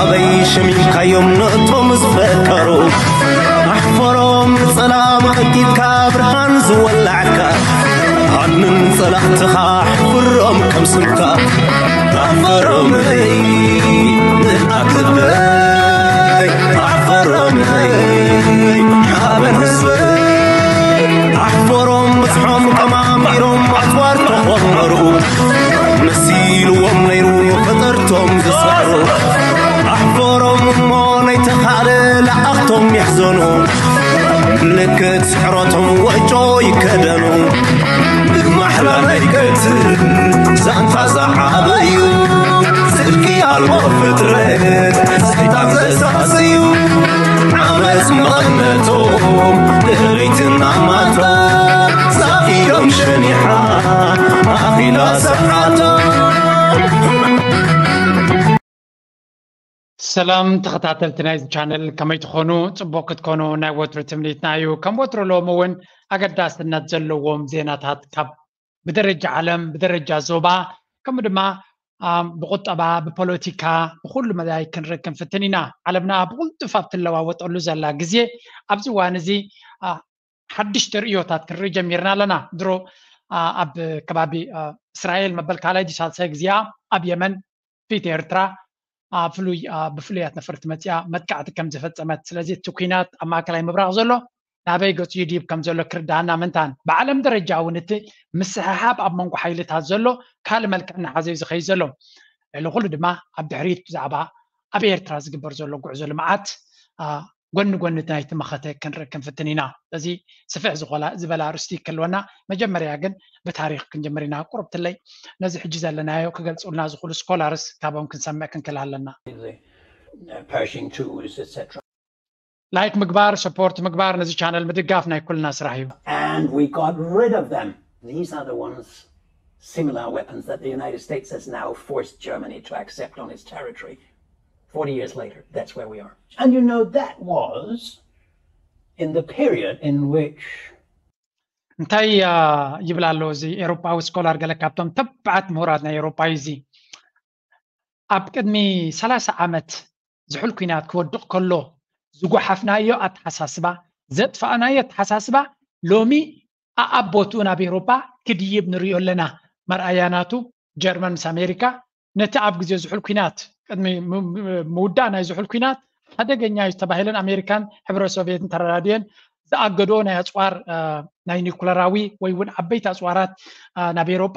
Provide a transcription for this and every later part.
ኣበይ ሸሚምካዮም ነቶም ዝፈከሩ? ኣሕፈሮም ንጸላም ኣእቲትካ ብርሃን ዝወላዕካ። ኣንን ጸላእትኻ ኣሕፍሮም ከም ስምካ። ኣሕፈሮም ኣይ ንኣክበይ ኣሕፈሮም ኣይ ሓበን ህዝበይ ኣሕፈሮም በጽሖም ቀማሚሮም ኣጽዋር ተኾመሩ። መሲልዎም ነይሩ ፈጠርቶም ዝሰዕሩ። ኣሕፈሮም እሞ ናይ ተኻለ ለኣኽቶም ይሕዘኑ። ምልክት ስዕረቶም ወጮ ይከደኑ። ብማሕላ ናይ ቀትል ዛንታ ዝዓበዩ። ጽድቂ ኣልቦ ፍጥረት ሰይጣን ዘሳስዩ። ዓመጽ መቐነቶም ድሕሪትና ማታ። ዛፊሎም ሸኒሓ ኣኺላ ሰዓታ። ሰላም ተኸታተልቲ ናይዚ ቻነል፣ ከመይ ትኾኑ? ጽቡቕ ክትኮኑ ናይ ወትሩ ትምኒትና እዩ። ከም ወትሩ ሎሚ እውን ኣገዳስነት ዘለዎም ዜናታት ካብ ብደረጃ ዓለም፣ ብደረጃ ዞባ፣ ከምኡ ድማ ብቁጠባ፣ ብፖለቲካ፣ ብኩሉ መዳይ ክንርኢ ክንፍትን ኢና። ዓለምና ብቕልጡፍ ኣብ ትለዋወጠሉ ዘላ ግዜ ኣብዚ እዋን እዚ ሓድሽ ተርእዮታት ክንርኢ ጀሚርና ኣለና። ድሮ ኣብ ከባቢ እስራኤል መበል ካልኣይ ድዩ ሳልሳይ ግዜኣ ኣብ የመን ፊት ኤርትራ ብፍሉያት ነፈርቲ መፅያ መጥቃዕቲ ከም ዝፈፀመት፣ ስለዚ እቲ ኲናት ኣብ ማእከላይ ምብራቕ ዘሎ ናበይ ገፁ ይድይብ ከም ዘሎ ክርዳኣና ምንታን፣ ብዓለም ደረጃ እውን እቲ ምስሕሓብ ኣብ መንጎ ሓይልታት ዘሎ ካልእ መልክዕ እናሓዘ እዩ ዝኸይድ ዘሎ። ልዕሊ ኩሉ ድማ ኣብ ድሕሪት ብዛዕባ ኣብ ኤርትራ ዝግበር ዘሎ ጉዕዞ ልምዓት ጎኒ ጎኒ ናይቲ መኸተ ክንርኢ ክንፍትን ኢና። ስለዚ ስፍሕ ዝኾላ ዝበላ ኣርእስቲ ክህልወና፣ መጀመርያ ግን ብታሪኽ ክንጀምር ኢና። ቁርብትለይ ነዚ ሕጂ ዘለናዮ ክገልጹልና ዝኽእሉ ስኮላርስ ካቦም ክንሰምዕ ክንክእል ኣለና። Pershing twos, et cetera. ላይክ ምግባር፣ ሰፖርት ምግባር፣ ነዚ ቻነል ምድጋፍ ናይ ኩልና ስራሕ እዩ። And we got rid of them. These are the ones similar weapons that the United States has now forced Germany to accept on its territory. Forty years later, that's where we are. And you know, that was in the period in which እንታይ ይብል ኣሎ እዚ ኤሮጳዊ ስኮላር፣ ገለ ካብቶም ተባዓት ምሁራት ናይ ኤሮጳ እዩ እዚ። ኣብ ቅድሚ ሰላሳ ዓመት ዝሑል ኲናት ክወድቕ ከሎ ዝጓሓፍናዮ ኣተሓሳስባ፣ ዘጥፋእናዮ ኣተሓሳስባ ሎሚ ኣኣብ ቦትኡ ናብ ኤሮጳ ክድይብ ንሪኦ ኣለና። መርኣያ ናቱ ጀርመን ምስ ኣሜሪካ ነቲ ኣብ ግዜ ዝሑል ኲናት፣ ቅድሚ ምውዳእ ናይ ዝሑል ኲናት ሓደገኛ እዩ ዝተባሂለን ኣሜሪካን ሕብረት ሶቪየትን ተረዳድየን ዝኣገድኦ ናይ ኣፅዋር ናይ ኒኩለራዊ ወይ እውን ዓበይቲ ኣፅዋራት ናብ ኤሮጳ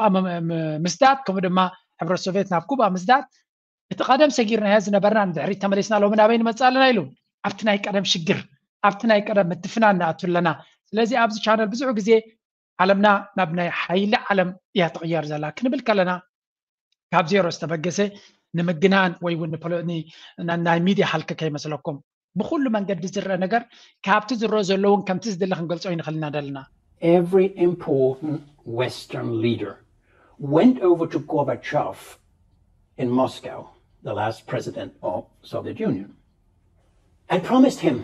ምስዳድ፣ ከምኡ ድማ ሕብረት ሶቪየት ናብ ኩባ ምስዳድ፣ እቲ ቀደም ሰጊርናዮ ዝነበርና ንድሕሪት ተመሊስና ሎሚ ናበይ ንመፅእ ኣለና ኢሉ ኣብቲ ናይ ቀደም ሽግር፣ ኣብቲ ናይ ቀደም ምትፍናን ንኣቱ ኣለና። ስለዚ ኣብዚ ቻነል ብዙሕ ግዜ ዓለምና ናብ ናይ ሓይሊ ዓለም እያ ትቕየር ዘላ ክንብል ከለና ካብ ዜሮ ዝተበገሰ ንምግናን ወይ እውን ናይ ሚድያ ሃልኪ ከይመስለኩም። ብኩሉ መንገዲ ዝረአ ነገር ካብቲ ዝረአ ዘሎ እውን ከምቲ ዝደለ ክንገልጾ ኣይንኽእል ኢና ዘለና። Every important Western leader went over to Gorbachev in Moscow, the last president of Soviet Union, and promised him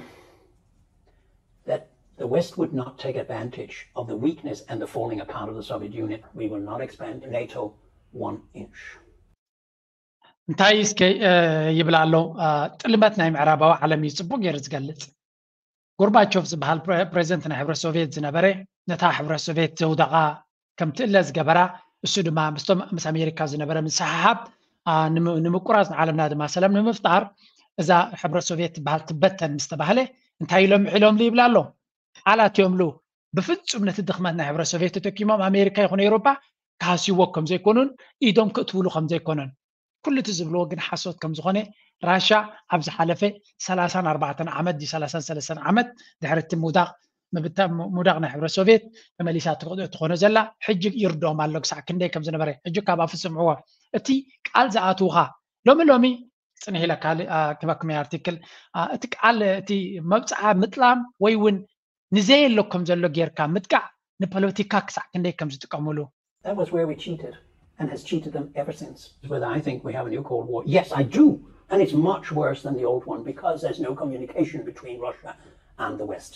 that the West would not take advantage of the weakness and the falling apart of the Soviet Union. We will not expand NATO one inch. እንታይ እስከ ይብል ኣሎ? ጥልመት ናይ ምዕራባዊ ዓለም እዩ ጽቡቕ ገይሩ ዝገልጽ። ጎርባቾቭ ዝበሃል ፕሬዚደንት ናይ ሕብረት ሶቪየት ዝነበረ፣ ነታ ሕብረት ሶቪየት ዘውደቓ ከም ትእለ ዝገበራ፣ እሱ ድማ ምስቶም ምስ ኣሜሪካ ዝነበረ ምስሕሓብ ንምቁራፅ፣ ንዓለምና ድማ ሰላም ንምፍጣር እዛ ሕብረት ሶቪየት ትበሃል ትበተን ምስ ተባህለ እንታይ ኢሎም ምሒሎምሉ ይብል ኣሎ? ቃላት እዮምሉ። ብፍጹም ነቲ ድኽመት ናይ ሕብረት ሶቪየት ተጠቂሞም ኣሜሪካ ይኹን ኤውሮጳ ክሃስይዎ ከም ዘይኮኑን ኢዶም ክእትውሉ ከም ዘይኮነን። ኩሉ እቲ ዝብልዎ ግን ሓሶት ከም ዝኾነ ራሻ ኣብ ዝሓለፈ ሰላሳን ኣርባዕተን ዓመት ድዩ ሰላሳን ሰለስተን ዓመት ድሕሪ እቲ ምውዳቕ ምብታ ምውዳቕ ናይ ሕብረት ሶቪየት ተመሊሳ ትኾኖ ዘላ ሕጂ ይርድኦም ኣሎ ክሳዕ ክንደይ ከም ዝነበረ ሕጂ ካብ ኣፉ ስምዕዎ። እቲ ቃል ዝኣትውኻ ሎሚ ሎሚ ጽንሕ ኢለ ካልእ ክበክመይ ኣርቲክል እቲ ቃል እቲ መብጽዓ ምጥላም ወይ እውን ንዘየሎ ከም ዘሎ ጌርካ ምጥቃዕ ንፖለቲካ ክሳዕ ክንደይ ከም ዝጥቀምሉ። That was where we cheated and has cheated them ever since. Whether I think we have a new Cold War, yes, I do. And it's much worse than the old one because there's no communication between Russia and the West.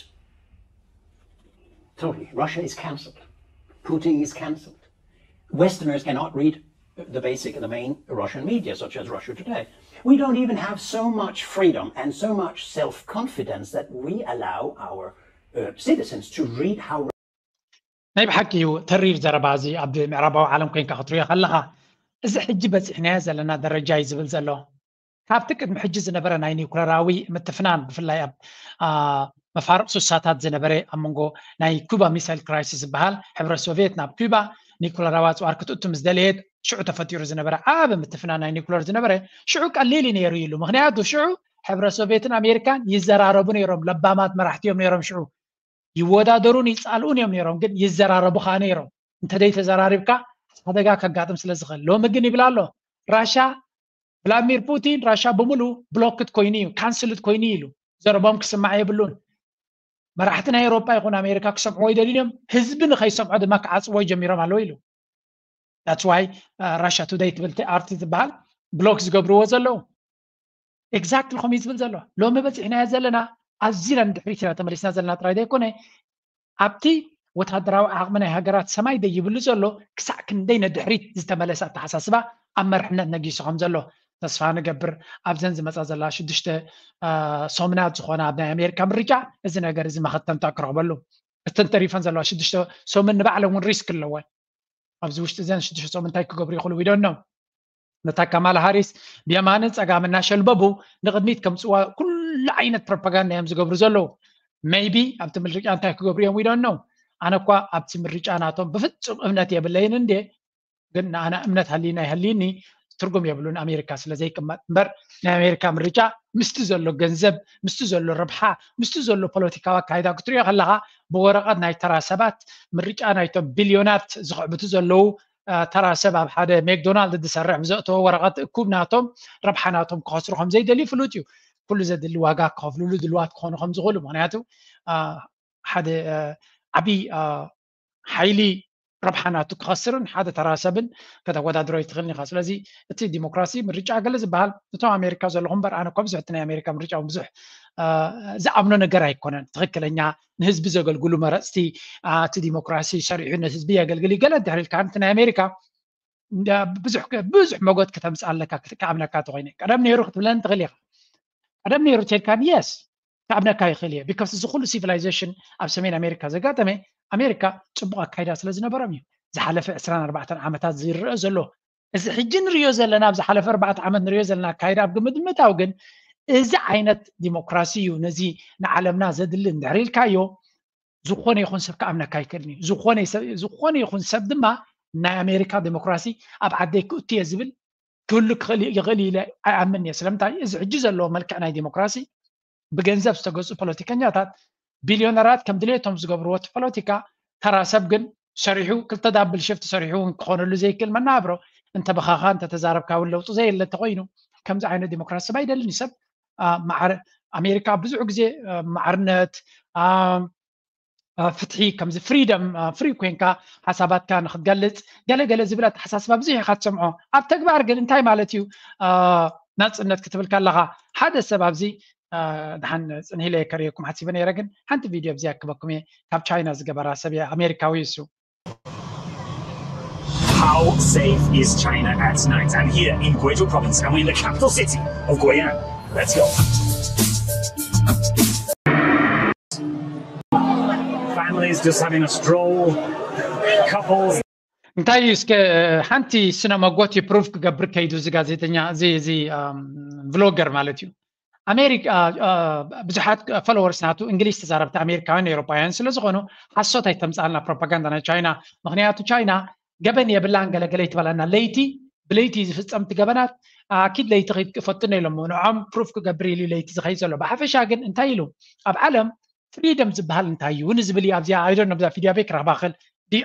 Totally. Russia is cancelled. Putin is cancelled. Westerners cannot read the basic, the main Russian media, such as Russia Today. We don't even have so much freedom and so much self-confidence that we allow our uh, citizens to read how ናይ ብሓቂ እዩ ተሪር ዘረባ እዚ። ኣብ ምዕራባዊ ዓለም ኮይንካ ክትሪኦ ከለኻ፣ እዚ ሕጂ በፂሕናዮ ዘለና ደረጃ እዩ ዝብል ዘሎ። ካብቲ ቅድሚ ሕጂ ዝነበረ ናይ ኒውክለራዊ ምትፍናን፣ ብፍላይ ኣብ መፋርቕ ሱሳታት ዝነበረ፣ ኣብ መንጎ ናይ ኩባ ሚሳይል ክራይሲስ ዝበሃል፣ ሕብረት ሶቪየት ናብ ኩባ ኒውክለራዊ ኣፅዋር ክትእቱ ምስ ደለየት፣ ሽዑ ተፈጢሩ ዝነበረ ዓቢ ምትፍናን ናይ ኒውክለር ዝነበረ፣ ሽዑ ቀሊል እዩ ነይሩ ኢሉ። ምክንያቱ ሽዑ ሕብረት ሶቪየትን ኣሜሪካን ይዘራረቡ ነይሮም። ለባማት መራሕቲ እዮም ነይሮም ሽዑ። ይወዳደሩን ይፃልኡን እዮም ነይሮም፣ ግን ይዘራረቡ ከዓ ነይሮም። እንተደይ ተዘራሪብካ ሓደጋ ከጋጥም ስለ ዝኽእል። ሎሚ ግን ይብል ኣሎ፣ ራሻ፣ ቭላድሚር ፑቲን፣ ራሻ ብምሉ ብሎክት ኮይኑ እዩ፣ ካንስልት ኮይኑ እዩ ኢሉ። ዘረቦም ክስማዕ የብሉን። መራሕቲ ናይ ኤውሮጳ ይኹን ኣሜሪካ ክሰምዕዎ ይደልዩ እዮም። ህዝቢ ንኸይሰምዖ ድማ ክዓፅዎ ጀሚሮም ኣለዉ ኢሉ። That's why ራሻ ቱደይ ትብል ኣርቲ ዝበሃል ብሎክ ዝገብርዎ ዘለዉ። ኤግዛክትሊ ከምኡ እዩ ዝብል ዘሎ። ሎሚ በፂሕናዮ ዘለና፣ ኣዚና ንድሕሪት ኢና ተመሊስና ዘለና ጥራይ ዘይኮነ፣ ኣብቲ ወታደራዊ ዓቕሚ ናይ ሃገራት ሰማይ ደይብሉ ዘሎ፣ ክሳዕ ክንደይ ንድሕሪት ዝተመለሰ ኣተሓሳስባ ኣብ መርሕነት ነጊሱ ከም ዘሎ ተስፋ ንገብር። ኣብዘን ዝመፃ ዘላ ሽዱሽተ ሰሙናት ዝኾነ ኣብ ናይ ኣሜሪካ ምርጫ እዚ ነገር እዚ መኸተምታ ክረኽበሉ። እተን ተሪፈን ዘለዋ ሽዱሽተ ሰሙን ንባዕለን እውን ሪስክ ኣለወን። ኣብዚ ውሽጢ እዘን ሽዱሽተ ሰሙን እንታይ ክገብሩ ይኽእሉ? We don't know። ነታ ካማላ ሃሪስ ብየማንን ፀጋም እናሸልበቡ ንቕድሚት ከምፅዋ ኩሉ ዓይነት ፕሮፓጋንዳ እዮም ዝገብሩ ዘለዉ። ሜይቢ ኣብቲ ምርጫ እንታይ ክገብሩ እዮም? We don't know። ኣነ እኳ ኣብቲ ምርጫ ናቶም ብፍፁም እምነት የብለይን እንዴ፣ ግን ንኣና እምነት ሃልይና ይሃልይኒ ትርጉም የብሉን ኣሜሪካ ስለ ዘይቅመጥ እምበር፣ ናይ ኣሜሪካ ምርጫ ምስቲ ዘሎ ገንዘብ፣ ምስቲ ዘሎ ረብሓ፣ ምስቲ ዘሎ ፖለቲካዊ ኣካይዳ ክትሪኦ ከለኻ፣ ብወረቐት ናይ ተራ ሰባት ምርጫ ናይቶም ቢልዮናት ዝኽዕብቱ ዘለዉ ተራ ሰብ ኣብ ሓደ ሜክዶናልድ ዝሰርሕ ብዘእተዎ ወረቐት እኩብ ናቶም ረብሓ ናቶም ክኸስሩ ከም ዘይደልዩ ፍሉጥ እዩ። ኩሉ ዘድሊ ዋጋ ክኸፍልሉ ድልዋት ክኾኑ ከም ዝኽእሉ፣ ምክንያቱ ሓደ ዓብዪ ሓይሊ ረብሓ ናቱ ክኸስርን ሓደ ተራ ሰብን ከተወዳድሮ ኣይትኽእልን ኢኻ። ስለዚ እቲ ዲሞክራሲ ምርጫ ገለ ዝበሃል እቶም ኣሜሪካ ዘለኹም እምበር፣ ኣነ እኳ ብዙሕ እቲ ናይ ኣሜሪካ ምርጫ እውን ብዙሕ ዝኣምኖ ነገር ኣይኮነን። ትኽክለኛ ንህዝቢ ዘገልግሉ መረፅቲ፣ እቲ ዲሞክራሲ ሰሪሑ ንህዝቢ የገልግል እዩ ገለ እንድሕር ኢልካ፣ እቲ ናይ ኣሜሪካ ብዙሕ ብዙሕ መጎት ከተምፅእ ኣለካ ክኣምነካ እንተኮይነ። ቀደም ነይሩ ክትብለኒ ትኽእል ኢኻ። ቀደም ነይሩ ተልካን የስ ክኣምነካ ይኽእል እየ። ቢካስ እዚ ኩሉ ሲቪላይዜሽን ኣብ ሰሜን ኣሜሪካ ዘጋጠመ ኣሜሪካ ፅቡቕ ኣካይዳ ስለ ዝነበሮም እዩ። ዝሓለፈ ዕስራን ኣርባዕተን ዓመታት ዝረአ ዘሎ፣ እዚ ሕጂ ንሪኦ ዘለና፣ ኣብ ዝሓለፈ ኣርባዕተ ዓመት ንሪኦ ዘለና ኣካይዳ ኣብ ግምት ምእታው ግን፣ እዚ ዓይነት ዲሞክራሲ እዩ ነዚ ንዓለምና ዘድሊ እንድሕር ኢልካዮ፣ ዝኾነ ይኹን ሰብ ክኣምነካ ኣይክእልን እዩ። ዝኾነ ይኹን ሰብ ድማ ናይ ኣሜሪካ ዲሞክራሲ ኣብ ዓደይ ክእቱ እየ ዝብል ክህሉ ክኽእል ይኽእል ኢለ ኣይኣምን እየ። ስለምንታይ? እዚ ሕጂ ዘለዎ መልክዕ ናይ ዲሞክራሲ ብገንዘብ ዝተገዙ ፖለቲከኛታት ቢልዮነራት ከም ድሌቶም ዝገብርዎ እቲ ፖለቲካ፣ ተራ ሰብ ግን ሰሪሑ ክልተ ዳብል ሽፍት ሰሪሑ እውን ክኾነሉ ዘይክእል መናብሮ እንተበኻኻ እንተተዛረብካ እውን ለውጢ ዘየለ እንተኮይኑ ከምዚ ዓይነት ዲሞክራሲ ሰብ ኣይደልን እዩ። ሰብ ኣሜሪካ ብዙሕ ግዜ ማዕርነት ፍትሒ ከምዚ ፍሪደም ፍሪ ኮይንካ ሓሳባትካ ንክትገልፅ ገለገለ ዝብል ኣተሓሳስባ ብዙሕ ኢካ ትሰምዖ። ኣብ ተግባር ግን እንታይ ማለት እዩ ናፅነት ክትብል ከለካ? ሓደ ሰብ ኣብዚ ድሓን ፅንሂለ ከርእየኩም ሓሲበ ነይረ፣ ግን ሓንቲ ቪድዮ ኣብዚ ኣክበኩም እየ። ካብ ቻይና ዝገበራ ሰብ እየ፣ ኣሜሪካዊ እሱ። How safe is China at night? I'm here in Guizhou province and we're in the capital city of Guiyang. Let's go. Families just having a stroll, couples. እንታይ እዩ እስከ ሓንቲ ስነ መጎት ፕሩፍ ክገብር ከይዱ እዚ ጋዜጠኛ እዚ እዚ ቭሎገር ማለት እዩ። ኣሜሪካ ብዙሓት ፎሎወርስ ናቱ እንግሊዝ ተዛረብቲ ኣሜሪካውያን ኤውሮፓውያን ስለ ዝኾኑ ሓሶት ኣይተምፅኣልና ፕሮፓጋንዳ ናይ ቻይና። ምክንያቱ ቻይና ገበን የብላን ገለገለ ይትበለና። ለይቲ ብለይቲ ዝፍፀምቲ ገበናት ኣኪድ ለይቲ ከይድ ክፈትነ ኢሎም ንዖም ፕሩፍ ክገብር ኢሉ ለይቲ ዝኸይድ ዘሎ። ብሓፈሻ ግን እንታይ ኢሉ ኣብ ዓለም ፍሪደም ዝበሃል እንታይ እዩ ንዝብል እዩ። ኣብዚኣ ኣይዶን ነብዛ ቪድዮ ቤክ ረኽባ ክል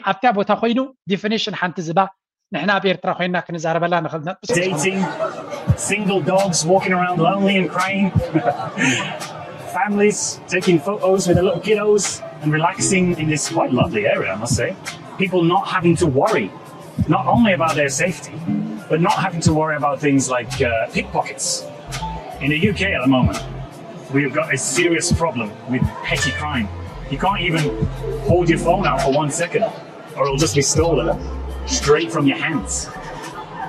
ኣብታ ቦታ ኮይኑ ዲፊኒሽን ሓንቲ ዝባ ንሕና ኣብ ኤርትራ ኮይና ክንዛረበላ ንኽእል ነጥብ Dating, single dogs walking around lonely and crying, families taking photos with their little kiddos and relaxing in this quite lovely area, I must say. People not having to worry, not only about their safety, but not having to worry about things like uh, pickpockets. In the U K at the moment, we've got a serious problem with petty crime. You can't even hold your phone out for one second, or it'll just be stolen straight from your hands.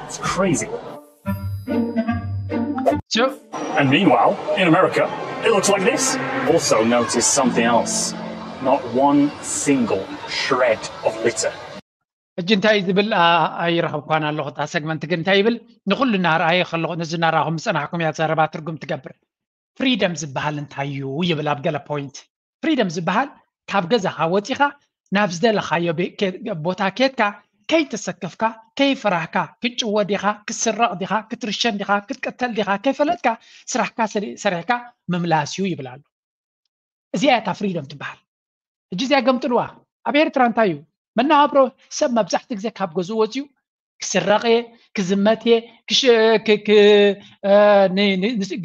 It's crazy. So, and meanwhile, in America, it looks like this. Also notice something else. Not one single shred of litter. ሕጂ እንታይ ዝብል ኣይረኸብኳን ኣለኹ። እታ ሰግመንት ግን እንታይ ይብል? ንኹሉ እናርኣየ ከለኹ፣ ነዚ እናረኣኹም ዝጸናሕኩም እያ ዘረባ ትርጉም ትገብር። ፍሪደም ዝበሃል እንታይ እዩ ይብል ኣብ ገለ ፖይንት። ፍሪደም ዝበሃል ካብ ገዛኻ ወፂኻ ናብ ዝደለኻዮ ቦታ ኬድካ ከይተሰከፍካ፣ ከይፈራህካ፣ ክትጭወ ዲኻ፣ ክትስረቕ ዲኻ፣ ክትርሸን ዲኻ፣ ክትቀተል ዲኻ ከይፈለጥካ ስራሕካ ሰሪሕካ ምምላስ እዩ ይብል ኣሎ። እዚኣ እታ ፍሪደም ትበሃል። ሕጂ እዚኣ ገምጥልዋ። ኣብ ኤርትራ እንታይ እዩ መናብሮ ሰብ መብዛሕቲ ግዜ ካብ ገዝኡ ወፅዩ ክስረቕ እየ፣ ክዝመት እየ፣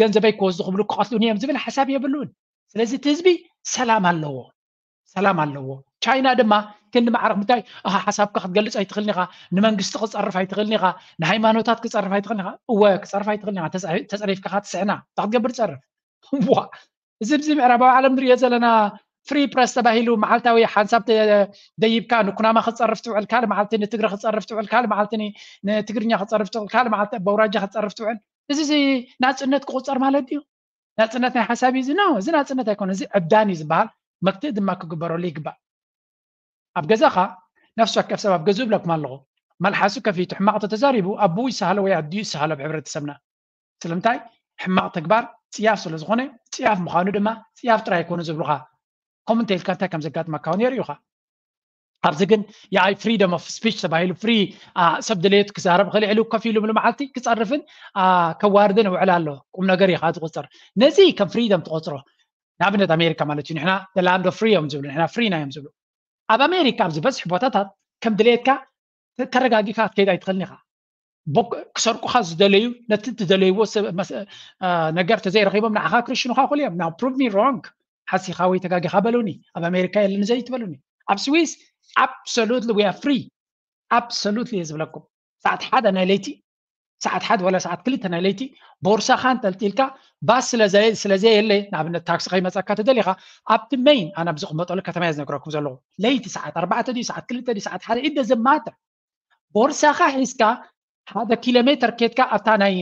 ገንዘበይ ክወስዱ ክብሉ ክቐትሉን እዮም ዝብል ሓሳብ የብሉን። ስለዚ እቲ ህዝቢ ሰላም ኣለዎ፣ ሰላም ኣለዎ። ቻይና ድማ ክንዲ ማዕረክ ምታይ ሓሳብካ ክትገልፅ ኣይትኽእልን ኢኻ፣ ንመንግስቲ ክፀርፍ ኣይትኽእልን ኢኻ፣ ንሃይማኖታት ክፀርፍ ኣይትኽእልን ኢኻ። እወ ክፀርፍ ኣይትኽእልን ኢኻ፣ ተፀሪፍካ ትስዕና። እንታይ ክትገብር ትፀርፍ? እዚ ብዚ ምዕራባዊ ዓለም ንሪኦ ዘለና ፍሪ ፕረስ ተባሂሉ መዓልታዊ ሓንሳብ ደይብካ ንኩናማ ክትፀርፍ ትውዕል፣ ካልእ መዓልቲ ንትግረ ክትፀርፍ ትውዕል፣ ካልእ መዓልቲ ንትግርኛ ክትፀርፍ ትውዕል፣ ካልእ መዓልቲ በውራጃ ክትፀርፍ ትውዕል። እዚ ናፅነት ክቁፀር ማለት ድዩ? ናፅነት ናይ ሓሳብ እዩ እዚ? ኖ፣ እዚ ናፅነት ኣይኮነ፣ እዚ ዕብዳን እዩ ዝበሃል። መክትእ ድማ ክግበረሉ ይግባእ። ኣብ ገዛኻ ነፍሲ ወከፍ ሰብ ኣብ ገዝኡ እብለኩም ኣለኹ፣ መልሓሱ ከፊቱ ሕማቕ ተተዛሪቡ ኣቦኡ ይሰሃሎ ወይ ኣዲኡ ይሰሃሎ ኣብ ሕብረተሰብና። ስለምንታይ? ሕማቕ ተግባር ፅያፍ ስለ ዝኾነ፣ ፅያፍ ምዃኑ ድማ ፅያፍ ጥራይ ኣይኮነ ዝብሉኻ። ኮመንት ኢልካ እንታይ ከም ዘጋጥመካ እውን የርእዩኻ። ኣብዚ ግን የኣይ ፍሪደም ኦፍ ስፒች ተባሂሉ ፍሪ ሰብ ድሌቱ ክዛረብ ክልዕሉ ኮፍ ኢሉ ምሉ መዓልቲ ክፀርፍን ከዋርድን ይውዕል ኣሎ። ቁም ነገር እዩ ዝቁፅር። ነዚ ከም ፍሪደም ትቆፅሮ። ንኣብነት ኣሜሪካ ማለት እዩ። ንሕና ላንድ ኦፍ ፍሪ እዮም ዝብሉ፣ ንሕና ፍሪ ና እዮም ዝብሉ። ኣብ ኣሜሪካ ኣብ ዝበዝሕ ቦታታት ከም ድሌትካ ተረጋጊካ ክትከይድ ኣይትኽእልን ኢኻ። ክሰርቁኻ ዝደለዩ ነቲ ትደለይዎ ነገር ተዘይረኺቦም ንዓኻ ክርሽኑኻ ክእሉ እዮም። ናው ፕሩቭ ሚ ሮንግ፣ ሓሲኻ ወይ ተጋጊኻ በሉኒ። ኣብ ኣሜሪካ የለን ዘይትበሉኒ። ኣብ ስዊስ absolutely we are free፣ absolutely እየ ዝብለኩም። ሰዓት ሓደ ናይ ለይቲ፣ ሰዓት ሓደ ወላ ሰዓት ክልተ ናይ ለይቲ ቦርሳኻ እንተልጢልካ ባስ ስለዘየለ፣ ንኣብነት ታክሲ ከይመፀካ ተደሊኻ ኣብቲ ሜይን ኣነ ኣብ ዝቕመጠሉ ከተማ እየ ዝነግረኩም ዘለኹ። ለይቲ ሰዓት ኣርባዕተ ድዩ ሰዓት ክልተ ድዩ ሰዓት ሓደ ኢደ ዘማተ ቦርሳኻ ሒዝካ ሓደ ኪሎ ሜትር ኬድካ ኣብታ ናይ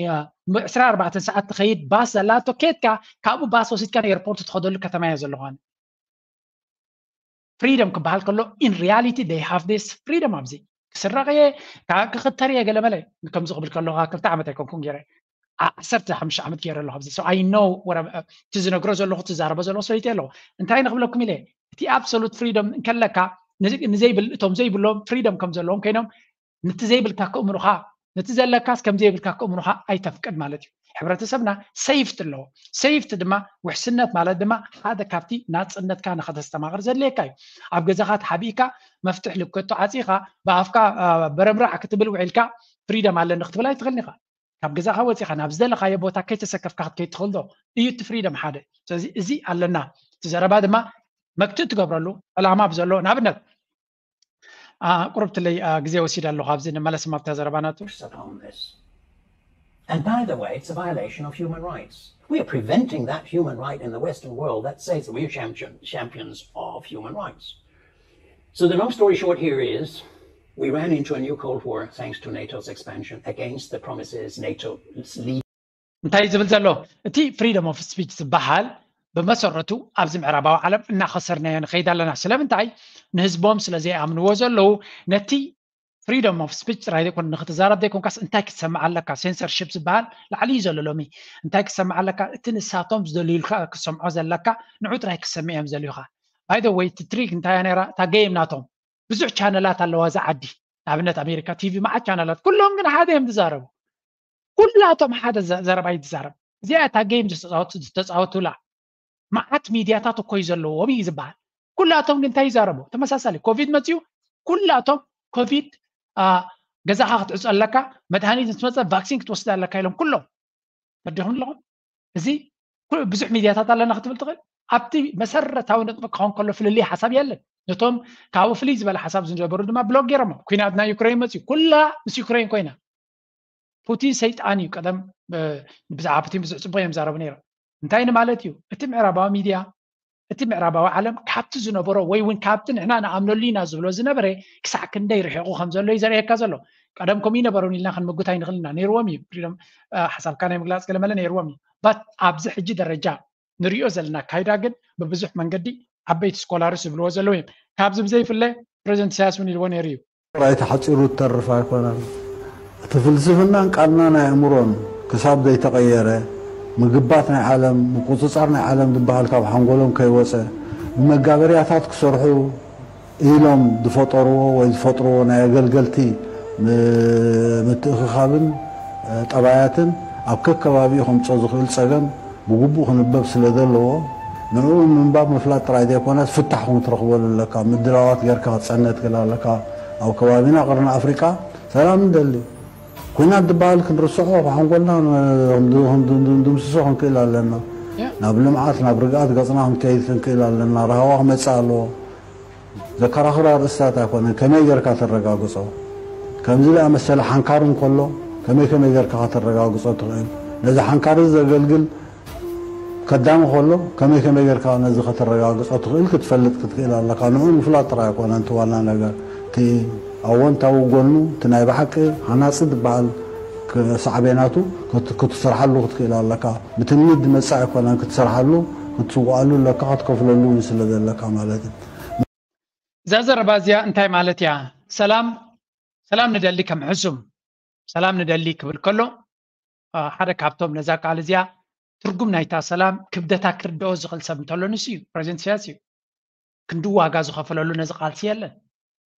ዕስራ ኣርባዕተ ሰዓት ትኸይድ ባስ ዘላቶ ኬድካ ካብኡ ባስ ወሲድካ ንኤርፖርት ትኸደሉ ከተማ እየ ዘለኹ ኣነ። ፍሪደም ክበሃል ከሎ in reality they have this ፍሪደም ኣብዚ ክስረቕ እየ ክኽተር እየ ገለመለ ከምዚ ክብል ከለኹ ክልተ ዓመት ኣይኮንኩን ገይረ ዓሰርተ ሓሙሽተ ዓመት ገይረ ኣለኹ ኣብዚ። So I know እቲ ዝነግሮ ዘለኹ ትዛረቦ ዘለኹ ሰበይቲ ኣለኹ። እንታይ ንክብለኩም ኢለ እቲ ኣብሶሉት ፍሪደም እንከለካ ንዘይብል እቶም ዘይብሎም ፍሪደም ከም ዘለዎም ኮይኖም ነቲ ዘይብልካ ክእምኑኻ ነቲ ዘለካስ ከም ዘይብልካ ክእምኑኻ ኣይተፍቅድ ማለት እዩ። ሕብረተሰብና ሴፍቲ ኣለዎ። ሴፍቲ ድማ ውሕስነት ማለት ድማ ሓደ ካብቲ ናፅነትካ ንኸተስተማቕር ዘድልየካ እዩ። ኣብ ገዛኻ ተሓቢእካ መፍትሕ ልከቶ ዓፂኻ ብኣፍካ በረምራዕ ክትብል ውዒልካ ፍሪደም ኣለኒ ክትብል ኣይትኽእልን ኢኻ። ካብ ገዛኻ ወፂኻ ናብ ዝደለኻዮ ቦታ ከይተሰከፍካ ክትከይድ ትኽእል ዶ? እዩ እቲ ፍሪደም ሓደ። ስለዚ እዚ ኣለና። እቲ ዘረባ ድማ መክትእ ትገብረሉ ዕላማ ብዘለዎ ንኣብነት ቁርብትለይ ግዜ ወሲድ ኣለኹ ኣብዚ ንመለስ ማብታ ዘረባ ናቱ And by the way, it's a violation of human rights. We are preventing that human right in the Western world that says that we are champion, champions of human rights. So the long story short here is we ran into a new Cold War thanks to NATO's expansion against the promises NATO's leaders. እንታይ ዝብል ዘሎ እቲ freedom of speech ዝበሃል ብመሰረቱ ኣብዚ ምዕራባዊ ዓለም እናኸሰርናዮ ንኸይድ ኣለና። ስለምንታይ? ንህዝቦም ስለ ዘይኣምንዎ ዘለዉ ነቲ freedom of speech ጥራይ ዘይኮነ ንክትዛረብ ዘይኮንካስ እንታይ ክትሰምዕ ኣለካ? ሴንሰርሽፕ ዝበሃል ላዕሊ እዩ ዘሎ ሎሚ። እንታይ ክትሰምዕ ኣለካ? እቲ ንሳቶም ዝደልዩልካ ክትሰምዖ ዘለካ ንዑ ጥራይ ክትሰምዕ እዮም ዘልዩካ። By the way እቲ ትሪክ እንታይ እያ ነይራ? እታ ጌም ናቶም ብዙሕ ቻነላት ኣለዋ እዛ ዓዲ። ንኣብነት ኣሜሪካ ቲቪ መዓት ቻነላት ኩሎም ግን ሓደ እዮም ዝዛረቡ። ኩላቶም ሓደ ዘረባ እዩ ዝዛረብ። እዚኣ እታ ጌም ዝተፃወቱላ መዓት ሚድያታት እኮ እዩ ዘለዎም እዩ ዝበሃል። ኩላቶም ግን እንታይ ይዛረቡ? ተመሳሳሊ ኮቪድ መፅዩ ኩላቶም ኮቪድ ገዛኻ ክትዕፆ ኣለካ፣ መድሃኒት ምስ መፀ ቫክሲን ክትወስድ ኣለካ ኢሎም ኩሎም ፈዲኹም ኣለኹም። እዚ ብዙሕ ሚድያታት ኣለና ክትብል ትኽእል። ኣብቲ መሰረታዊ ነጥቢ ክኸውን ከሎ ፍልልይ ሓሳብ የለን። ነቶም ካብኡ ፍልይ ዝበለ ሓሳብ ዝነበሩ ድማ ብሎክ ገይሮሞ። ኩናት ናይ ዩክሬን መፅዩ ኩላ ምስ ዩክሬን ኮይና ፑቲን ሰይጣን እዩ። ቀደም ብዛዕባ ፑቲን ብዙሕ ፅቡቅ እዮም ዛረቡ ነይሮም። እንታይ ንማለት እዩ? እቲ ምዕራባዊ ሚድያ እቲ ምዕራባዊ ዓለም ካብቲ ዝነበሮ ወይ እውን ካብቲ ንሕና ንኣምነሉ ኢና ዝብሎ ዝነበረ ክሳዕ ክንደይ ርሒቑ ከም ዘሎ እዩ ዘርእየካ ዘሎ። ቀደም ከምኡ ይነበሩን ኢልና ክንምጉት ኣይንኽእል ኢና። ነይርዎም እዩ ፍሪደም፣ ሓሳብካ ናይ ምግላፅ ገለመለ ነይርዎም እዩ። ባት ኣብዚ ሕጂ ደረጃ ንሪኦ ዘለና ኣካይዳ ግን ብብዙሕ መንገዲ ዓበይቲ ስኮላርስ ዝብልዎ ዘለዉ እዮም። ካብዚ ብዘይፍለ ፕሬዚደንት ኢሳያስ እውን ኢልዎ ነይሩ እዩ። ጥራይ ተሓፂሩ ትተርፍ ኣይኮነን። እቲ ፍልስፍናን ቃልናን ኣእምሮን ክሳብ ዘይተቐየረ፣ ምግባት ናይ ዓለም፣ ምቁፅፃር ናይ ዓለም ዝበሃል ካብ ሓንጎሎም ከይወፀ፣ ብመጋበርያታት ክሰርሑ ኢሎም ዝፈጠርዎ ወይ ዝፈጥርዎ ናይ ኣገልገልቲ ምትእኽኻብን ጠባያትን ኣብ ከከባቢኡ ከምፅኦ ዝኽእል ፀገም ብግቡእ ክንበብ ስለ ዘለዎ፣ ንዕኡ ምንባብ ምፍላጥ ጥራይ ዘይኮነስ ፍታሕ እውን ክትረኽበሉ ኣለካ። ምድላዋት ጌርካ ክትፀንሕ ትኽእል ኣለካ። ኣብ ከባቢና ቅርኒ ኣፍሪቃ ሰላም ንደሊ። ኲናት ዝበሃል ክንርስዖ፣ ካብ ሓንጎልና ክንድምስሶ ክንክእል ኣለና። ናብ ልምዓት፣ ናብ ርግኣት ገፅና ክንከይድ ክንክእል ኣለና። ራህዋ ክመፅእ ኣለዎ። ዘከራኽር ኣርእስታት ኣይኮነን። ከመይ ጌርካ ተረጋግጾ? ከምዚ ዝኣመሰለ ሓንካር እንከሎ ከመይ ከመይ ጌርካ ከተረጋግጾ ትኽእል? ነዚ ሓንካር እዚ ዘገልግል ከዳሚ ከሎ ከመይ ከመይ ጌርካ ነዚ ከተረጋግጾ ትኽእል ክትፈልጥ ክትክእል ኣለካ። ንዑ ምፍላጥ ጥራይ ኣይኮነን እቲ ዋና ነገር። እቲ ኣወንታዊ ጎኑ፣ እቲ ናይ ብሓቂ ሃናጺ ዝበሃል ሳዕቤናቱ ክትሰርሓሉ ክትክእል ኣለካ። ብትምኒት ዝመጽእ ኣይኮነን ክትሰርሓሉ ክትስዋኣሉ ኣለካ ክትከፍለሉ እውን ስለ ዘለካ ማለት እዩ። እዛ ዘረባ እዚኣ እንታይ ማለት እያ? ሰላም ሰላም ንደሊ ከም ሕሱም ሰላም ንደሊ ክብል ከሎ ሓደ ካብቶም ነዛ ቃል እዚኣ ትርጉም ናይታ ሰላም ክብደታ ክርድኦ ዝኽእል ሰብ እንተሎ ንሱ እዩ። ፕሬዚደንት ኢሳያስ እዩ። ክንዲ ዋጋ ዝኸፈለሉ ነዚ ቃልሲ የለን።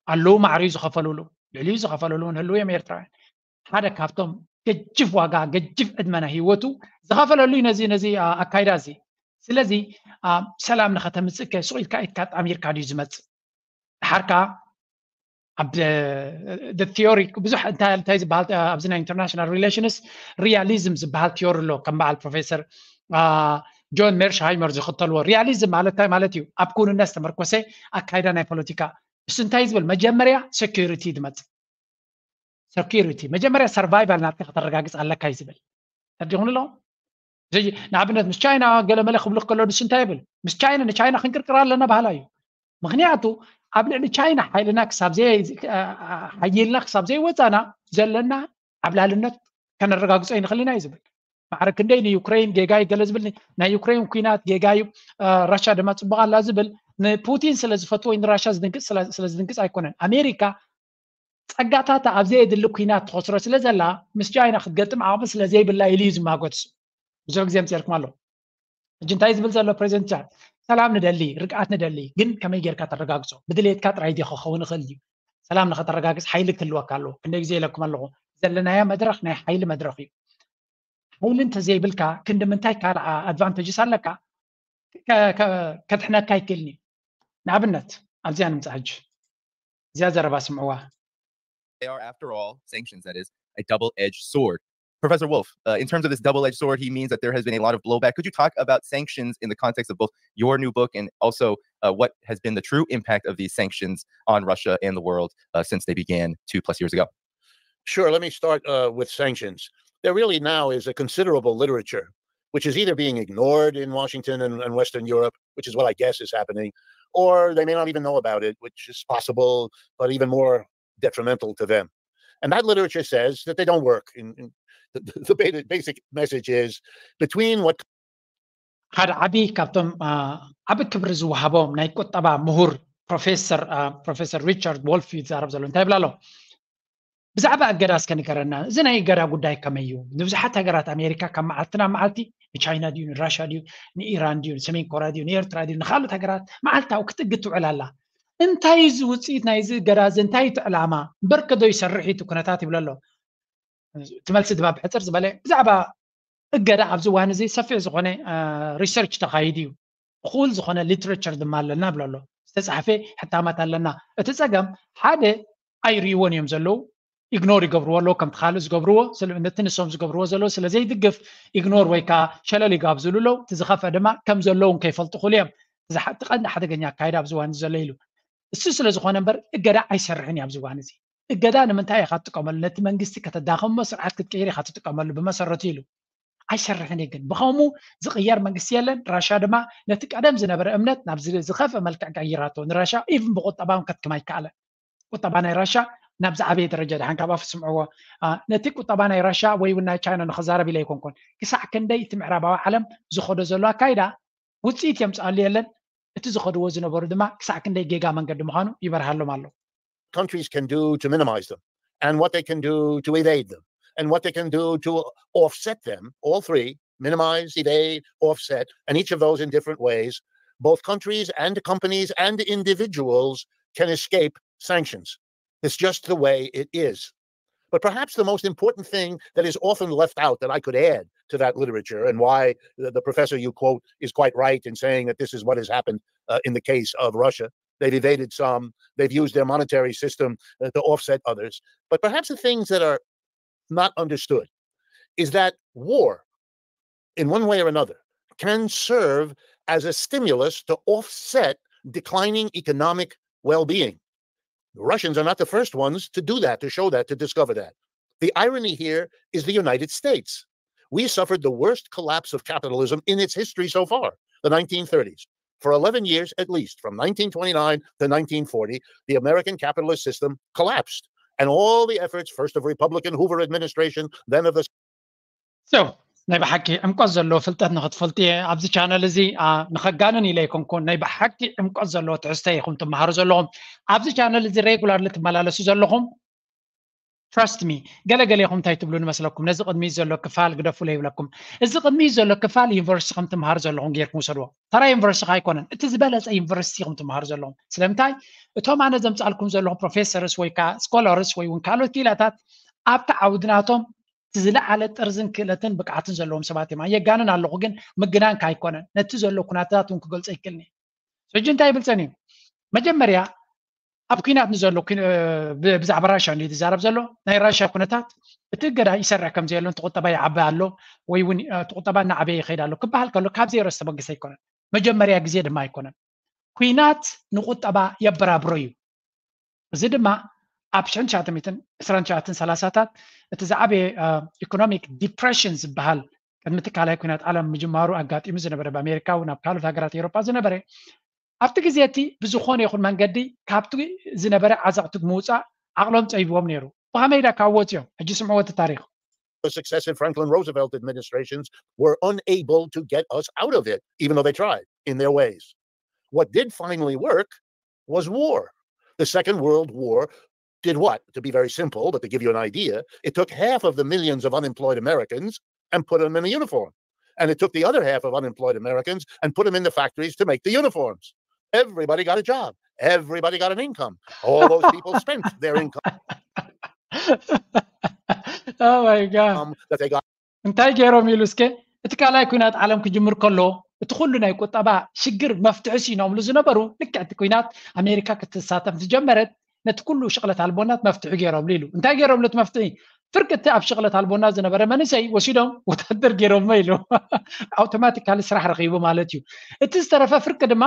ኣለዉ ማዕሪኡ ዝኸፈሉሉ ልዕሊኡ ዝኸፈሉሉ እውን ህልው እዮም ኤርትራውያን። ሓደ ካብቶም ገጅፍ ዋጋ ገጅፍ ዕድመ ናይ ህይወቱ ዝኸፈለሉ እዩ ነዚ ነዚ ኣካይዳ እዚ። ስለዚ ሰላም ንኸተምፅእ ከ ሱቕ ኢልካ ኢድካ ጣሚርካ ድዩ ዝመፅእ? ድሓር ከዓ ኣብ ቲዮሪ ብዙሕ እንታይ ዝበሃል ኣብዚ ናይ ኢንተርናሽናል ሪሌሽንስ ሪያሊዝም ዝበሃል ቲዮሪ ኣሎ። ከም በዓል ፕሮፌሰር ጆን ሜርሽሃይመር ዝኽተልዎ ሪያሊዝም ማለት እንታይ ማለት እዩ? ኣብ ክውንነት ዝተመርኮሰ ኣካይዳ ናይ ፖለቲካ። እሱ እንታይ ዝብል? መጀመርያ ሴኪሪቲ ዝመፅእ። ሴኪሪቲ መጀመርያ ሰርቫይቫል ናትካ ከተረጋግፅ ኣለካ እዩ ዝብል። ተረዲኹም ኣሎ። ንኣብነት ምስ ቻይና ገለመለ ክብሉ ከሎ ንሱ እንታይ ይብል? ምስ ቻይና ንቻይና ክንቅርቅር ኣለና ባህላ እዩ። ምክንያቱ ኣብ ልዕሊ ቻይና ሓይልና ክሳብ ሓይልና ክሳብ ዘይወፃና ዘለና ዓብላልነት ከነረጋግፆ ይንኽእል ኢና እዩ ዝብል። ማዕረ ክንደይ ንዩክሬን ጌጋ እዩ ገለ ዝብል፣ ናይ ዩክሬን ኩናት ጌጋ እዩ፣ ራሻ ድማ ፅቡቅ ኣላ ዝብል ንፑቲን ስለ ዝፈትዎ ንራሻ ዝድንግፅ ስለ ዝድንግፅ ኣይኮነን። ኣሜሪካ ፀጋታታ ኣብ ዘየድሊ ኩናት ትኸስሮ ስለ ዘላ ምስ ቻይና ክትገጥም ዓቕሚ ስለ ዘይብላ ኢሉ እዩ ዝማጎት። ብዙሕ ግዜ ኣምፂርኩም ኣሎ። ሕጂ እንታይ ዝብል ዘሎ ፕሬዚደንት ቻድ? ሰላም ንደሊ፣ ርግኣት ንደሊ፣ ግን ከመይ ጌርካ ተረጋግፆ? ብድሌትካ ጥራይ ድዩ ክኸውን ይኽእል ድዩ? ሰላም ንኸተረጋግፅ ሓይሊ ክህልወካ ኣለዎ። ክንደይ ግዜ ኢለኩም ኣለኹ፣ ዘለናዮ መድረኽ ናይ ሓይሊ መድረኽ እዩ። ሓይሊ እንተዘይብልካ ክንዲ ምንታይ ካልእ ኣድቫንቴጅስ ኣለካ? ከድሕነካ ኣይክእልን እዩ። ንኣብነት ኣብዚኣ ንምፃእ ሕጂ እዚኣ ዘረባ ስምዕዋ። They are, after all, sanctions, that is, a double-edged sword. Professor Wolf, uh, in terms of this double-edged sword, he means that there has been a lot of blowback. Could you talk about sanctions in the context of both your new book and also uh, what has been the true impact of these sanctions on Russia and the world uh, since they began two plus years ago? Sure. Let me start uh, with sanctions. There really now is a considerable literature which is either being ignored in Washington and, and Western Europe, which is what I guess is happening, or they may not even know about it, which is possible, but even more detrimental to them. And that literature says that they don't work. In, in the, the basic message is between what ሓደ ዓቢ ካብቶም ዓቢ ክብሪ ዝወሃቦም ናይ ቁጠባ ምሁር ፕሮፌሰር ፕሮፌሰር ሪቻርድ ዎልፍ እዩ ዝዛረብ ዘሎ። እንታይ ይብል ኣሎ? ብዛዕባ እገዳ እስከ ንገረና። እዚ ናይ እገዳ ጉዳይ ከመይ እዩ? ንብዙሓት ሃገራት ኣሜሪካ ካብ መዓልቲ ናብ መዓልቲ ንቻይና ድዩ ንራሻ ድዩ ንኢራን ድዩ ንሰሜን ኮርያ ድዩ ንኤርትራ ድዩ ንካልኦት ሃገራት መዓልታዊ ክትእግድ ትውዕል ኣላ። እንታይ እዩ እዚ ውፅኢት ናይዚ እገዳ እዚ? እንታይ እዩ እቲ ዕላማ? በርከ ዶ ይሰርሕ እዩ እቲ ኩነታት ይብል ኣሎ። እቲ መልሲ ድማ ብሕፅር ዝበለ ብዛዕባ እገዳ ኣብዚ እዋን እዚ ሰፊሕ ዝኾነ ሪሰርች ተኻይዱ እዩ። እኹል ዝኾነ ሊትሬቸር ድማ ኣለና ብሎ ኣሎ። ዝተፃሕፈ ሕታማት ኣለና። እቲ ፀገም ሓደ ኣይርእይዎን እዮም ዘለዉ፣ ኢግኖር ይገብርዎ ኣለዉ ከምቲ ካልእ ዝገብርዎ ነቲ ንሶም ዝገብርዎ ዘለዉ ስለ ዘይድግፍ ኢግኖር ወይ ከዓ ሸለል ይጋብዝሉ ኣለዉ። እቲ ዝኸፍአ ድማ ከም ዘለዉ ከይፈልጡ ክእሉ እዮም። እቲ ቀንዲ ሓደገኛ ኣካይዳ ኣብዚ እዋን ዘሎ ኢሉ እሱ ስለ ዝኾነ እምበር እገዳ ኣይሰርሕን እዩ ኣብዚ እዋን እዚ። እገዳ ንምንታይ ኢኻ ትጥቀመሉ? ነቲ መንግስቲ ከተዳኸሞ ስርዓት ክትቅይር ኢኻ ትጥቀመሉ ብመሰረቱ ኢሉ። ኣይሰርሕን እዩ ግን ብኸምኡ ዝቕየር መንግስቲ የለን። ራሻ ድማ ነቲ ቀደም ዝነበረ እምነት ናብ ዝኸፍእ መልክዕ ቀይራቶ። ንራሻ ኢቭን ብቁጠባ እውን ከትክም ኣይከኣለን። ቁጠባ ናይ ራሻ ናብ ዝዓበየ ደረጃ ድሓን ካብ ኣፉ ስምዕዎ። ነቲ ቁጠባ ናይ ራሻ ወይ እውን ናይ ቻይና ንኸዛረብ ኢለ ኣይኮንኩን። ክሳዕ ክንደይ እቲ ምዕራባዊ ዓለም ዝኸዶ ዘሎ ኣካይዳ ውፅኢት የምፅኣሉ የለን፣ እቲ ዝኸድዎ ዝነበሩ ድማ ክሳዕ ክንደይ ጌጋ መንገዲ ምዃኑ ይበርሃሎም ኣሎ። Countries can do to minimize them, and what they can do to evade them, and what they can do to offset them, all three: minimize, evade, offset, and each of those in different ways. Both countries and companies and individuals can escape sanctions. It's just the way it is. But perhaps the most important thing that is often left out that I could add to that literature, and why the, the professor you quote is quite right in saying that this is what has happened uh, in the case of Russia. They've evaded some, they've used their monetary system uh, to offset others. But perhaps the things that are not understood is that war, in one way or another, can serve as a stimulus to offset declining economic well being. The Russians are not the first ones to do that, to show that, to discover that. The irony here is the United States. We suffered the worst collapse of capitalism in its history so far, the nineteen thirties. For eleven years at least, from nineteen twenty-nine to nineteen forty, the American capitalist system collapsed. And all the efforts, first of Republican Hoover administration, then of the So ናይ ብሓቂ ዕምቆት ዘለዎ ፍልጠት ንኽትፈልጡ እየ ኣብዚ ቻነል እዚ። ንኸጋንን ኢለ ኣይኮንኩን፣ ናይ ብሓቂ ዕምቆት ዘለዎ ትሕዝቶ ኢኹም ትመሃሩ ዘለኹም ኣብዚ ቻነል እዚ። ሬጉላርሊ ትመላለሱ ዘለኹም፣ trust me፣ ገለገለ ኢኹም እንታይ ትብሉ ንመስለኩም? ነዚ ቅድሚት ዘሎ ክፋል ግደፉ ይብለኩም። እዚ ቅድሚት ዘሎ ክፋል ዩኒቨርሲቲ ከም ትመሃሩ ዘለኹም ጌርኩም ውሰድዎ። ተራ ዩኒቨርሲቲ ኣይኮነን፣ እቲ ዝበለፀ ዩኒቨርሲቲ ኢኹም ትመሃሩ ዘለኹም። ስለምንታይ? እቶም ኣነ ዘምፃልኩም ዘለኹ ፕሮፌሰርስ ወይ ከዓ ስኮላርስ ወይ እውን ካልኦት ክኢላታት ኣብቲ ዓውዲ ናቶም እቲ ዝለዓለ ጥርዝን ክእለትን ብቅዓትን ዘለዎም ሰባት እዮም። ኣየጋንን ኣለኹ፣ ግን ምግናንካ ኣይኮነን። ነቲ ዘሎ ኩነታት እውን ክገልጾ ይክእልኒ። ሕጂ እንታይ ይብል ጸኒሑ? መጀመርያ ኣብ ኩናት ንዘሎ ብዛዕባ ራሽያ እንዲ ዝዛረብ ዘሎ፣ ናይ ራሽያ ኩነታት እቲ እገዳ ይሰርሕ ከም ዘየሎ፣ እቲ ቁጠባ ይዓቢ ኣሎ ወይ እውን እቲ ቁጠባ እናዓበየ ይኸይድ ኣሎ ክበሃል ከሎ ካብ ዜሮ ዝተበገሰ ኣይኮነን። መጀመርያ ግዜ ድማ ኣይኮነን። ኩናት ንቁጠባ የበራብሮ እዩ። እዚ ድማ ኣብ ሽሕን ትሽዓተ ሚእትን ዕስራን ትሽዓተን ሰላሳታት እቲ ዝዓበየ ኢኮኖሚክ ዲፕሬሽን ዝበሃል ቅድሚ እቲ ካልኣይ ኩናት ዓለም ምጅማሩ ኣጋጢሙ ዝነበረ፣ ብኣሜሪካ እውን ኣብ ካልኦት ሃገራት ኤውሮጳ ዝነበረ፣ ኣብቲ ግዜ እቲ ብዝኾነ ይኹን መንገዲ ካብቲ ዝነበረ ዓዘቕቲ ምውፃእ ዓቕሎም ፀቢብዎም ነይሩ። ብኸመይ ዳ ካብ ወፅዮም? ሕጂ ስምዕዎ እቲ ታሪኽ። Successive Franklin Roosevelt administrations were unable to get us out of it, even though they tried in their ways. What did finally work was war. The Second World War did what? To be very simple, but to give you an idea, it took half of the millions of unemployed Americans and put them in a uniform. And it took the other half of unemployed Americans and put them in the factories to make the uniforms. Everybody got a job. Everybody got an income. All those people spent their income. Oh my God. Um, that they got. እንታይ ገይሮም ኢሉ እስከ? እቲ ካልኣይ ኩናት ዓለም ክጅምር ከሎ እቲ ኩሉ ናይ ቁጠባ ሽግር መፍትሒ ሲኖምሉ ዝነበሩ፣ ልክዕ እቲ ኩናት ኣሜሪካ ክትሳተፍ ዝጀመረት ነቲ ኩሉ ሽቕለት ኣልቦናት መፍትሒ ገይሮምሉ ኢሉ። እንታይ ገይሮምሉ እቲ መፍትሒ? ፍርቂ እቲ ኣብ ሽቕለት ኣልቦና ዝነበረ መንእሰይ ወሲዶም ወታደር ገይሮሞ ኢሉ። ኣውቶማቲካሊ ስራሕ ረኺቡ ማለት እዩ። እቲ ዝተረፈ ፍርቂ ድማ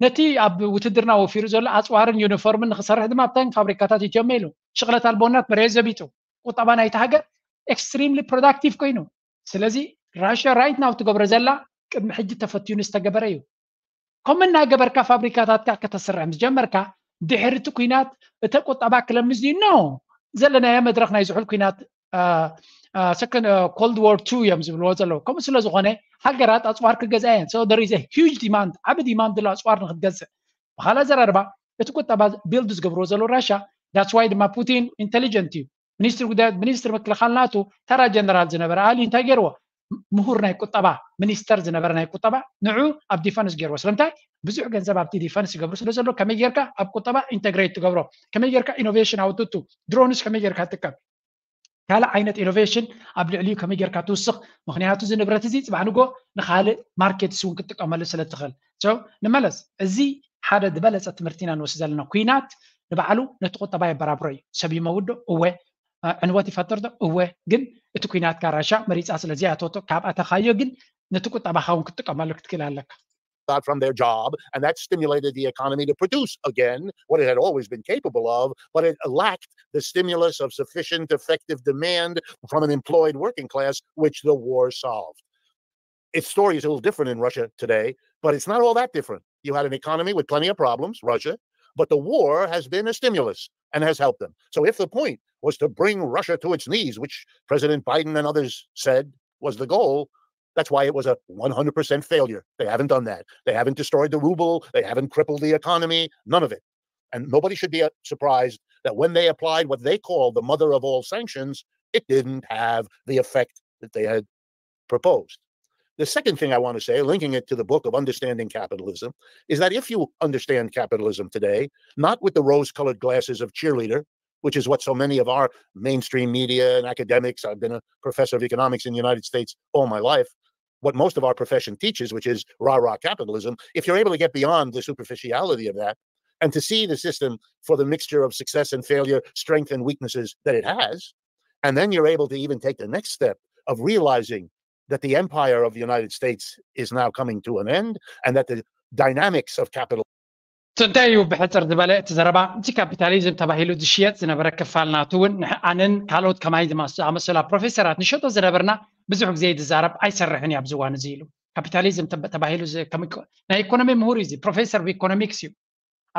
ነቲ ኣብ ውትድርና ወፊሩ ዘሎ ኣፅዋርን ዩኒፎርምን ንክሰርሕ ድማ ኣብተን ፋብሪካታት ይትዮም ኢሉ። ሽቕለት ኣልቦናት መሬት ዘቢጡ፣ ቁጠባ ናይቲ ሃገር ኤክስትሪምሊ ፕሮዳክቲቭ ኮይኑ። ስለዚ ራሽያ ራይት ናው ትገብሮ ዘላ ቅድሚ ሕጂ ተፈትዩን ዝተገበረ እዩ። ከምኡ እናገበርካ ፋብሪካታትካ ከተስርሕ ምስ ጀመርካ ድሕሪ እቲ ኩናት እተ ቁጠባ ክለምስ ድዩ? ኖ። ዘለናዮ መድረኽ ናይ ዝሑል ኩናት ሰከንድ ኮልድ ዋር ቱ እዮም ዝብልዎ ዘለዉ። ከምኡ ስለ ዝኾነ ሃገራት ኣፅዋር ክገዝኣ እየን። So there is a huge demand፣ ዓቢ ዲማንድ ኣሎ ኣፅዋር ንክትገዝእ። ብካልእ ኣዘራርባ እቲ ቁጠባ ቢልድ ዝገብርዎ ዘለዉ ራሻ። That's why ድማ ፑቲን ኢንቴሊጀንት እዩ። ሚኒስትሪ ጉዳያት ሚኒስትሪ ምክልኻል ናቱ ተራ ጀነራል ዝነበረ ኣሊ እንታይ ገይርዎ? ምሁር ናይ ቁጠባ ሚኒስተር ዝነበረ ናይ ቁጠባ ንዑ ኣብ ዲፈንስ ገይርዎ። ስለምንታይ? ብዙሕ ገንዘብ ኣብቲ ዲፈንስ ይገብሩ ስለ ዘሎ ከመይ ጌርካ ኣብ ቁጠባ ኢንተግሬት ትገብሮ፣ ከመይ ጌርካ ኢኖቬሽን ኣውትቱ፣ ድሮንስ ከመይ ጌርካ ትጥቀም፣ ካልእ ዓይነት ኢኖቬሽን ኣብ ልዕሊኡ ከመይ ጌርካ ትውስኽ። ምክንያቱ እዚ ንብረት እዚ ፅባሕ ንጎ ንካልእ ማርኬትስ እውን ክትጥቀመሉ ስለ ትኽእል። So ንመለስ፣ እዚ ሓደ ዝበለፀ ትምህርቲ ኢና ንወስድ ዘለና። ኩናት ንባዕሉ ነቲ ቁጠባ የበራብሮ እዩ። ሰብ ይመውት ዶ? እወ። ዕንወት ይፈጥር ዶ? እወ። ግን እቲ ኩናትካ ራሻ መሪፃ ስለዚ ኣተወቶ ካብ ኣተኻዮ ግን ነቲ ቁጠባኻ እውን ክትጥቀመሉ ክትክእል ኣለካ። Got from their job, and that stimulated the economy to produce again what it had always been capable of, but it lacked the stimulus of sufficient effective demand from an employed working class, which the war solved. Its story is a little different in Russia today, but it's not all that different. You had an economy with plenty of problems, Russia, But the war has been a stimulus and has helped them. So if the point was to bring Russia to its knees, which President Biden and others said was the goal, that's why it was a one hundred percent failure. They haven't done that. They haven't destroyed the ruble. They haven't crippled the economy. None of it. And nobody should be uh, surprised that when they applied what they call the mother of all sanctions, it didn't have the effect that they had proposed. The second thing I want to say, linking it to the book of Understanding Capitalism, is that if you understand capitalism today, not with the rose colored glasses of cheerleader, which is what so many of our mainstream media and academics, I've been a professor of economics in the United States all my life, what most of our profession teaches, which is rah rah capitalism, if you're able to get beyond the superficiality of that and to see the system for the mixture of success and failure, strength and weaknesses that it has, and then you're able to even take the next step of realizing that the empire of the United States is now coming to an end and that the dynamics of capital እንታይ እዩ? ብሕፅር ዝበለ እቲ ዘረባ፣ እቲ ካፒታሊዝም ተባሂሉ ዝሽየጥ ዝነበረ ክፋል ናቱ እውን ኣነን ካልኦት ከማይ ዝኣመሰላ ፕሮፌሰራት ንሸጦ ዝነበርና ብዙሕ ግዜ ዝዛረብ ኣይሰርሕን እዩ ኣብዚ እዋን እዚ ኢሉ። ካፒታሊዝም ተባሂሉ ናይ ኢኮኖሚ ምሁር እዩ፣ ፕሮፌሰር ኢኮኖሚክስ እዩ።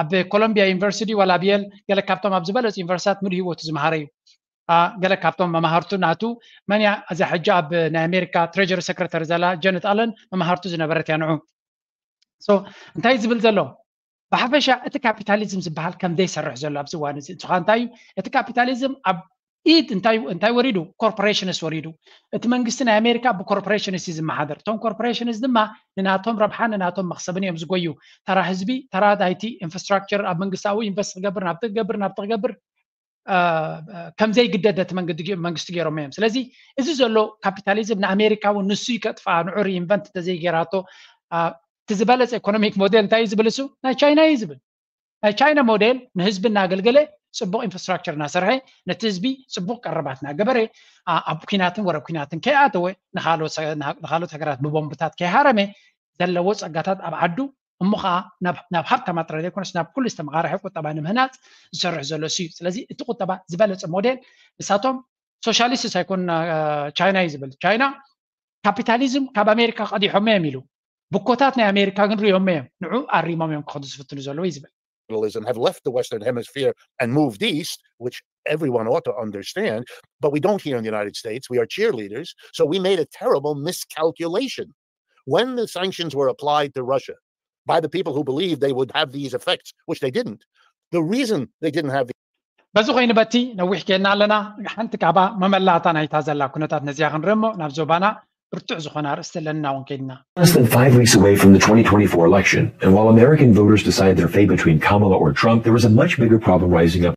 ኣብ ኮሎምቢያ ዩኒቨርሲቲ ዋላ ኣብ የል ገለ ካብቶም ኣብ ዝበለፁ ዩኒቨርሲታት ሙሉ ህይወቱ ዝመሃረ እዩ። ገለ ካብቶም መማህርቱ ናቱ መን እያ? እዛ ሕጂ ኣብ ናይ ኣሜሪካ ትሬጀሪ ሰክረተሪ ዘላ ጀነት ኣለን መማህርቱ ዝነበረት እያ ንዑ። እንታይ ዝብል ዘሎ? ብሓፈሻ እቲ ካፒታሊዝም ዝበሃል ከም ዘይሰርሕ ዘሎ ኣብዚ እዋን እዚ እንተኾ እንታይ እዩ? እቲ ካፒታሊዝም ኣብ ኢድ እንታይ እንታይ ወሪዱ? ኮርፖሬሽንስ ወሪዱ። እቲ መንግስቲ ናይ ኣሜሪካ ብኮርፖሬሽንስ እዩ ዝመሓደር። እቶም ኮርፖሬሽንስ ድማ ንናቶም ረብሓ ንናቶም መክሰብን እዮም ዝጎዩ። ተራ ህዝቢ፣ ተራ ዳይቲ ኢንፍራስትራክቸር ኣብ መንግስታዊ ኢንቨስት ክገብር፣ ናብቲ ክገብር ናብቲ ክገብር ከም ዘይግደድ ነቲ መንግስቲ ገይሮም እዮም። ስለዚ እዚ ዘሎ ካፒታሊዝም ንኣሜሪካ እውን ንሱ እዩ ከጥፍኣ፣ ንዑ ሪኢንቨንት እንተዘይገይራቶ። እቲ ዝበለፀ ኢኮኖሚክ ሞዴል እንታይ እዩ ዝብል? እሱ ናይ ቻይና እዩ ዝብል። ናይ ቻይና ሞዴል ንህዝቢ እናገልገለ፣ ፅቡቅ ኢንፍራስትራክቸር እናሰርሐ፣ ነቲ ህዝቢ ፅቡቅ ቀረባት እናገበረ፣ ኣብ ኩናትን ወረ ኩናትን ከይኣተወ፣ ንካልኦት ሃገራት ብቦምብታት ከይሃረመ፣ ዘለዎ ፀጋታት ኣብ ዓዱ እሞ ከዓ ናብ ሃብታማት ጥራይ ዘይኮነስ ናብ ኩሉ ዝተመቃረሐ ቁጠባ ንምህናፅ ዝሰርሕ ዘሎ እሱ እዩ። ስለዚ እቲ ቁጠባ ዝበለፀ ሞዴል ንሳቶም ሶሻሊስት ኣይኮን ቻይና እዩ ዝብል። ቻይና ካፒታሊዝም ካብ ኣሜሪካ ቀዲሖሞ እዮም ኢሉ፣ ብኮታት ናይ ኣሜሪካ ግን ሪኦሞ እዮም፣ ንዑ ኣሪሞም እዮም ክኸዱ ዝፍትኑ ዘለዉ እዩ ዝብል። Have left the Western Hemisphere and moved east, which everyone ought to understand, but we don't here in the United States. We are cheerleaders. So we made a terrible miscalculation. When the sanctions were applied to Russia by the people who believed they would have these effects, which they didn't, the reason they didn't have the በዚ ኮይኑ በቲ ነዊሕ ኬድና ኣለና። ሓንቲ ካባ መመላእታ ናይታ ዘላ ኩነታት ነዚያ ክንርኢ እሞ ናብ ዞባና ብርቱዕ ዝኾነ ኣርእስቲ ኣለና እውን ከይድና። Less than five weeks away from the twenty twenty-four election, and while American voters decide their fate between Kamala or Trump, there is a much bigger problem rising up.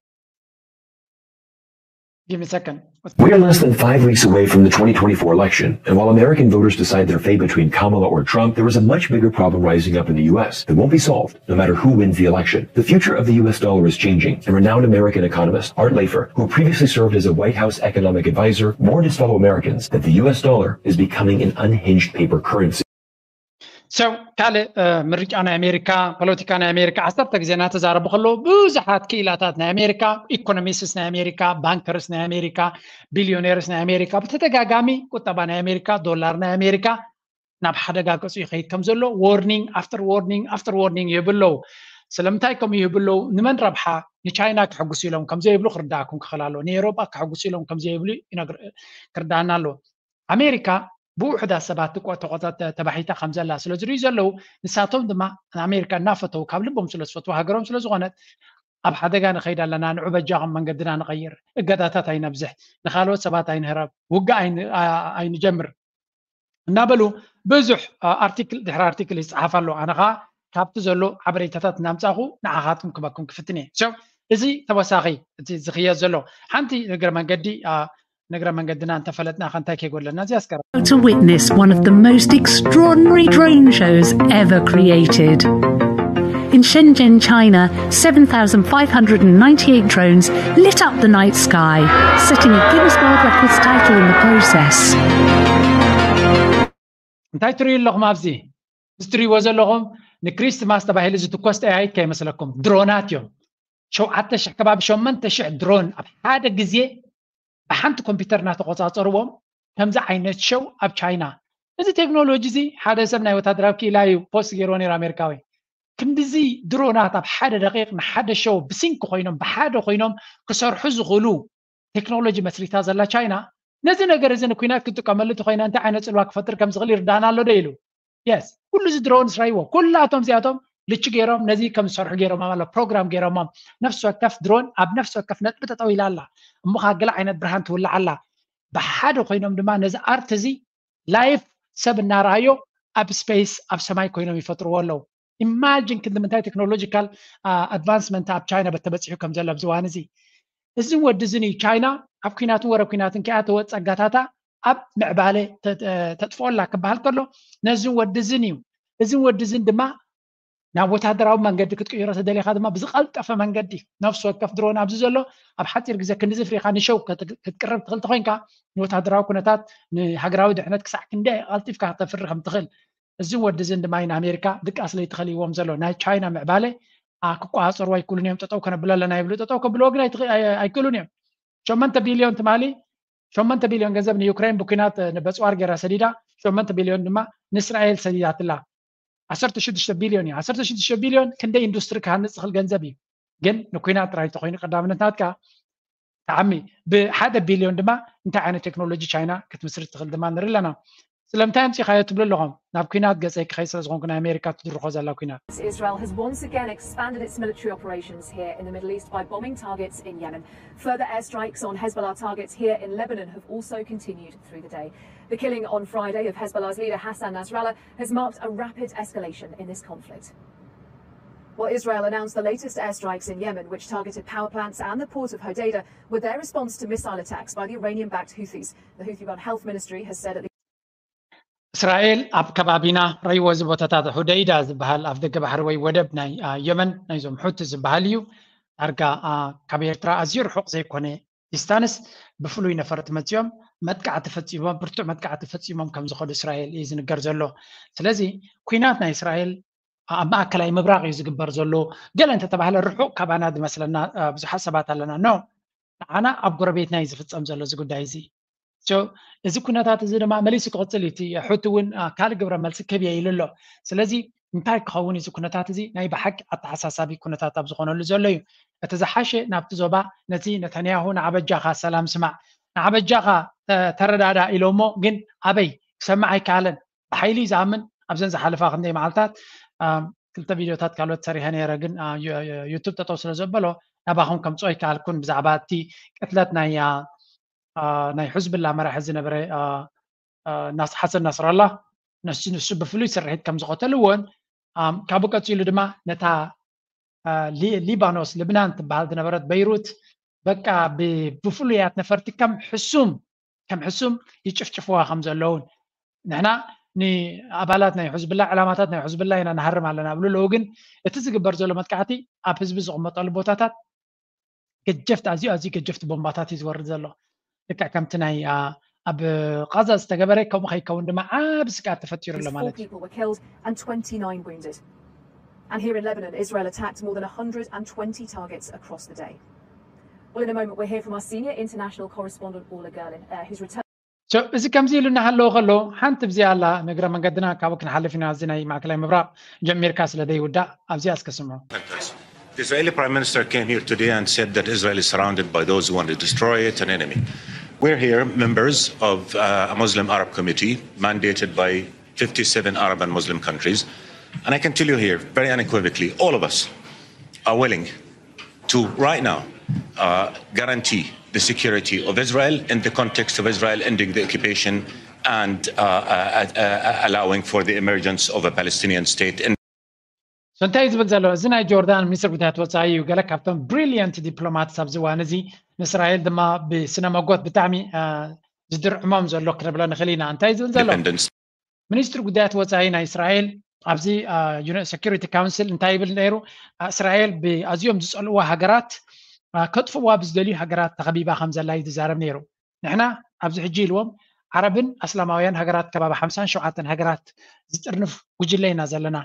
Give me a second. We are less than five weeks away from the twenty twenty-four election, and while American voters decide their fate between Kamala or Trump, there is a much bigger problem rising up in the U S that won't be solved, no matter who wins the election. The future of the U S dollar is changing, and renowned American economist Art Laffer, who previously served as a White House economic advisor, warned his fellow Americans that the U S dollar is becoming an unhinged paper currency. So ካልእ ምርጫ ናይ ኣሜሪካ፣ ፖለቲካ ናይ ኣሜሪካ ዓሰርተ ግዜ እናተዛረቡ ከለዉ ብዙሓት ክኢላታት ናይ ኣሜሪካ፣ ኢኮኖሚስትስ ናይ ኣሜሪካ፣ ባንከርስ ናይ ኣሜሪካ፣ ቢልዮኔርስ ናይ ኣሜሪካ ብተደጋጋሚ ቁጠባ ናይ ኣሜሪካ፣ ዶላር ናይ ኣሜሪካ ናብ ሓደጋ ገፁ ይኸይድ ከም ዘሎ ዋርኒንግ ኣፍተር ዋርኒንግ ኣፍተር ዋርኒንግ ይህቡ ኣለዉ። ስለምንታይ ከምኡ ይህቡ ኣለዉ? ንመን ረብሓ? ንቻይና ከሕጉሱ ኢሎም ከም ዘይብሉ ክርዳእኩም ክኽእል ኣለዎ። ንኤውሮጳ ከሕጉሱ ኢሎም ከም ዘይብሉ ክርዳእና ኣለዎ። ኣሜሪካ ብውሑዳት ሰባት ተባሒታ ከም ዘላ ስለ ዝርእዩ ዘለዉ፣ ንሳቶም ድማ ንኣሜሪካ እናፈተዉ፣ ካብ ልቦም ስለ ዝፈትዉ፣ ሃገሮም ስለ ዝኾነት ኣብ ሓደጋ ንኸይድ ኣለና፣ ንዑ በጃኹም መንገድና ንቐይር፣ እገዳታት ኣይነብዝሕ፣ ንኻልኦት ሰባት ኣይንህረብ፣ ውግእ ኣይንጀምር እናበሉ ብዙሕ ኣርቲክል ድሕሪ ኣርቲክል ይፅሓፍ ኣሎ። ኣነ ከዓ ካብቲ ዘሎ ሓበሬታታት እናምፃእኹ ንዓኻትኩም ክበኩም ክፍትን እየ። እዚ ተወሳኺ እቲ ዝኽየድ ዘሎ ሓንቲ እግረ መንገዲ ንእግረ መንገድና እንተፈለጥና ከንታይ ከይጎድለና እዚ ኣስገራ To witness one of the most extraordinary drone shows ever created. In Shenzhen, China, seven thousand five hundred and ninety-eight drones lit up the night sky, setting a Guinness World Records title in the process. እንታይ ትርእዩ ኣለኹም ኣብዚ? እዚ ትርእይዎ ዘለኹም ንክሪስትማስ ተባሂሉ ዝትኮስ ጠያይት ከይመስለኩም ድሮናት እዮም። ሸውዓተ ሽሕ ከባቢ ሸመንተ ሽሕ ድሮን ኣብ ሓደ ግዜ ብሓንቲ ኮምፒውተር እናተቆፃፀርዎም ከምዚ ዓይነት ሸው ኣብ ቻይና። እዚ ቴክኖሎጂ እዚ ሓደ ሰብ ናይ ወታደራዊ ክኢላ እዩ ፖስት ገይርዎ ነይሩ ኣሜሪካዊ። ክንድዚ ድሮናት ኣብ ሓደ ደቂቕ ንሓደ ሸው ብሲንክ ኮይኖም ብሓደ ኮይኖም ክሰርሑ ዝኽእሉ ቴክኖሎጂ መስሪታ ዘላ ቻይና ነዚ ነገር እዚ ንኩናት ክትጥቀመሉ እንተኮይና እንታይ ዓይነት ፅልዋ ክፈጥር ከም ዝኽእል ይርዳና ኣሎ ዶ ኢሉ። የስ፣ ኩሉ እዚ ድሮን ስራይዎ ኩላቶም እዚኣቶም ልቺ ገይሮም ነዚ ከም ዝሰርሑ ገይሮም ኣሎ ፕሮግራም ገይሮሞም። ነፍሲ ወከፍ ድሮን ኣብ ነፍሲ ወከፍ ነጥቢ ጠጠው ኢላ ኣላ። እሞ ከዓ ገለ ዓይነት ብርሃን ትውላዕ ኣላ። ብሓደ ኮይኖም ድማ ነዚ ኣርት እዚ ላይፍ ሰብ እናረኣዮ ኣብ ስፔስ ኣብ ሰማይ ኮይኖም ይፈጥርዎ ኣለዉ። ኢማጂን ክንዲ ምንታይ ቴክኖሎጂካል ኣድቫንስመንት ኣብ ቻይና በተበፂሑ ከም ዘሎ ኣብዚ እዋን እዚ። እዝን ወዲ እዝን እዩ ቻይና ኣብ ኩናትን ወረ ኩናትን ከኣ ተወ ጸጋታታ ኣብ ምዕባለ ተጥፍኦላ ክበሃል ከሎ ነዝን ወዲ እዝን እዩ። እዝን ወዲ እዝን ድማ ናብ ወታደራዊ መንገዲ ክትቅይሮ ተደሊኻ ድማ ብዝቐልጠፈ መንገዲ ነፍሲ ወከፍ ድሮን ኣብዚ ዘሎ ኣብ ሓፂር ግዜ ክንዲ ዝፍሪኻ ንሸው ክትቅርብ ትኽእል ተኮይንካ ንወታደራዊ ኩነታት ንሃገራዊ ድሕነት ክሳዕ ክንደይ ቀልጢፍካ ከተፍሪ ከም ትኽእል እዝን ወዲ እዝን ድማ ንኣሜሪካ ድቃስ ለይትኸልይዎም ዘሎ ናይ ቻይና ምዕባለ ክቆፃፀርዎ ኣይክእሉን እዮም። ጠጠው ከነብሎ ኣለና ይብሉ፣ ጠጠው ከብልዎ ግን ኣይክእሉን እዮም። ሸመንተ ቢልዮን ትማሊ ሸመንተ ቢልዮን ገንዘብ ንዩክሬን ብኩናት ንበፅዋር ገይራ ሰዲዳ፣ ሸመንተ ቢልዮን ድማ ንእስራኤል ሰዲዳትላ። ዓሰርተ ሽዱሽተ ቢልዮን እዩ። ዓሰርተ ሽዱሽተ ቢልዮን ክንደይ ኢንዱስትሪ ክሃንፅ ዝኽእል ገንዘብ እዩ። ግን ንኩናት ጥራይ እንተኮይኑ ቀዳምነት ናትካ ተዓሚ ብሓደ ቢልዮን ድማ እንታይ ዓይነት ቴክኖሎጂ ቻይና ክትምስርት ትኽእል ድማ ንርኢ ኣለና። ስለምንታይ ኣምፂኻዮ ትብሉ ኣለኹም? ናብ ኩናት ገፀይ ክኸይድ ስለ ዝኾንኩ ናይ ኣሜሪካ ትድርኾ ዘላ ኩናት። Israel has once again expanded its military operations here in the Middle East by bombing targets in Yemen. Further airstrikes on Hezbollah targets here in Lebanon have also continued through the day. The killing on Friday of Hezbollah's leader Hassan Nasrallah has marked a rapid escalation in this conflict. While Israel announced the latest airstrikes in Yemen, which targeted power plants and the port of Hodeidah, with their response to missile attacks by the Iranian-backed Houthis. The Houthi-run health ministry has said at least እስራኤል ኣብ ከባቢና ረይዎ እዚ ቦታታት ሑደይዳ ዝበሃል ኣፍ ደገ ባሕሪ ወይ ወደብ ናይ የመን ናይዞም ሑቲ ዝበሃል እዩ። ዳርጋ ካብ ኤርትራ ኣዝዩ ርሑቕ ዘይኮነ ዲስታንስ ብፍሉይ ነፈርቲ መፂኦም መጥቃዕቲ ፈፂሞም፣ ብርቱዕ መጥቃዕቲ ፈፂሞም ከም ዝኸዱ እስራኤል እዩ ዝንገር ዘሎ። ስለዚ ኩናት ናይ እስራኤል ኣብ ማእከላይ ምብራቕ እዩ ዝግበር ዘሎ። ገለ እንተተባህለ ርሑቕ ካባና ዝመስለና ብዙሓት ሰባት ኣለና። ኖ፣ ንዓና ኣብ ጎረቤትና እዩ ዝፍፀም ዘሎ እዚ ጉዳይ እዚ። እዚ ኩነታት እዚ ድማ መሊሱ ክቕፅል እዩ። እቲ ሑቲ እውን ካልእ ግብረ መልሲ ክህብ እየ ኢሉ ኣሎ። ስለዚ እንታይ ክኸውን እዚ ኩነታት እዚ ናይ ብሓቂ ኣተሓሳሳቢ ኩነታት ኣብ ዝኾነሉ ዘሎ እዩ። እቲ ዝሓሸ ናብቲ ዞባ ነቲ ነተንያሁ ንዓበጃኻ ሰላም ስማዕ፣ ንዓበጃኻ ተረዳዳ ኢሎሞ፣ ግን ኣበይ ክሰምዕ ኣይከኣለን። ብሓይሊ እዩ ዝኣምን። ኣብዘን ዝሓለፋ ክንደይ መዓልታት ክልተ ቪድዮታት ካልኦት ሰሪሐ ነይረ፣ ግን ዩቱብ ጠጠው ስለ ዘበሎ ናባኹም ከምፅኦ ኣይከኣልኩን። ብዛዕባ እቲ ቅትለት ናይ ናይ ሕዝብላ መራሒ ዝነበረ ሓሰን ናስራላ፣ ንሱ ብፍሉይ ስርሒት ከም ዝቐተልዎን ካብኡ ቀፂሉ ድማ ነታ ሊባኖስ ልብናን ትበሃል ዝነበረት በይሩት በቃ ብፍሉያት ነፈርቲ ከም ሕሱም ከም ሕሱም ይጭፍጭፍዋ ከም ዘለውን ንሕና ንኣባላት ናይ ሕዝብላ ዕላማታት ናይ ሕዝብላ ኢና ንሃርም ኣለና ብሉ ኣለዉ። ግን እቲ ዝግበር ዘሎ መጥቃዕቲ ኣብ ህዝቢ ዝቕመጠሉ ቦታታት ገጀፍቲ ኣዝዩ ኣዝዩ ገጀፍቲ ቦምባታት እዩ ዝወርድ ዘሎ። ልክዕ ከምቲ ናይ ኣብ ቃዛ ዝተገበረ ከምኡ ከይከውን ድማ ዓብ ስግኣት ተፈጢሩ ኣሎ ማለት እዩ። People were killed and twenty-nine wounded. And here in Lebanon, Israel attacked more than one hundred and twenty targets across the day. Well, in a moment, we'll hear from our senior international correspondent, Orla Gerlin, uh, who's returned. እዚ ከምዚ ኢሉ እናሃለወ ከሎ ሓንቲ ብዚኣ ኣላ ንእግረ መንገድና ካብኡ ክንሓልፍ ኢና። እዚ ናይ ማእከላይ ምብራቕ ጀሚርካ ስለ ዘይውዳእ ኣብዚኣ እስከ ስምዑ። The Israeli Prime Minister came here today and said that Israel is surrounded by those who want to destroy it, an enemy. We're here, members of uh, a Muslim Arab committee mandated by fifty-seven Arab and Muslim countries. And I can tell you here, very unequivocally, all of us are willing to right now uh, guarantee the security of Israel in the context of Israel ending the occupation and uh, uh, uh, allowing for the emergence of a Palestinian state. In እንታይ ዝብል ዘሎ እዚ ናይ ጆርዳን ሚኒስትር ጉዳያት ወፃኢ እዩ። ገለ ካብቶም ብሪሊየንት ዲፕሎማትስ ኣብዚ እዋን እዚ ንእስራኤል ድማ ብስነ መጎት ብጣዕሚ ዝድርዕሞም ዘሎ ክነብሎ ንኽእል ኢና። እንታይ ዝብል ዘሎ ሚኒስትሪ ጉዳያት ወፃኢ ናይ እስራኤል ኣብዚ ሴኩሪቲ ካውንስል እንታይ ይብል ነይሩ? እስራኤል ብኣዝዮም ዝፀልእዋ ሃገራት ከጥፍዋ ብዝደልዩ ሃገራት ተኸቢባ ከም ዘላ እዩ ዝዛረብ ነይሩ። ንሕና ኣብዚ ሕጂ ኢልዎም ዓረብን ኣስላማውያን ሃገራት ከባቢ ሓምሳን ሸውዓተን ሃገራት ዝጥርንፍ ጉጅለ ኢና ዘለና።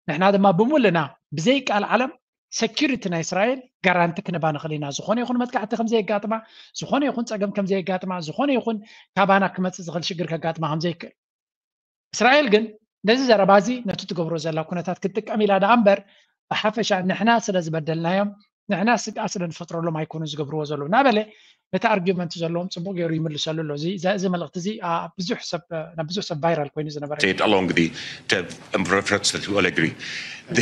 ንሕና ድማ ብምሉእና ብዘይ ቃል ዓለም ሴኩሪቲ ናይ እስራኤል ጋራንቲ ክንባ ንኽእል ኢና። ዝኾነ ይኹን መጥቃዕቲ ከም ዘየጋጥማ፣ ዝኾነ ይኹን ፀገም ከም ዘየጋጥማ፣ ዝኾነ ይኹን ካባና ክመፅእ ዝኽእል ሽግር ከጋጥማ ከም ዘይክእል። እስራኤል ግን ነዚ ዘረባ እዚ ነቲ ትገብሮ ዘላ ኩነታት ክትጥቀም ኢላ ደኣ እምበር፣ ብሓፈሻ ንሕና ስለ ዝበደልናዮም፣ ንሕና ስግኣት ስለ ንፈጥረሎም ኣይኮኑ ዝገብርዎ ዘለዉ እናበለ፣ ነቲ ኣርጊመንት ዘለዎም ጽቡቕ ገይሩ ይምልሰሉ ኣሎ። እዚ፣ እዚ፣ እዚ መልእኽቲ እዚ፣ ኣ፣ ብዙሕ ሰብ፣ ናብ ብዙሕ ሰብ ቫይራል ኮይኑ ዝነበረ እዩ። State along the, the reference that we all agree.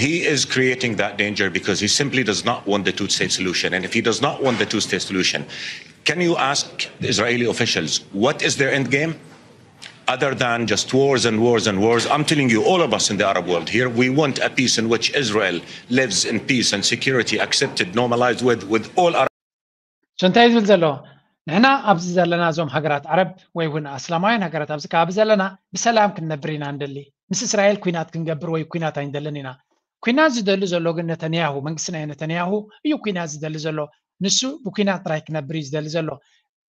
He is creating that danger because he simply does not want the two-state solution. And if he does not want the two-state solution, can you ask Israeli officials what is their end game? Other than just wars and wars and wars, I'm telling you, all of us in the Arab world here, we want a peace in which Israel lives in peace and security, accepted, normalized with, with all Arab So እንታይ ዝብል ዘሎ? ንሕና ኣብዚ ዘለና፣ እዞም ሃገራት ዓረብ ወይ እውን ኣስላማውያን ሃገራት ኣብዚ ከባቢ ዘለና፣ ብሰላም ክንነብር ኢና ንደሊ። ምስ እስራኤል ኩናት ክንገብር ወይ ኩናት ኣይንደልን ኢና። ኩናት ዝደሊ ዘሎ ግን ነተንያሁ፣ መንግስቲ ናይ ነተንያሁ እዩ ኩናት ዝደሊ ዘሎ። ንሱ ብኩናት ጥራይ ክነብር እዩ ዝደሊ ዘሎ።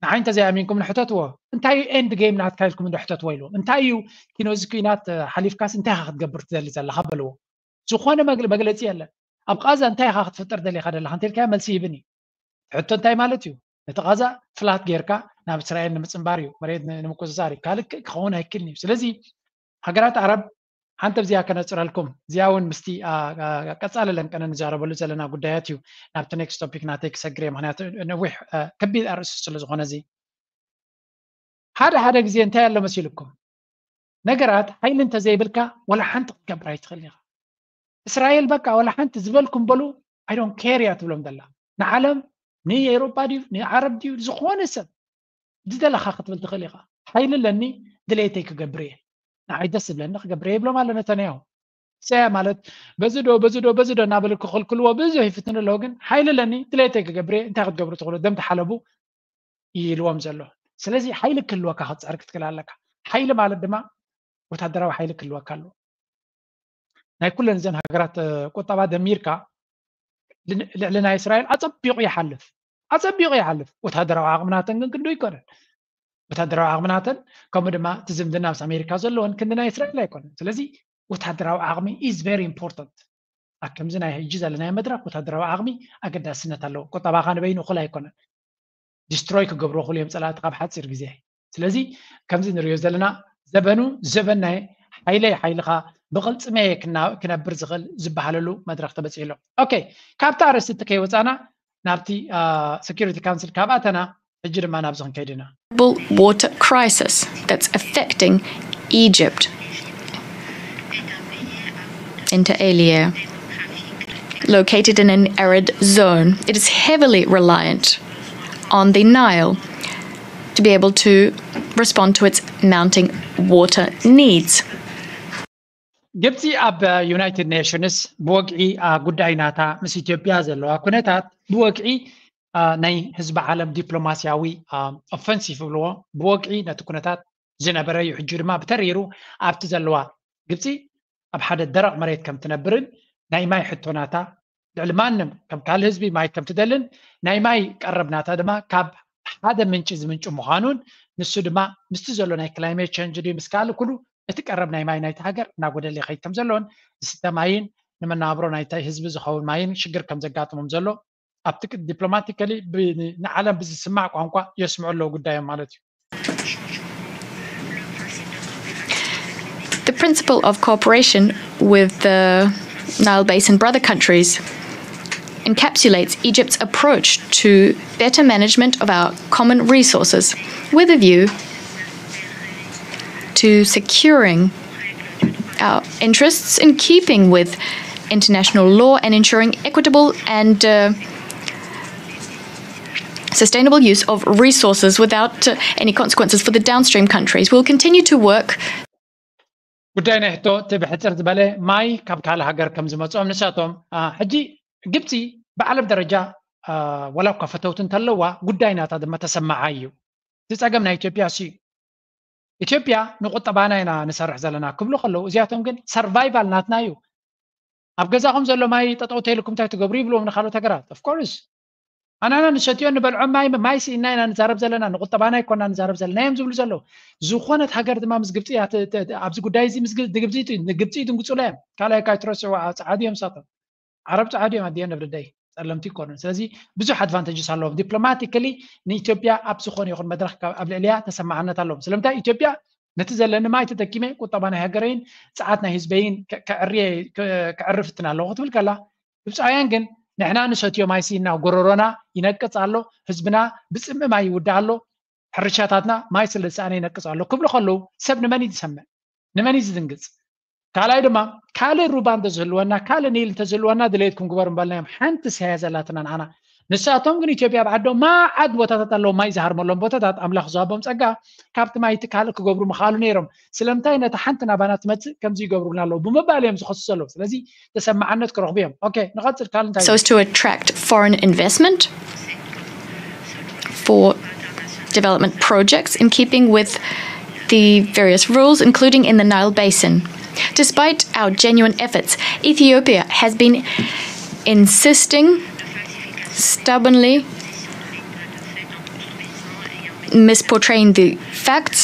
ንዓይ እንተዘይኣሚንኩም ንሕተትዎ። እንታይ እዩ ኤንድ ጌም ናትካ ኢልኩም እንዶ ሕተትዎ ኢሉ። እንታይ እዩ ኪኖ፣ እዚ ኩናት፣ እ፣ ሓሊፍካስ እንታይ ኢኻ ክትገብር ትደሊ ዘለኻ በልዎ። ዝኾነ መግለ-፣ መግለጺ የለን። ኣብ ቃዛ እንታይ ኢኻ ክትፍጥር ደሊኻ ደለኻ እንተልካዮ መልሲ ይህብን እዩ። ሕቶ እንታይ ማለት እዩ? ነቲ ቃዛ ፍላት ጌርካ ናብ እስራኤል ንምጽንባር እዩ፣ መሬት ን-፣ ንምቁጽጻር እዩ። ካልእ ክኸውን ኣይክእልን እዩ። ስለዚ ሃገራት ዓረብ ሓንቲ ኣብዚኣ ከነጽረልኩም፣ እዚኣ እውን ምስቲ፣ ኣ፣ ኣ፣ ቀጻሊ ለንቀነ ንዛረበሉ ዘለና ጉዳያት እዩ። ናብቲ ኔክስት ቶፒክ ናተይ ክሰግር እየ፣ ምኽንያቱ ነዊሕ፣ እ፣ ከቢድ ኣርእስቲ ስለ ዝኾነ እዚ። ሓደ ሓደ ግዜ እንታይ ኣሎ መሲልኩም? ነገራት ሓይሊ እንተዘይብልካ ወላ ሓንቲ ክትገብር ኣይትኽእል ኢኻ። እስራኤል በቃ ወላ ሓንቲ ዝበልኩም በሉ፣ I don't care እያ ትብሎም ዘላ። ንዓለም፣ ንኤውሮጳ ድዩ፣ ንዓረብ ድዩ፣ ዝኾነ ሰብ ዝደለኻ ክትብል ትኽእል ኢኻ። ሓይሊ ኣለኒ፣ ድሌተይ ክገብር እየ። ንዓይ ደስ ዝብለኒ ክገብር እየ ይብሎም ኣሎ ነተንያሁ። ሰያ ማለት በዚ ዶ፣ በዚ ዶ፣ በዚ ዶ እናበሉ ክኽልክልዎ ብዙሕ ይፍትኑ ኣለዉ፣ ግን ሓይሊ ኣለኒ፣ ድሌተይ ክገብር እየ፣ እንታይ ክትገብሩ ትኽእሉ፣ ደም ተሓለቡ ኢልዎም ዘሎ። ስለዚ ሓይሊ ክህልወካ ክትጽዕር ክትክእል ኣለካ። ሓይሊ ማለት ድማ ወታደራዊ ሓይሊ ክህልወካ ኣለዎ። ናይ ኩለን እዘን ሃገራት፣ እ፣ ቁጠባ ደሚርካ ል-፣ ልዕሊ ናይ እስራኤል ኣጸቢቑ ይሓልፍ፣ ኣጸቢቑ ይሓልፍ። ወታደራዊ ዓቕሚ ናተን ግን ክንዱ ኣይኮነን። ወታደራዊ ዓቕሚ ናተን፣ ከምኡ ድማ እቲ ዝምድና ምስ ኣሜሪካ ዘለወን ክንዲ ናይ እስራኤል ኣይኮነን። ስለዚ ወታደራዊ ዓቕሚ is very important። ኣብ ከምዚ ናይ ሕጂ ዘለናዮ መድረኽ ወታደራዊ ዓቕሚ ኣገዳስነት ኣለዎ። ቁጠባኻ ንበይኑ እኹል ኣይኮነን። ዲስትሮይ ክገብርዎ ክእሉ እዮም ጸላእቲ ካብ ሓጺር ግዜ። ስለዚ ከምዚ ንሪኦ ዘለና ዘበኑ ዘበን ናይ ሓይለይ ሓይልኻ ብቕልጽመየ ክና-፣ ክነብር ዝኽእል ዝበሃለሉ መድረኽ ተበጺሑ ኣሎ። ኦኬ፣ ካብቲ ኣርእስቲ እቲ ከይወጻና ናብቲ፣ አ፣ ሴኩሪቲ ካውንስል ካብ ኣተና ሕጂ ድማ ናብዚ ክንከይድ ኢና። Global water crisis that's affecting Egypt. Inter alia, located in an arid zone, it is heavily reliant on the Nile to be able to respond to its mounting water needs. ግብፂ ኣብ ዩናይትድ ኔሽንስ ብወግዒ፣ አ፣ ጉዳይ ናታ ምስ ኢትዮጵያ ዘለዋ ኩነታት ብወግዒ፣ አ፣ ናይ ህዝቢ ዓለም ዲፕሎማስያዊ፣ አ፣ ኦፈንሲቭ ይብልዎ፣ ብወግዒ ነቲ ኩነታት ዝነበረ እዩ። ሕጂ ድማ ብተሪሩ ኣብቲ ዘለዋ ግብፂ ኣብ ሓደ ደረቕ መሬት ከም ትነብርን ናይ ማይ ሕቶ ናታ ልዕሊ ማንም ከም ካልእ ህዝቢ ማይ ከም ትደልን ናይ ማይ ቀረብ ናታ ድማ ካብ ሓደ ምንጪ ዝምንጩ ምዃኑን ንሱ ድማ ምስቲ ዘሎ ናይ ክላይሜት ቸንጅ ድዩ ምስ ካልእ ኩሉ እቲ ቀረብ ናይ ማይ ናይቲ ሃገር እናጎደለ ይኸይድ ከም ዘሎን ዝስተ ማይን ንመነባብሮ ናይቲ ህዝቢ ዝኸውን ማይን ሽግር ከም ዘጋጥሞም ዘሎ ኣብቲ ቅ-፣ ዲፕሎማቲካሊ ብ-፣ ንዓለም ብዝስማዕ ቋንቋ የስምዑ ኣለዉ ጉዳዮም ማለት እዩ። The principle of cooperation with the Nile Basin brother countries encapsulates Egypt's approach to better management of our common resources with a view to securing our interests in keeping with international law and ensuring equitable and, uh, sustainable use of resources without, uh, any consequences for the downstream countries. We'll continue to work. ጉዳይ ናይ ሕቶ እቲ ብሕፅር ዝበለ ማይ ካብ ካልእ ሃገር ከም ዝመፅኦም ንሳቶም፣ አ፣ ሕጂ ግብፂ ብዓለም ደረጃ፣ አ፣ ዋላ እኳ ፈተውቲ እንተለዋ ጉዳይ ናታ ድማ ተሰማዓይ እዩ። እቲ ፀገም ናይ ኢትዮጵያ እሱ እዩ። ኢትዮጵያ ንቁጠባና ኢና ንሰርሕ ዘለና ክብሉ ከለዉ እዚኣቶም ግን ሰርቫይቫል ናትና እዩ። ኣብ ገዛኹም ዘሎ ማይ ጠጠው ተይልኩም እንታይ ትገብሩ ይብልዎም ንካልኦት ሃገራት። ኦፍኮርስ ኣናና ንሰትዮ ንበልዖም ማይ፣ ማይ ስኢና ኢና ንዛረብ ዘለና፣ ንቁጠባና ኣይኮና ንዛረብ ዘለና እዮም ዝብሉ ዘለዉ። ዝኾነት ሃገር ድማ ምስ ግብፂ እያ ት-፣ ት-፣ ት-፣ ኣብዚ ጉዳይ እዚ ምስ ግ-፣ ንግብፂ ት-፣ ንግብፂ ይድንግፁላ እዮም። ካልኣይ ካይትረስዕዋ ፃዓዱ እዮም ንሳቶም። ዓረብ ፃዓዱ እዮም ኣዲኦም ነብርደይ ጸለምቲ ይኮኑን። ስለዚ ብዙሕ ኣድቫንቴጅስ ኣለዎም። ዲፕሎማቲካሊ ንኢትዮጵያ ኣብ ዝኾነ ይኹን መድረኽ ካብ፣ ኣብ ልዕሊያ ተሰማዕነት ኣለዎም። ስለምንታይ ኢትዮጵያ ነቲ ዘለኒ ማይ ተጠቂመ ቁጠባ ናይ ሃገረይን ጸዓት ናይ ህዝበይን ከዕርፍ እፍትን ኣለኹ ክትብል ከላ፣ ግብፃውያን ግን ንሕና ንሰትዮ ማይሲ እና ጎረሮና ይነቅፅ ኣሎ፣ ህዝብና ብፅምእ ማይ ይውዳእ ኣሎ፣ ሕርሻታትና ማይ ስለ ዝሰኣነ ይነቅፅ ኣሎ ክብሉ ከለዉ ሰብ ንመን እዩ ዝሰምዕ? ንመን እዩ ዝድንግፅ? ካልኣይ ድማ ካልእ ሩባ እንተዝህልወና፣ ካልእ ኒል እንተዝህልወና ድሌትኩም ግበሩ ምበልናዮም። ሓንቲ ሰያ ዘላትና ንዓና። ንሳቶም ግን ኢትዮጵያ ኣብ ዓዶም መዓት ቦታታት ኣለዉ፣ ማይ ዝሃርመሎም ቦታታት ኣምላኽ ዝሃቦም ጸጋ ካብቲ ማይ እቲ ካልእ ክገብሩ ምኽኣሉ ነይሮም። ስለምንታይ ነታ ሓንቲ ናባና ትመጽእ ከምዚ ይገብሩልና ኣለዉ ብምባል እዮም ዝኸሱ ዘለዉ። ስለዚ ተሰማዓነት ክረኽቡ እዮም። ኦኬ፣ ንቐጽል። ካልእ እንታይ so as to attract foreign investment for development projects in keeping with the various rules, including in the Nile Basin. Despite our genuine efforts, Ethiopia has been insisting stubbornly, misportraying the facts,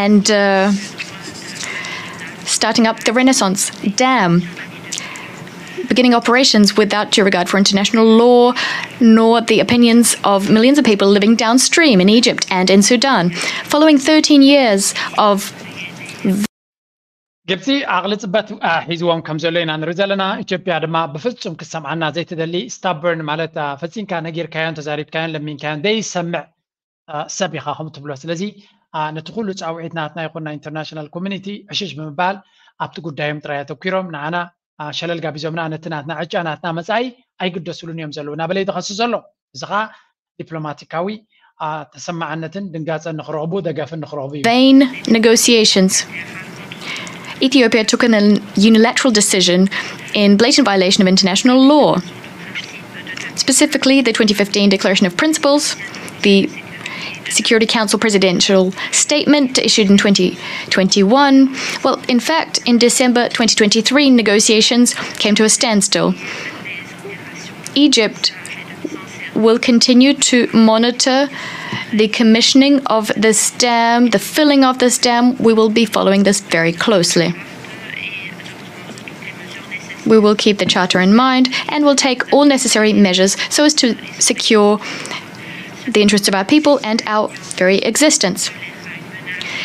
and uh, starting up the Renaissance Dam, beginning operations without due regard for international law nor the opinions of millions of people living downstream in Egypt and in Sudan. Following thirteen years of ግብፂ ዓቕሊ ፅበት ሒዝዎም ከም ዘሎ ኢና ንርኢ ዘለና። ኢትዮጵያ ድማ ብፍፁም ክሰምዓና ዘይትደሊ፣ ስታበርን ማለት ፈፂምካ ነጊርካዮን ተዛሪብካዮን ለሚንካዮን ዘይሰምዕ ሰብ ኢኻ ከም ትብሎ። ስለዚ ነቲ ኩሉ ፃውዒት ናትና ይኹን ናይ ኢንተርናሽናል ኮሚኒቲ ዕሽሽ ብምባል ኣብቲ ጉዳዮም ጥራይ ኣተኪሮም ንዓና ሸለል ጋቢዞምና ነቲ ናትና ዕጫ ናትና መፃኢ ኣይግደስሉን እዮም ዘለዉ እናበለ ይተኸሲ ዘሎ። እዚ ከዓ ዲፕሎማቲካዊ ተሰማዕነትን ድንጋፀን ንክረኽቡ ደገፍን ንክረኽቡ እዩ። Vain negotiations. Ethiopia took an unilateral decision in blatant violation of international law, specifically the twenty fifteen Declaration of Principles, the Security Council presidential statement issued in twenty twenty-one. Well, in fact, in December twenty twenty-three, negotiations came to a standstill. Egypt will continue to monitor the commissioning of this dam, the filling of this dam. We will be following this very closely. We will keep the Charter in mind and will take all necessary measures so as to secure the interests of our people and our very existence.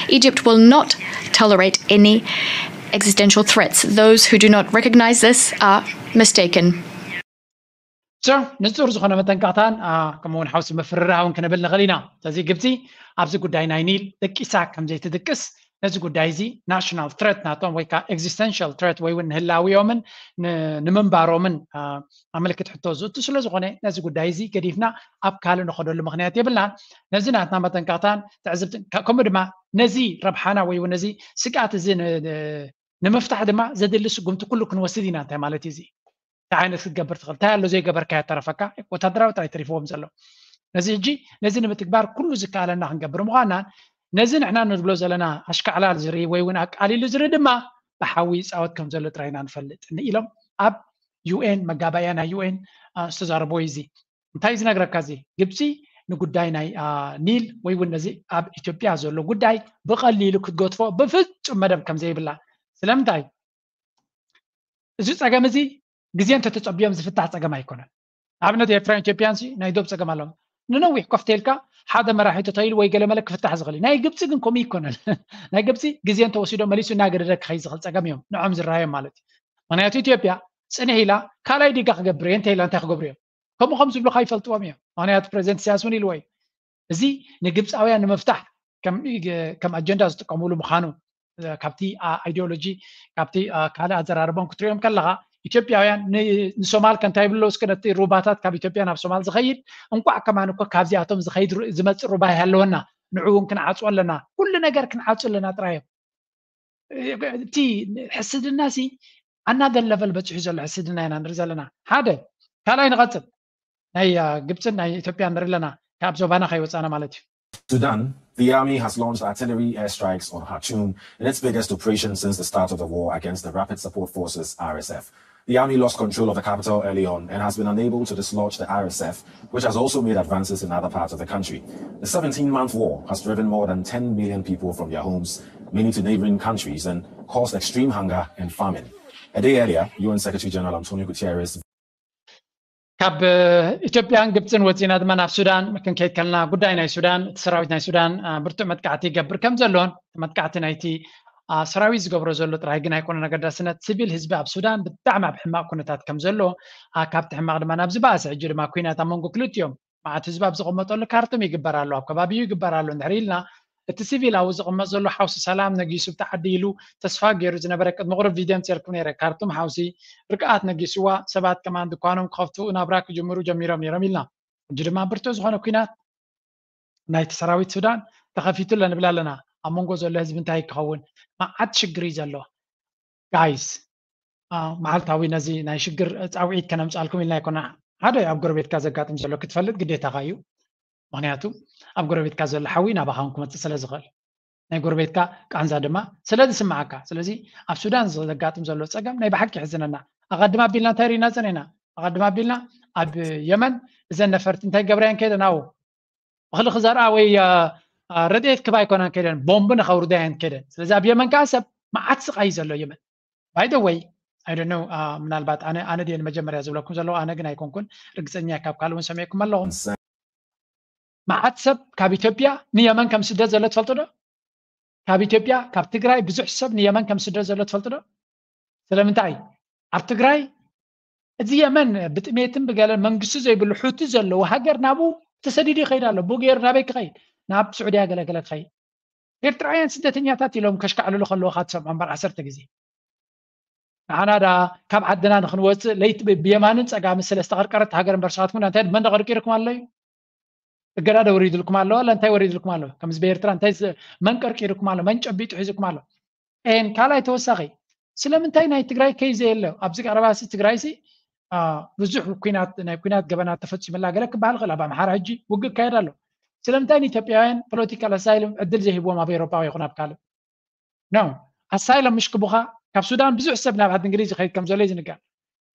Egypt will not tolerate any existential threats. Those who do not recognize this are mistaken. So ንጹር ዝኾነ መጠንቀቕታን ከምኡ እውን ሓውሲ ምፍርራህ እውን ክንብል ንኽእል ኢና። ስለዚ ግብፂ ኣብዚ ጉዳይ ናይ ኒል ደቂሳ ከም ዘይትድቅስ ነዚ ጉዳይ እዚ ናሽናል ትረት ናቶም ወይ ከዓ ኤግዚስተንሽል ትረት ወይ እውን ንህላዊኦምን ንምንባሮምን ኣመልክት ሕቶ ዝእቱ ስለ ዝኾነ ነዚ ጉዳይ እዚ ገዲፍና ኣብ ካልእ ንኸደሉ ምኽንያት የብልናን። ነዚ ናትና መጠንቀቕታን ትዕዝብትን ከምኡ ድማ ነዚ ረብሓና ወይ እውን ነዚ ስግኣት እዚ ንምፍታሕ ድማ ዘድሊ ስጉምቲ ኩሉ ክንወስድ ኢና። እንታይ ማለት እዩ እዚ? እንታይ ዓይነት ክትገብር ትኽእል? እንታይ ኣሎ ዘይገበርካዮ ተረፈካ? ወታደራዊ ጥራይ ተሪፍዎም ዘሎ። ነዚ ሕጂ ነዚ ንምትግባር ኩሉ ዝከኣለና ክንገብር ምዃንናን ነዚ ንሕና ንብሎ ዘለና ኣሽካዕላል ዝርኢ ወይ እውን ኣቃሊሉ ዝርኢ ድማ ብሓዊ ይፃወት ከም ዘሎ ጥራይ ኢና ንፈልጥ ኢሎም ኣብ ዩኤን መጋባእያ ናይ ዩኤን ዝተዛረብዎ እዩ። እዚ እንታይ ዝነግረካ? እዚ ግብፂ ንጉዳይ ናይ ኒል ወይ እውን ነዚ ኣብ ኢትዮጵያ ዘሎ ጉዳይ ብቐሊሉ ክትገትፎ ብፍፁም መደብ ከም ዘይብላ። ስለምንታይ? እዚ ፀገም እዚ ግዜ እንተተፀቢዮም ዝፍታሕ ፀገም ኣይኮነን። ንኣብነት ኤርትራን ኢትዮጵያን ናይ ዶብ ፀገም ኣለዎም። ንነዊሕ ኮፍ ተልካ ሓደ መራሒ ተተይሉ ወይ ገለመለ ክፍታሕ ዝኽእል እዩ። ናይ ግብፂ ግን ከምኡ ይኮነን። ናይ ግብፂ ግዜ እንተወሲዶ መሊሱ እናገደደ ክኸይ ዝኽእል ፀገም እዮም ንዖም ዝረኣዮም ማለት እዩ። ምክንያቱ ኢትዮጵያ ፅንሕ ኢላ ካልኣይ ዲጋ ክገብር እየ እንተ ኢላ እንታይ ክገብሩ እዮም? ከምኡ ከም ዝብሉካ ይፈልጥዎም እዮም። ምክንያቱ ፕሬዚደንት ኢሳያስ እውን ኢልዎ እዩ። እዚ ንግብፃውያን ንምፍታሕ ከም ኣጀንዳ ዝጥቀምሉ ምዃኑ ካብቲ ኣይዲዮሎጂ ካብቲ ካልእ ኣዘራርቦም ክትሪኦም ከለኻ ኢትዮጵያውያን ንሶማል ከ እንታይ ይብሉ እስከ ነቲ ሩባታት ካብ ኢትዮጵያ ናብ ሶማል ዝኸይድ እንቋዕ ከማን እኮ ካብዚኣቶም ዝኸይድ ዝመፅእ ሩባ ይሃለወና ንዑ እውን ክንዓፅዎ ኣለና ኩሉ ነገር ክንዓፁ ኣለና ጥራዮም። እቲ ሕስድና ሲ ኣናደር ለቨል በፂሑ ዘሎ ሕስድና ኢና ንርኢ ዘለና። ሓደ ካልኣይ ንቐፅል ናይ ግብፅን ናይ ኢትዮጵያ ንርኢ ኣለና ካብ ዞባና ከይወፃና ማለት እዩ። Sudan, the army has launched artillery airstrikes on Khartoum in its biggest operation since the start of the war against the Rapid Support Forces, R S F. The army lost control of the capital early on and has been unable to dislodge the R S F, which has also made advances in other parts of the country. The seventeen-month war has driven more than ten million people from their homes, many to neighboring countries, and caused extreme hunger and famine. A day earlier, U N Secretary General Antonio Guterres ካብ ኢትዮጵያን ግብፅን ወፂና ድማ ናብ ሱዳን ክንከይድ ከለና፣ ጉዳይ ናይ ሱዳን፣ እቲ ሰራዊት ናይ ሱዳን ብርቱዕ መጥቃዕቲ ይገብር ከም ዘሎን፣ መጥቃዕቲ ናይቲ ሰራዊት ዝገብሮ ዘሎ ጥራይ ግን ኣይኮነን ኣገዳስነት፣ ሲቪል ህዝቢ ኣብ ሱዳን ብጣዕሚ ኣብ ሕማቕ ኩነታት ከም ዘሎ፣ ካብቲ ሕማቕ ድማ ናብ ዝበኣሰ፣ ሕጂ ድማ ኩናት ኣብ መንጎ ክልቲኦም መዓት ህዝቢ ኣብ ዝቕመጠሉ ካርቱም ይግበር ኣሎ፣ ኣብ ከባቢኡ ይግበር ኣሎ እንድሕር ኢልና፣ እቲ ሲቪላዊ ዝቕመጥ ዘሎ ሓውሲ ሰላም ነጊሱ ብቲ ዓዲ ኢሉ ተስፋ ገይሩ ዝነበረ፣ ቅድሚ ቁሩብ ቪድዮ ኣምጺኤልኩም ነይረ። ካርቱም ሓውሲ ርግኣት ነጊስዋ፣ ሰባት ከማን ድኳኖም ክኸፍቱ፣ ናብራ ክጅምሩ ጀሚሮም ነይሮም ኢልና። ሕጂ ድማ ብርቱዕ ዝኾነ ኲናት ናይቲ ሰራዊት ሱዳን ተኸፊቱ ኣሎ ንብል ኣለና። ኣብ መንጎ ዘሎ ህዝቢ እንታይ ክኸውን? መዓት ሽግር እዩ ዘሎ። ጋይስ፣ መዓልታዊ ነዚ ናይ ሽግር ፃውዒት ከነምፃልኩም ኢልና ኣይኮና። ሓደ ኣብ ጎረቤትካ ዘጋጥም ዘሎ ክትፈልጥ ግዴታኻ እዩ። ምክንያቱ ኣብ ጎረቤትካ ዘሎ ሓዊ ናባኻ እውን ክመፅእ ስለ ዝኽእል፣ ናይ ጎረቤትካ ቃንዛ ድማ ስለ ዝስምዓካ። ስለዚ ኣብ ሱዳን ዘጋጥም ዘሎ ፀገም ናይ ብሓቂ ይሕዝነና። ኣቐድም ኣቢልና እንታይ ርኢና ፀኒሕና? ኣቐድም ኣቢልና ኣብ የመን እዘን ነፈርቲ እንታይ ገብራየን ከይደን? ኣው እኽሊ ክዘርኣ ወይ ረድኤት ክባ ኣይኮናን ከይደን፣ ቦምብ ንኸውርዳ እየን ከይደን። ስለዚ ኣብ የመን ከዓ ሰብ መዓት ስቃይ ዘሎ የመን። ባይ ደ ወይ፣ ኣይ ዶንት ኖው፣ ምናልባት ኣነ ኣነ ድየ ንመጀመርያ ዝብለኩም ዘለኹ፣ ኣነ ግን ኣይኮንኩን ርግፀኛ፣ ካብ ካልእ እውን ሰሚዕኩም ኣለኹም። መዓት ሰብ ካብ ኢትዮጵያ ንየመን ከም ስደት ዘሎ ትፈልጡ ዶ? ካብ ኢትዮጵያ፣ ካብ ትግራይ ብዙሕ ሰብ ንየመን ከም ስደት ዘሎ ትፈልጡ ዶ? ስለምንታይ? ኣብ ትግራይ እዚ የመን ብጥሜትን ብገለ መንግስቲ ዘይብሉ ሑቲ ዘለዎ ሃገር ናብኡ ተሰዲዱ ይኸይድ ኣሎ። ብኡ ገይሩ ናበይ ክኸይድ? ናብ ስዑድያ ገለገለ ክኸይድ። ኤርትራውያን ስደተኛታት ኢሎም ከሽካዕልሉ ከለዉ ካ ትሰምዖ እምበር ዓሰርተ ግዜ። ንዓና ዳ ካብ ዓድና ንክንወፅእ ለይቲ ብ-፣ ብየማንን ፀጋምን ስለ ዝተቐርቀረት ሃገር እምበር፣ ንስኻትኩም እንታይ መን ደቐርቂርኩም ኣሎ እዩ? እገዳ ዶ ወሪድልኩም ኣሎ? ዋላ እንታይ ወሪድልኩም ኣሎ? ከምዚ ብኤርትራ እንታይ ዝ-፣ መን ቀርቂርኩም ኣሎ? መን ጨቢጡ ሒዝኩም ኣሎ? ኤን ካልኣይ ተወሳኺ፣ ስለምንታይ ናይ ትግራይ ከይዘ የለ? ኣብዚ ቀረባ ሲ ትግራይ ሲ፣ አ፣ ብዙሕ ኲናት፣ ናይ ኲናት ገበናት ተፈጺሙላ ገለ ክበሃል ይኽእል። ኣብ ኣምሓራ ሕጂ ውግእ ይካየድ ኣሎ። ስለምንታይ ንኢትዮጵያውያን ፖለቲካል ኣሳይለም ዕድል ዘይህብዎም ኣብ ኤውሮጳ ይኹን ኣብ ካልእ? ኖ፣ ኣሳይለም ምሽ ክቡኻ፣ ካብ ሱዳን ብዙሕ ሰብ ናብ ዓዲ እንግሊዝ ይኸይድ ከም ዘሎ እዩ ዝንገር።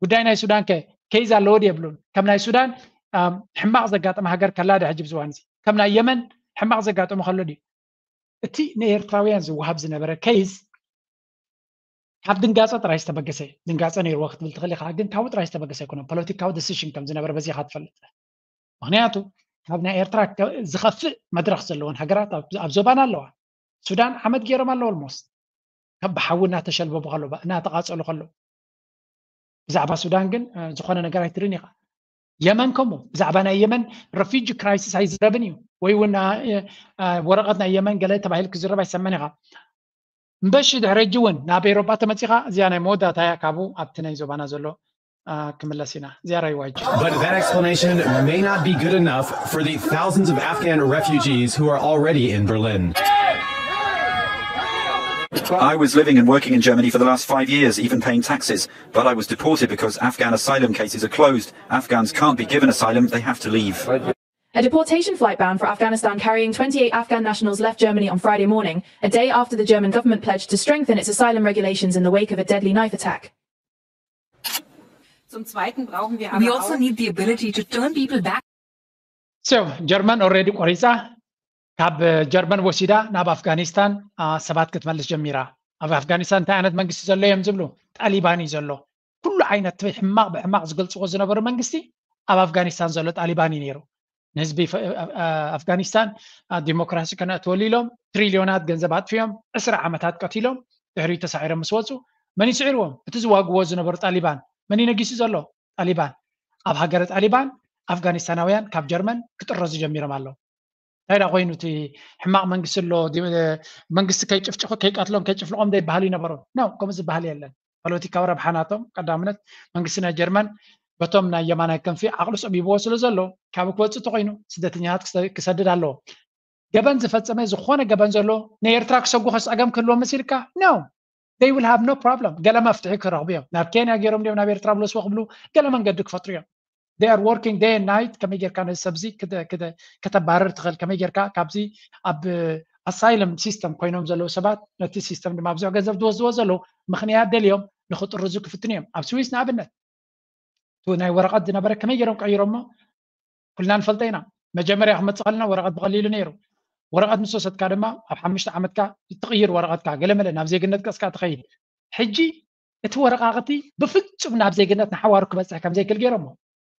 ጉዳይ ናይ ሱዳን ከ ኬዝ ኣለዎ ድዩ የብሉን? ከም ናይ ሱዳን፣ ኣም፣ ሕማቕ ዘጋጠመ ሃገር ከላ ዶ ሕጂ ብዝዋን እዚ? ከም ናይ የመን ሕማቕ ዘጋጠመ ከሎ ድዩ? እቲ ንኤርትራውያን ዝወሃብ ዝነበረ ኬዝ ካብ ድንጋጸ ጥራይ ዝተበገሰ፣ ድንጋጸ ነይርዎ ክትብል ትኽእል ኢኻ፣ ግን ካብኡ ጥራይ ዝተበገሰ ኣይኮነን። ፖለቲካዊ ዲሲሽን ከም ዝነበረ በዚ ኢኻ ትፈልጥ። ምኽንያቱ ካብ ናይ ኤርትራ ከ-፣ ዝኸፍእ መድረኽ ዘለወን ሃገራት ኣብ፣ ኣብ ዞባና ኣለዋ። ሱዳን ዓመት ገይሮም ኣለዉ ኦልሞስት። ከም ብሓዊ እናተሸልበቡ ከለዉ፣ እናተቓጸሉ ከለዉ። ብዛዕባ ሱዳን ግን፣ እ፣ ዝኾነ ነገር ኣይትርእን ኢኻ። የመን ከምኡ፣ ብዛዕባ ናይ የመን ረፊጂ ክራይሲስ ኣይዝረብን እዩ። ወይ እውን፣ እ፣ እ፣ ወረቐት ናይ የመን ገለ ተባሂሉ ክዝረብ ኣይሰማን ኢኻ። እምበሺ ድሕሪ ሕጂ እውን ናብ ኤውሮጳ ተመጺኻ፣ እዚኣ ናይ መወዳእታ እያ፣ ካብኡ ኣብቲ ናይ ዞባና ዘሎ፣ እ፣ ክምለስ ኢና። እዚኣ ራይ ዋይጂ። But that explanation may not be good enough for the thousands of Afghan refugees who are already in Berlin. I was living and working in Germany for the last five years, even paying taxes. But I was deported because Afghan asylum cases are closed. Afghans can't be given asylum, they have to leave. A deportation flight bound for Afghanistan carrying twenty-eight Afghan nationals left Germany on Friday morning, a day after the German government pledged to strengthen its asylum regulations in the wake of a deadly knife attack. Zum Zweiten brauchen wir aber auch We also need the ability to turn people back. So, ጀርመን ኦልሬዲ ቆሪፃ፣ ካብ ጀርመን ወሲዳ ናብ ኣፍጋኒስታን፣ አ፣ ሰባት ክትመልስ ጀሚራ። ኣብ ኣፍጋኒስታን እንታይ ዓይነት መንግስቲ ዘሎ እዮም ዝብሉ? ጣሊባን እዩ ዘሎ። ኩሉ ዓይነት ሕማቕ ብሕማቕ ዝገልፅዎ ዝነበሩ መንግስቲ ኣብ ኣፍጋኒስታን ዘሎ ጣሊባን እዩ ነይሩ። ንህዝቢ ፈ-፣ አ-፣ አ-፣ ኣፍጋኒስታን፣ አ፣ ዲሞክራሲ ከነእትወሉ ኢሎም ትሪልዮናት ገንዘብ ኣጥፊኦም፣ ዕስራ ዓመታት ቀቲሎም፣ ድሕሪኡ ተሳዒሮም ምስ ወፁ፣ መን እዩ ስዒርዎም? እቲ ዝዋግዎ ዝነበሩ ጣሊባን። መን እዩ ነጊሱ ዘሎ? ጣሊባን። ኣብ ሃገረ ጣሊባን ኣፍጋኒስታናውያን ካብ ጀርመን ክጥረዙ ጀሚሮም ኣለዉ። እንታይ ደኣ ኮይኑ እቲ ሕማቕ መንግስቲ ኣሎ፣ ዲ-፣ መንግስቲ ከይጭፍጭፎ፣ ከይቀትሎም፣ ከይጭፍልቖም ዘይበሃል ይነበሮም? ኖ፣ ከምኡ ዝበሃል የለን። ፖለቲካዊ ረብሓ ናቶም ቀዳምነት መንግስቲ ናይ ጀርመን በቶም ናይ የማናይ ክንፊ ዓቕሉ ጸቢብዎ ስለ ዘሎ፣ ካብኡ ክወጽእ እንተኾይኑ ስደተኛታት ክሰ-፣ ክሰድድ ኣለዎ። ገበን ዝፈጸመ፣ ዝኾነ ገበን ዘሎ ንኤርትራ ክሰጉ ጸገም ክህልዎም መሲልካ? ኖ። They will have no problem። ገለ መፍትሒ ክረኽቡ እዮም። ናብ ኬንያ ገይሮም ድዮም ናብ ኤርትራ ብለስዎ ክብሉ ገለ መንገዲ ክፈጥሩ እዮም። They are working day and night። ከመይ ጌርካ ነዚ ሰብዚ ክተ-፣ ክተ-፣ ከተባረር ትኽእል? ከመይ ጌርካ ካብዚ ኣብ ኣሳይለም ሲስተም ኮይኖም ዘለዉ ሰባት፣ ነቲ ሲስተም ድማ ብዙሕ ገንዘብ ዝወስድዎ ዘለዉ ምኽንያት ደልዮም ንኽጥርዙ ክፍትኑ እዮም። ኣብ ስዊስ ንኣብነት፣ እቲ ናይ ወረቐት ዝነበረ ከመይ ገይሮም ቀይሮሞ? ኩልና ንፈልጦ ኢና። መጀመርያ ክመጽእ ከለና ወረቐት ብቐሊሉ ነይሩ። ወረቐት ምስ ወሰድካ ድማ ኣብ ሓሙሽተ ዓመትካ ትቕይር ወረቐትካ፣ ገለመለ ናብ ዜግነት ገጽካ ትኸይድ። ሕጂ እቲ ወረቓቕቲ ብፍጹም ናብ ዜግነት ንሓዋሩ ክበጽሕ ከም ዘይክእል ገይሮሞ።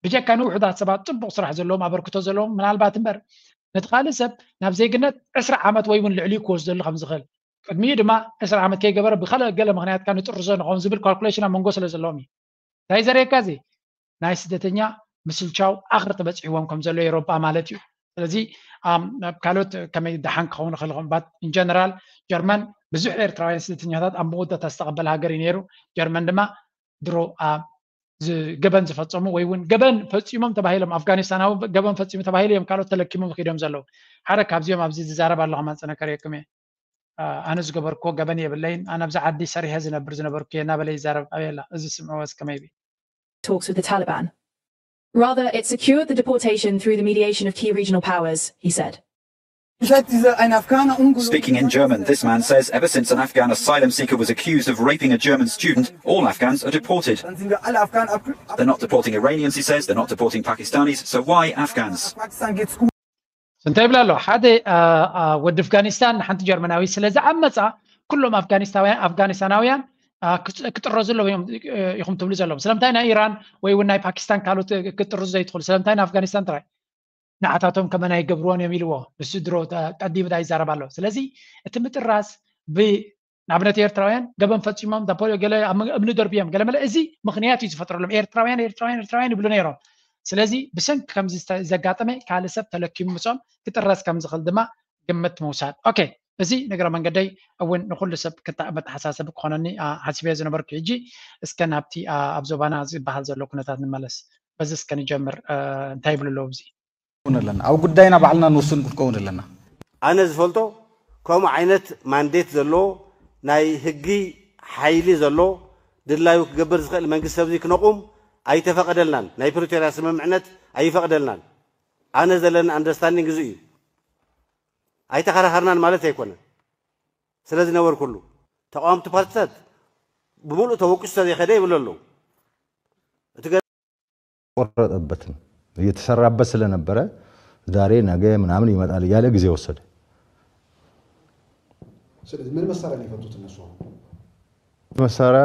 ብጀካ ንውሑዳት ሰባት ጽቡቕ ስራሕ ዘለዎም ኣበርክቶ ዘለዎም ምናልባት እምበር ነቲ ካልእ ሰብ ናብ ዜግነት ዕስራ ዓመት ወይ እውን ልዕሊኡ ክወስደሉ ከም ዝኽእል ቅድሚኡ ድማ ዕስራ ዓመት ከይገበረ ብካልእ ገለ ምክንያት ካብ ንጥርዞ ንኸውን ዝብል ካልኩሌሽን ኣብ መንጎ ስለ ዘለዎም እዩ። እንታይ ዘርእየካ እዚ ናይ ስደተኛ ምስልቻው ኣኽርጢ በፂሕዎም ከም ዘሎ ኤሮጳ ማለት እዩ። ስለዚ ኣብ ካልኦት ከመይ ደሓን ክኸውን ይኽእል ባት ኢንጀነራል ጀርመን ብዙሕ ኤርትራውያን ስደተኛታት ኣብ መወዳእታ ዝተቐበለ ሃገር እዩ ነይሩ። ጀርመን ድማ ድሮ ኣብ ገበን ዝፈፀሙ ወይ እውን ገበን ፈፂሞም ተባሂሎም ኣፍጋኒስታናዊ ገበን ፈፂሙ ተባሂሉ እዮም ካልኦት ተለኪሞም ኪዶም ዘለዉ። ሓደ ካብዚኦም ኣብዚ ዝዛረብ ኣለኹ ማንፀነ ከርእየኩም እየ። ኣነ ዝገበርክዎ ገበን የብለይን። ኣነ ኣብዚ ዓዲ ሰሪሐ ዝነብር ዝነበርኩ እየ እናበለ ይዛረብ። ኣበየላ እዚ ስምዕዎ እስከመይ ቢ talks with the Taliban. Rather, it secured the deportation through the mediation of key regional powers, he said. Speaking in German, this man says ever since an Afghan asylum seeker was accused of raping a German student, all Afghans are deported. They're not deporting Iranians, he says, they're not deporting Pakistanis, so why Afghans? እንታይ ይብላ ኣሎ ሓደ ወዲ ኣፍጋኒስታን ሓንቲ ጀርመናዊ ስለ ዝዓመፃ ኩሎም ኣፍጋኒስታናውያን ክጥረዙ ኣለዎም ኢኹም ትብሉ ዘለዎም ስለምንታይ ናይ ኢራን ወይ እውን ናይ ፓኪስታን ካልኦት ክትጥርዙ ዘይትኽእሉ ስለምንታይ ንኣፍጋኒስታን ጥራይ ንዓታቶም ከመና ይገብርዎን እዮም ኢልዎ። ንሱ ድሮ ቀዲሙ ዳ ይዛረብ ኣሎ። ስለዚ እቲ ምጥራስ ንኣብነት ኤርትራውያን ገበን ፈፂሞም ዳፖሊዮ ገለ እምኒ ደርብዮም ገለመለ እዚ ምክንያት እዩ ዝፈጥረሎም። ኤርትራውያን ኤርትራውያን ኤርትራውያን ይብሉ ነይሮም። ስለዚ ብሰንኪ ከምዚ ዘጋጠመ ካልእ ሰብ ተለኪሙ ምፅኦም ክጥረስ ከም ዝኽእል ድማ ግምት ምውሳድ። ኦኬ፣ እዚ ንግረ መንገደይ እውን ንኩሉ ሰብ መተሓሳሰቢ ክኾነኒ ሓሲበዮ ዝነበርኩ። ሕጂ እስከ ናብቲ ኣብ ዞባና ዝበሃል ዘሎ ኩነታት ንመለስ። በዚ እስከ ንጀምር። እንታይ ይብሉ ኣለዉ? እዚ ኣለና ኣብ ጉዳይና ባዕልና ንውስን ክንከውን ኣለና። ኣነ ዝፈልጦ ከምኡ ዓይነት ማንዴት ዘለዎ ናይ ህጊ ሓይሊ ዘሎ ድላዩ ክገብር ዝኽእል መንግስቲ ኣብዚ ክነቑም ኣይተፈቐደልናን። ናይ ፕሪቶርያ ስምምዕነት ኣይፈቕደልናን። ኣነ ዘለኒ ኣንደርስታንዲንግ እዚ እዩ። ኣይተኸራኸርናን ማለት ኣይኮነን። ስለ ዝነበርኩሉ ተቃወምቲ ፓርቲታት ብምሉእ ተወቂሱ ተዘይኸደ ይብሉ ኣለዉ። እቲ ቆረጠበትም እየተሰራበት ስለነበረ ዛሬ ነገ ምናምን ይመጣል እያለ ጊዜ ወሰደ። ስለዚህ ምን መሳሪያ ነው የፈቱት እነሱ? አሁን መሳሪያ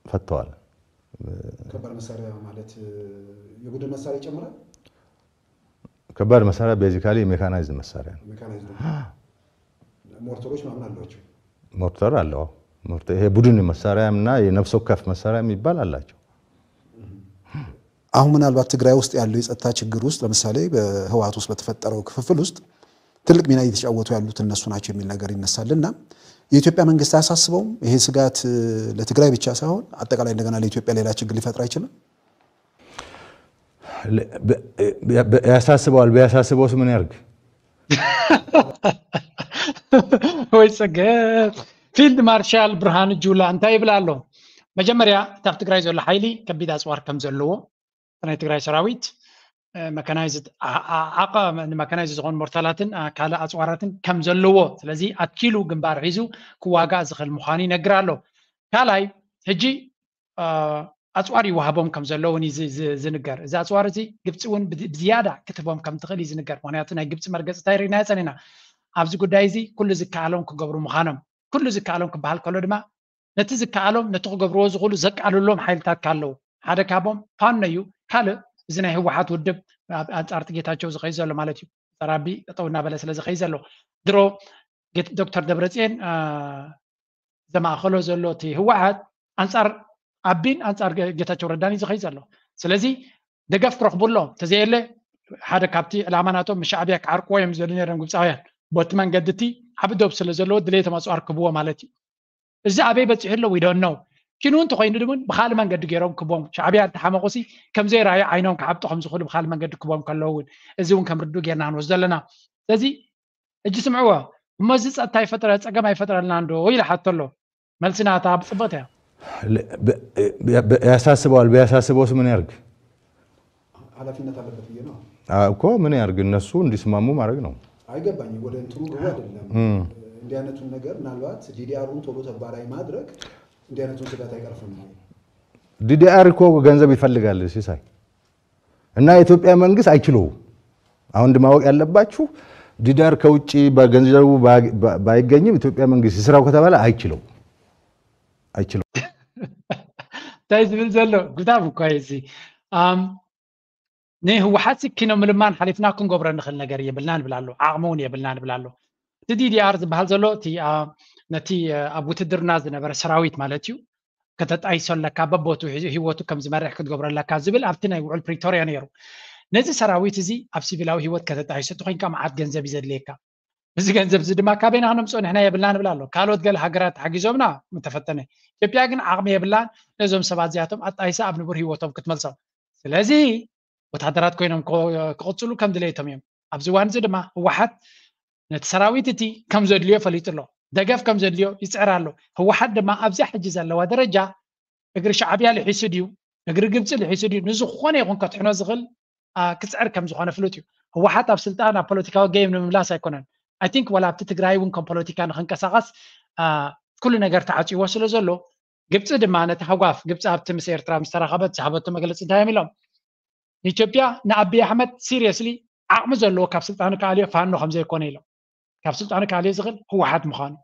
ፈተዋል። ከባድ መሳሪያ ማለት የቡድን መሳሪያ ይጨምራል። ከባድ መሳሪያ ቤዚካሊ ሜካናይዝድ መሳሪያ ነው። ሜካናይዝድ ሞርተሮች ምናምን አሏቸው። ሞርተር አለው። ሞርተር ይሄ ቡድን መሳሪያ እና የነፍስ ወከፍ መሳሪያ የሚባል አላቸው። አሁን ምናልባት ትግራይ ውስጥ ያለው የጸጥታ ችግር ውስጥ ለምሳሌ በህወሓት ውስጥ በተፈጠረው ክፍፍል ውስጥ ትልቅ ሚና እየተጫወቱ ያሉት እነሱ ናቸው የሚል ነገር ይነሳል እና የኢትዮጵያ መንግስት አያሳስበውም? ይሄ ስጋት ለትግራይ ብቻ ሳይሆን አጠቃላይ እንደገና ለኢትዮጵያ ሌላ ችግር ሊፈጥር አይችልም? ያሳስበዋል። ቢያሳስበውስ ምን ያርግ? ወይ ጽገብ። ፊልድ ማርሻል ብርሃኑ ጁላ እንታይ ይብል ኣሎ? መጀመርያ እቲ ኣብ ትግራይ ዘሎ ሓይሊ ከቢድ ኣፅዋር ከም ዘለዎ ናይ ትግራይ ሰራዊት መካናይዝድ ዓቐ ንመካናይዝድ ዝኾኑ ሞርታላትን ካልእ ኣፅዋራትን ከም ዘለዎ ስለዚ ኣትኪሉ ግንባር ሒዙ ክዋጋእ ዝኽእል ምዃኑ ይነግር ኣሎ። ካልኣይ ሕጂ ኣፅዋር ይወሃቦም ከም ዘለውን ዝንገር። እዚ ኣፅዋር እዚ ግብፂ እውን ብዝያዳ ክትቦም ከም ትኽእል እዩ ዝንገር። ምክንያቱ ናይ ግብፂ መርገፂ እንታይ ርኢናዮ ፀኒና ኣብዚ ጉዳይ እዚ ኩሉ ዝከኣሎም ክገብሩ ምዃኖም ኩሉ ዝከኣሎም ክበሃል ከሎ ድማ ነቲ ዝከኣሎም ነቲ ክገብርዎ ዝኽእሉ ዘቃልሎም ሓይልታት ካለው ሓደ ካቦም ፋኖ እዩ። ካልእ እዚ ናይ ህወሓት ውድብ ኣንፃርቲ ጌታቸው ዝኸይ ዘሎ ማለት እዩ። ፀራቢ ጠጠው እናበለ ስለ ዝኸይ ዘሎ ድሮ ዶክተር ደብረፅኤን ዘማእኸሎ ዘሎ እቲ ህወሓት ኣንፃር ኣቢን ኣንፃር ጌታቸው ረዳን እዩ ዝኸይ ዘሎ። ስለዚ ደገፍ ክረኽቡ ኣሎ። ተዘየለ ሓደ ካብቲ ዕላማ ናቶም ሻዕብያ ክዓርቅዎ እዮም ዝደሊ ነይሮም ግብፃውያን። ቦቲ መንገዲ እቲ ዓቢ ዶብ ስለ ዘለዎ ድሌቶም ኣፅዋር ክብዎ ማለት እዩ። እዚ ኣበይ በፂሑ ኣሎ we don't know። ኪኑ እንተኮይኑ እውን ብካልእ መንገዲ ገይሮም ክቦም ሻዕብያ እንተሓመቁሲ ከምዘይረኣዩ ዓይኖም ክዓብጡ ከምዝኽእሉ ብካልእ መንገዲ ክቦም ከለዉ እውን እዚ እውን ከም ርዱእ ጌርና ክንወስዶ ኣለና። ስለዚ ሕጂ ስምዕዎ እሞ እዚ ፀጥታ ይፈጥረ ፀገም ኣይፈጥረልና እንዶ ኢለ ሓቶ ኣሎ። መልሲ ናታ ብፅብቕቲ እያ። ያሳስበዋል። ቢያሳስበውስ ምን ያርግ? ኃላፊነት አለበት ብዬ ነው። እኮ ምን ያርግ? እነሱ እንዲስማሙ ማድረግ ነው። አይገባኝም። ወደ እንትኑ ግቡ አይደለም። እንዲህ አይነቱን ነገር ምናልባት ዲዲአሩን ቶሎ ተግባራዊ ማድረግ እንዲህ አይነቱን ስጋት አይቀርፍም ወይ? ዲዲአር እኮ ገንዘብ ይፈልጋል ሲሳይ። እና የኢትዮጵያ መንግስት አይችለውም። አሁን እንደ ማወቅ ያለባችሁ ዲዳር ከውጭ በገንዘቡ ባይገኝም ኢትዮጵያ መንግስት ይስራው ከተባለ አይችለው አይችለው። እንታይ ዝብል ዘሎ ጉዳም እኳ እዚ ንህወሓት ኪኖ ምልማን ሓሊፍና ክንገብሮ ንኽእል ነገር የብልና ንብል ኣሎ። ዓቕሚ እውን የብልና ንብል ኣሎ። እቲ ዲዲኣር ዝበሃል ዘሎ እቲ ነቲ ኣብ ውትድርና ዝነበረ ሰራዊት ማለት እዩ። ከተጣይሶ ኣለካ፣ በቦቱ ህይወቱ ከም ዝመርሕ ክትገብሮ ኣለካ ዝብል ኣብቲ ናይ ውዕል ፕሪቶርያ ነይሩ። ነዚ ሰራዊት እዚ ኣብ ሲቪላዊ ህይወት ከተጣይሶ እቲ ኮይንካ መዓት ገንዘብ እዩ ዘድልየካ። እዚ ገንዘብ እዚ ድማ ካበይና ክነምፅኦ ንሕና የብልና ንብል ኣሎ። ካልኦት ገለ ሃገራት ሓጊዞምና ምተፈተነ። ኢትዮጵያ ግን ዓቕሚ የብላን ነዞም ሰባት እዚኣቶም ኣጣይሳ ኣብ ንቡር ህይወቶም ክትመልሶም። ስለዚ ወታደራት ኮይኖም ክቕፅሉ ከም ድሌቶም እዮም። ኣብዚ እዋን እዚ ድማ ህወሓት ነቲ ሰራዊት እቲ ከም ዘድልዮ ፈሊጡ ኣሎ። ደገፍ ከም ዘድልዮ ይፅዕር ኣሎ። ህወሓት ድማ ኣብዚኣ ሕጂ ዘለዋ ደረጃ እግሪ ሻዕብያ ልሒሱ ድዩ እግሪ ግብፂ ልሒሱ ድዩ ንዝኾነ ይኹን ከትሕኖ ዝኽእል ክፅዕር ከም ዝኾነ ፍሉጥ እዩ። ህወሓት ኣብ ስልጣን ኣብ ፖለቲካዊ ጌም ንምምላስ ኣይኮነን። ኣይ ቲንክ ዋላ ኣብቲ ትግራይ እውን ከም ፖለቲካ ንክንቀሳቐስ ኩሉ ነገር ተዓፅይዎ ስለ ዘሎ ግብፂ ድማ ነቲ ሃጓፍ ግብፂ ኣብቲ ምስ ኤርትራ ምስ ተራኸበት ዝሃበቶ መግለፂ እንታይ እዮም ኢሎም ንኢትዮጵያ ንኣቢይ ኣሕመድ ሲሪየስሊ ዓቕሚ ዘለዎ ካብ ስልጣኑ ክኣልዮ ፋኖ ከም ዘይኮነ ኢሎም ካብ ስልጣኑ ክኣልዮ ዝኽእል ህወሓት ምዃኑ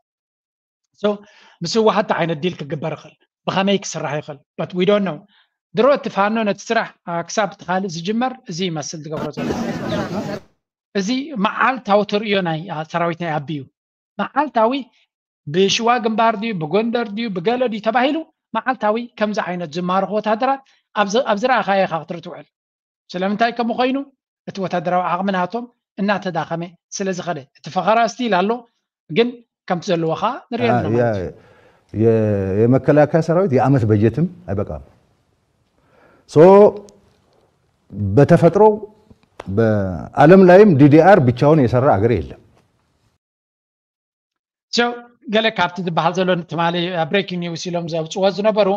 ምስ ህወሓት ዓይነት ዲል ክግበር ይኽእል ብኸመይ ክስራሕ ይኽእል but we don't know ድሮ እቲ ፋኖ ነቲ ስራሕ ክሳብ እቲ ካልእ ዝጅመር እዚ ይመስል ዝገብሮ ዘሎ እዚ መዓልታዊ ተርእዮ ናይ ሰራዊት ናይ ኣቢዩ መዓልታዊ ብሽዋ ግንባር ድዩ ብጎንደር ድዩ ብገለ ድዩ ተባሂሉ መዓልታዊ ከምዚ ዓይነት ዝማርኹ ወታደራት ኣብ ዝረኣኻዮ ኢኻ ክትርኢ ትውዕል ስለምንታይ ከምኡ ኮይኑ እቲ ወታደራዊ ዓቕሚ ናቶም እናተዳኸመ ስለ ዝኸደ እቲ ፈኸራ ስቲል ኣሎ ግን ከምቲ ዘለዎ ከዓ ንሪኦ ኣለና ማለት እዩ የመከላከያ ሰራዊት የአመት በጀትም አይበቃም ሶ በተፈጥሮ በአለም ላይም ዲዲአር ብቻውን የሰራ አገር የለም So ገለ ካብቲ ዝበሃል ዘሎ ትማሊ breaking news ኢሎም ዘውፅዎ ዝነበሩ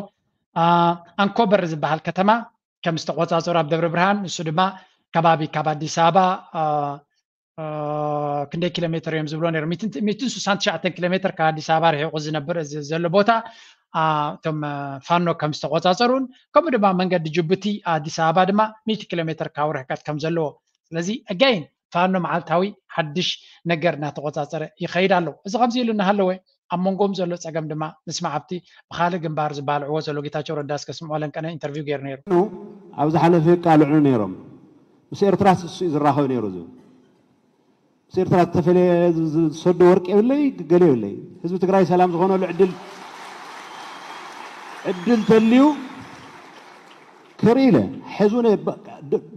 ኣንኮበር ዝበሃል ከተማ ከም ዝተቆፃፀሩ ኣብ ደብረ ብርሃን ንሱ ድማ ከባቢ ካብ ኣዲስ ኣበባ ክንደይ ኪሎ ሜትር እዮም ዝብሎ ነይሩ ሚትን ስሳን ትሽዓተን ኪሎ ሜትር ካብ ኣዲስ ኣበባ ርሒቑ ዝነብር ዘሎ ቦታ እቶም ፋኖ ከም ዝተቆፃፀሩን ከምኡ ድማ መንገዲ ጅቡቲ ኣዲስ ኣበባ ድማ ሚእቲ ኪሎ ሜትር ካብ ርሕቀት ከም ዘለዎ ስለዚ again ፋኖ መዓልታዊ ሓድሽ ነገር እናተቆፃፀረ ይኸይድ ኣሎ። እዚ ከምዚ ኢሉ እናሃለወ ኣብ መንጎም ዘሎ ፀገም ድማ ንስማዕ ኣብቲ ብካልእ ግንባር ዝባልዕዎ ዘሎ ጌታቸው ረዳ እስከ ስምዖ ለንቀነ ኢንተርቪው ገይሩ ነይሩ። ኣብ ዝሓለፈ የቃልዑ ነይሮም። ምስ ኤርትራ እሱ እዩ ዝራኸብ ነይሩ ዝብል ምስ ኤርትራ ዝተፈለየ ዝሰዶ ወርቂ የብለይ ገለ የብለይ ህዝቢ ትግራይ ሰላም ዝኾነሉ ዕድል ዕድል ተልዩ ክርኢ ኢለ ሕዚ እውን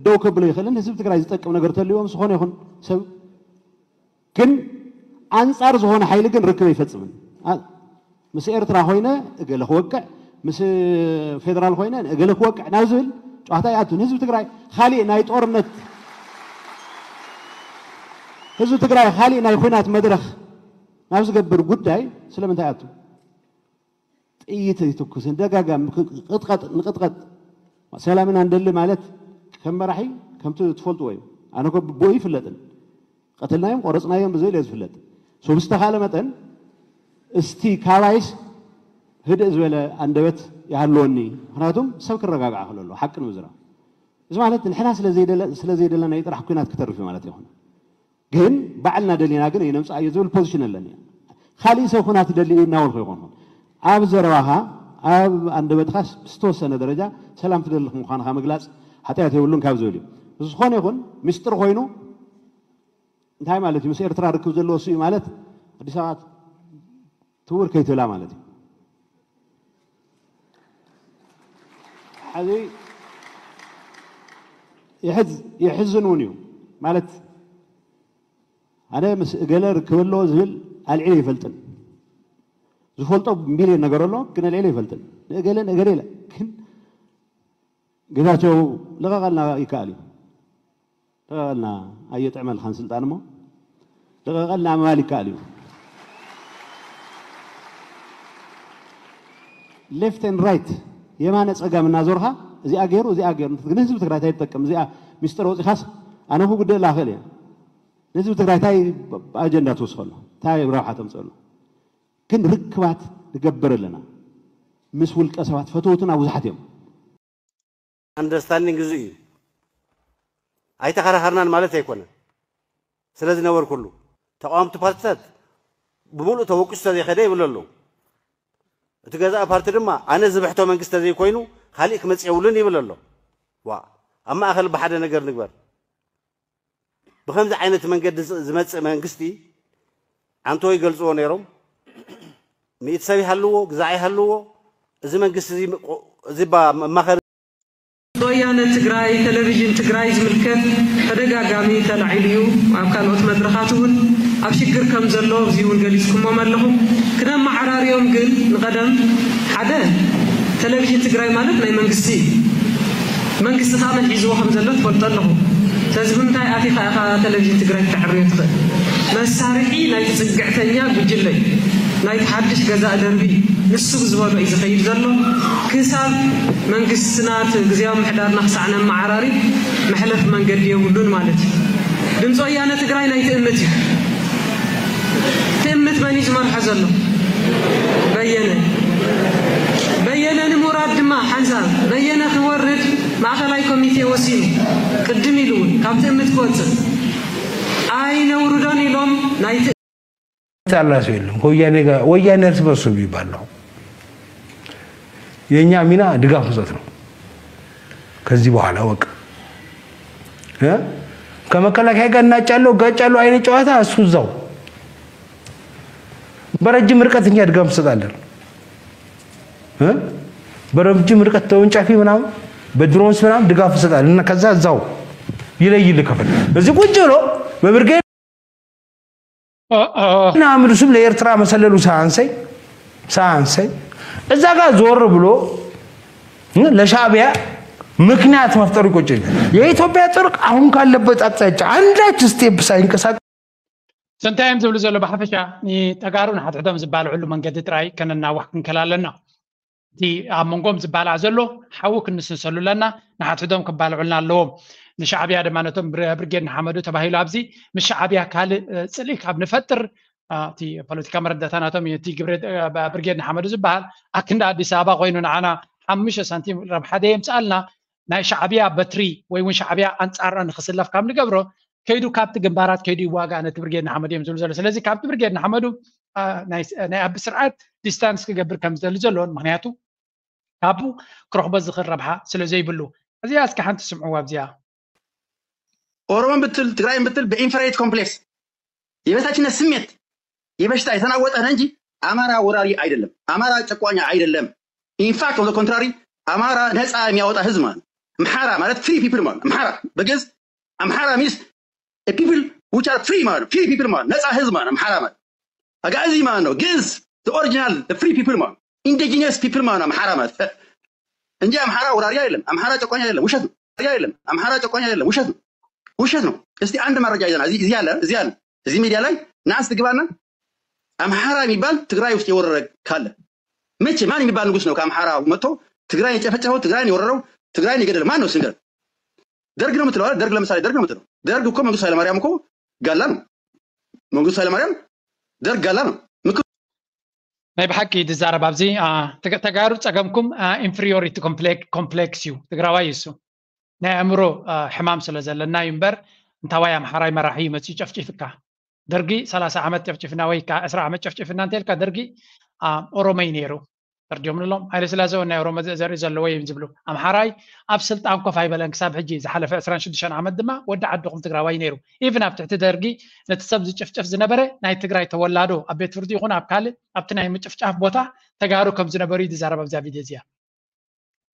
ደው ከብሎ ይኽእልን ህዝቢ ትግራይ ዝጠቅም ነገር ተልዎ ምስ ዝኾነ ይኹን ሰብ ግን ኣንፃር ዝኾነ ሓይሊ ግን ርክብ ኣይፈፅምን ምስ ኤርትራ ኮይነ እገለ ክወቅዕ ምስ ፌደራል ኮይነ እገለ ክወቅዕ ናብ ዝብል ጨዋታ ይኣቱ ንህዝቢ ትግራይ ካሊእ ናይ ጦርነት ህዝቢ ትግራይ ካሊእ ናይ ኩናት መድረክ ናብ ዝገብር ጉዳይ ስለምንታይ ኣቱ ጥይት ኣይትኩስን ደጋጋም ቅጥቀጥ ንቅጥቀጥ ሰላም ኢና ንደሊ ማለት ከም መራሒ ከምቲ ትፈልጥዎ እዩ ኣነ ኮ ብኡ ይፍለጥን ቀተልናዮም ቆረፅናዮም ብዝብል እየ ዝፍለጥ ሶ ብዝተኻለ መጠን እስቲ ካባይስ ህድእ ዝበለ ኣንደበት ይሃልወኒ ምክንያቱም ሰብ ክረጋግዓ ክለሎ ሓቂ ንምዝራብ እዚ ማለት ንሕና ስለ ዘይደለና ጥራሕ ኩናት ክተርፍ ማለት ይኹን ግን ባዕልና ደሊና ግን የነምፅኣዮ ዝብል ፖዚሽን ኣለኒ ካሊእ ሰብ ኩናት ደሊ እናበልኩ ይኮንኩን ኣብ ዘረባኻ ኣብ ኣንደበትኻ ዝተወሰነ ደረጃ ሰላም ትደሊ ምዃንካ ምግላፅ ሓጢኣት የብሉን ካብ ዝብል እዩ ዝኾነ ይኹን ምስጢር ኮይኑ እንታይ ማለት እዩ ምስ ኤርትራ ርክብ ዘለዎ እሱ እዩ ማለት ኣዲስ ኣበባ ትውር ከይትብላ ማለት እዩ ሕዚ የሕዝን እውን እዩ ማለት ኣነ ምስ እገለ ርክብ ኣለዎ ዝብል ኣልዒለ ይፈልጥን ዝፈልጦ ሚልዮን ነገር ኣሎ ግን ኣልዒለ ይፈልጥን ንእገለ ንእገለ ኢለ ግን ጌታቸው ልቐቐልና ይከኣል እዩ ልቐቐልና ኣየጥዕመልካን ስልጣን እሞ ልቐቐልና ምባል ይከኣል እዩ left and right የማነ ፀጋም እናዞርካ እዚኣ ገይሩ እዚኣ ገይሩ ንህዝቢ ትግራይ እንታይ ትጠቅም እዚኣ ሚስጥር ወፂኻስ ኣነ ክጉድእላ ክእል እየ ንህዝቢ ትግራይ እንታይ ኣጀንዳ ትወስኸሉ እንታይ ረብሓ ተምፅእሉ ግን ርክባት ንገብር ኣለና ምስ ውልቀ ሰባት ፈተውትና ብዙሓት እዮም understanding እዚ እዩ ኣይተኸራኸርናን ማለት ኣይኮነን ስለ ዝነበርኩሉ ተቃወምቲ ፓርትታት ብምሉእ ተወቂሱ ተዘይኸደ ይብል ኣለዉ እቲ ገዛእ ፓርቲ ድማ ኣነ ዝብሕቶ መንግስቲ ተዘይኮይኑ ካሊእ ክመፅእ የብሉን ይብል ኣሎ ኣብ ማእኸል ብሓደ ነገር ንግበር። ብኸምዚ ዓይነት መንገዲ ዝመፅእ መንግስቲ ኣንቶ ይገልፅዎ ነይሮም። ሚእቲ ሰብ ይሃልዎ፣ ግዛዕ ይሃልዎ፣ እዚ መንግስቲ እዚ መማኸሪ ወያነ ትግራይ ቴሌቪዥን ትግራይ ዝምልከት ተደጋጋሚ ተላዒሉ እዩ። ኣብ ካልኦት መድረኻት እውን ኣብ ሽግር ከም ዘሎ ኣብዚ እውን ገሊፅኩሞም ኣለኹም። ክነመዓራርዮም ግን ንቐደም ሓደ ቴሌቪዥን ትግራይ ማለት ናይ መንግስቲ እዩ። መንግስቲ ከዓ መን ሒዝዎ ከም ዘሎ ትፈልጦ ኣለኹ። ስለዚ ብምንታይ ኣቲኻ ኢኻ ቴሌቪዥን ትግራይ ክተዕርዮ ትኽእል? መሳርሒ ናይቲ ፅግዕተኛ ጉጅለ እዩ። ናይቲ ሓድሽ ገዛእ ደርቢ እዩ። ንሱ ብዝበሎ እዩ ዝኸይድ ዘሎ። ክሳብ መንግስትና እቲ ግዝያዊ ምሕዳርና ክሳዕ ነመዓራሪ መሕለፊ መንገዲ የብሉን ማለት እዩ። ድምፂ ወያነ ትግራይ ናይ ትእምት እዩ። ትእምት መን እዩ ዝመርሖ ዘሎ? በየነ። በየነ ንምውራድ ድማ ሓንሳብ በየነ ክወርድ ማእኸላይ ኮሚቴ ወሲኑ ቅድም ኢሉ እውን ካብ ትእምት ክወፅእ ኣይነውርዶን ኢሎም ናይ ያላ ሰው የለም። ከወያኔ ጋር ወያኔ እርስ በርሱ የሚባል ነው። የእኛ ሚና ድጋፍ መስጠት ነው። ከዚህ በኋላ በቃ እ ከመከላከያ ጋር እናጫለው ጋጫለው አይነት ጨዋታ እሱ እዛው በረጅም ርቀት እኛ ድጋፍ እንሰጣለን። እ በረጅም ርቀት ተወንጫፊ ምናምን በድሮንስ ምናምን ድጋፍ እንሰጣለን እና ከዛ እዛው ይለይል ከፈል እዚህ ቁጭ ብሎ በብርጌድ እና ምድሱም ለኤርትራ መሰለሉ ሳንሰይ ሳንሰይ እዛ ጋር ዞር ብሎ ለሻዕቢያ ምክንያት መፍጠሩ ይቆጨኛል። የኢትዮጵያ ጦር አሁን ካለበት አቅጣጫ አንዳች ስቴፕ ሳይንቀሳቀስ እንታይ እዮም ዝብሉ ዘሎ ብሓፈሻ ንተጋሩ ንሓድሕዶም ዝባልዕሉ መንገዲ ጥራይ ከነናዋሕ ክንከል ኣለና። እቲ ኣብ መንጎም ዝባላዕ ዘሎ ሓዊ ክንስንሰሉ ኣለና። ንሓድሕዶም ክባልዑልና ኣለዎም። ንሻዕብያ ድማ ነቶም ብርጌድ ንሓመዱ ተባሂሉ ኣብዚ ምስ ሻዕብያ ካልእ ፅልኢ ካብ ንፈጥር እቲ ፖለቲካ መረዳእታ ናቶም እቲ ግብረ ብርጌድ ንሓመዱ ዝበሃል ኣክንዲ ኣዲስ ኣበባ ኮይኑ ንዓና ሓሙሽተ ሳንቲም ረብሓ ደየምፅኣልና ናይ ሻዕብያ በትሪ ወይ እውን ሻዕብያ ኣንፃርና ንክስለፍ ካብ ንገብሮ ከይዱ ካብቲ ግንባራት ከይዱ ይዋጋእ ነቲ ብርጌድ ንሓመዱ እዮም ዝብሉ ዘሎ። ስለዚ ካብቲ ብርጌድ ንሓመዱ ናይ ኣቢ ስርዓት ዲስታንስ ክገብር ከም ዝደሊ ዘለዎን ምክንያቱ ካብኡ ክረኽቦ ዝኽእል ረብሓ ስለ ዘይብሉ እዚኣ እስኪ ሓንቲ ስምዕዋ ኣብዚኣ ኦሮሞን ብትል ትግራይን ብትል በኢንፈራይቲ ኮምፕሌክስ የበታችነት ስሜት የበሽታ የተናወጠ እንጂ አማራ ወራሪ አይደለም። አማራ ጨቋኛ አይደለም። ኢንፋክት ኦን ኮንትራሪ አማራ ነፃ የሚያወጣ ህዝብ ማለት አምሓራ ማለት ፍሪ ፒፕል ማለት አምሓራ በግዕዝ አምሓራ ሚንስ ፒፕል ዊች አር ፍሪ ማለት ፍሪ ፒፕል ማለት ነፃ ህዝብ ማለት አምሓራ ማለት አጋዚ ማለት ነው። ግዕዝ ኦሪጂናል ፍሪ ፒፕል ማለት ኢንዲጂነስ ፒፕል ማለት አምሓራ ማለት እንጂ አምሓራ ወራሪ አይደለም። አምሓራ ጨቋኝ አይደለም። ውሸት ነው። አይደለም። አምሓራ ጨቋኝ አይደለም። ውሸት ነው። ውሸት ነው። እስቲ አንድ መረጃ ይዘና እዚህ ያለ እዚህ ያለ እዚህ ሚዲያ ላይ ናስ ትግባና አምሓራ የሚባል ትግራይ ውስጥ የወረረ ካለ መቼ ማን የሚባል ንጉስ ነው ከአምሓራ መጥቶ ትግራይ የጨፈጨፈው፣ ትግራይን የወረረው፣ ትግራይን የገደለ ማን ነው? ስንገር ደርግ ነው የምትለው። ደርግ ለምሳሌ ደርግ ነው የምትለው። ደርግ እኮ መንግስቱ ኃይለማርያም እኮ ጋላ ነው። መንግስቱ ኃይለማርያም ደርግ ጋላ ነው። ናይ ብሓቂ ዝዛረብ ኣብዚ ተጋሩ ፀገምኩም ኢንፍሪዮሪቲ ኮምፕሌክስ እዩ። ትግራዋይ እዩ እሱ። ናይ ኣእምሮ ሕማም ስለ ዘለና እዩ እምበር እንታዋይ ኣምሓራይ መራሒ እዩ መፅኡ ጨፍጪፍካ። ደርጊ ሰላሳ ዓመት ጨፍጭፍና ወይ ከዓ ዕስራ ዓመት ጨፍጭፍና እንተልካ ደርጊ ኦሮሞ እዩ ነይሩ። ፈርዲዮም ንሎም ሃይለ ስላሴ እውን ናይ ኦሮሞ ዘርኢ ዘለዎ እዮም ዝብሉ። ኣምሓራይ ኣብ ስልጣን ኮፍ ኣይበለን ክሳብ ሕጂ ዝሓለፈ ዕስራን ሽዱሽተን ዓመት ድማ ወዲ ዓድኹም ትግራዋይ ነይሩ። ኢቭን ኣብ ትሕቲ ደርጊ ነቲ ሰብ ዝጭፍጨፍ ዝነበረ ናይ ትግራይ ተወላዶ ኣብ ቤት ፍርዲ ይኹን ኣብ ካልእ ኣብቲ ናይ ምጭፍጫፍ ቦታ ተጋሩ ከም ዝነበሩ እዩ ዝዛረብ ኣብዛ ቪድዮ እዚኣ።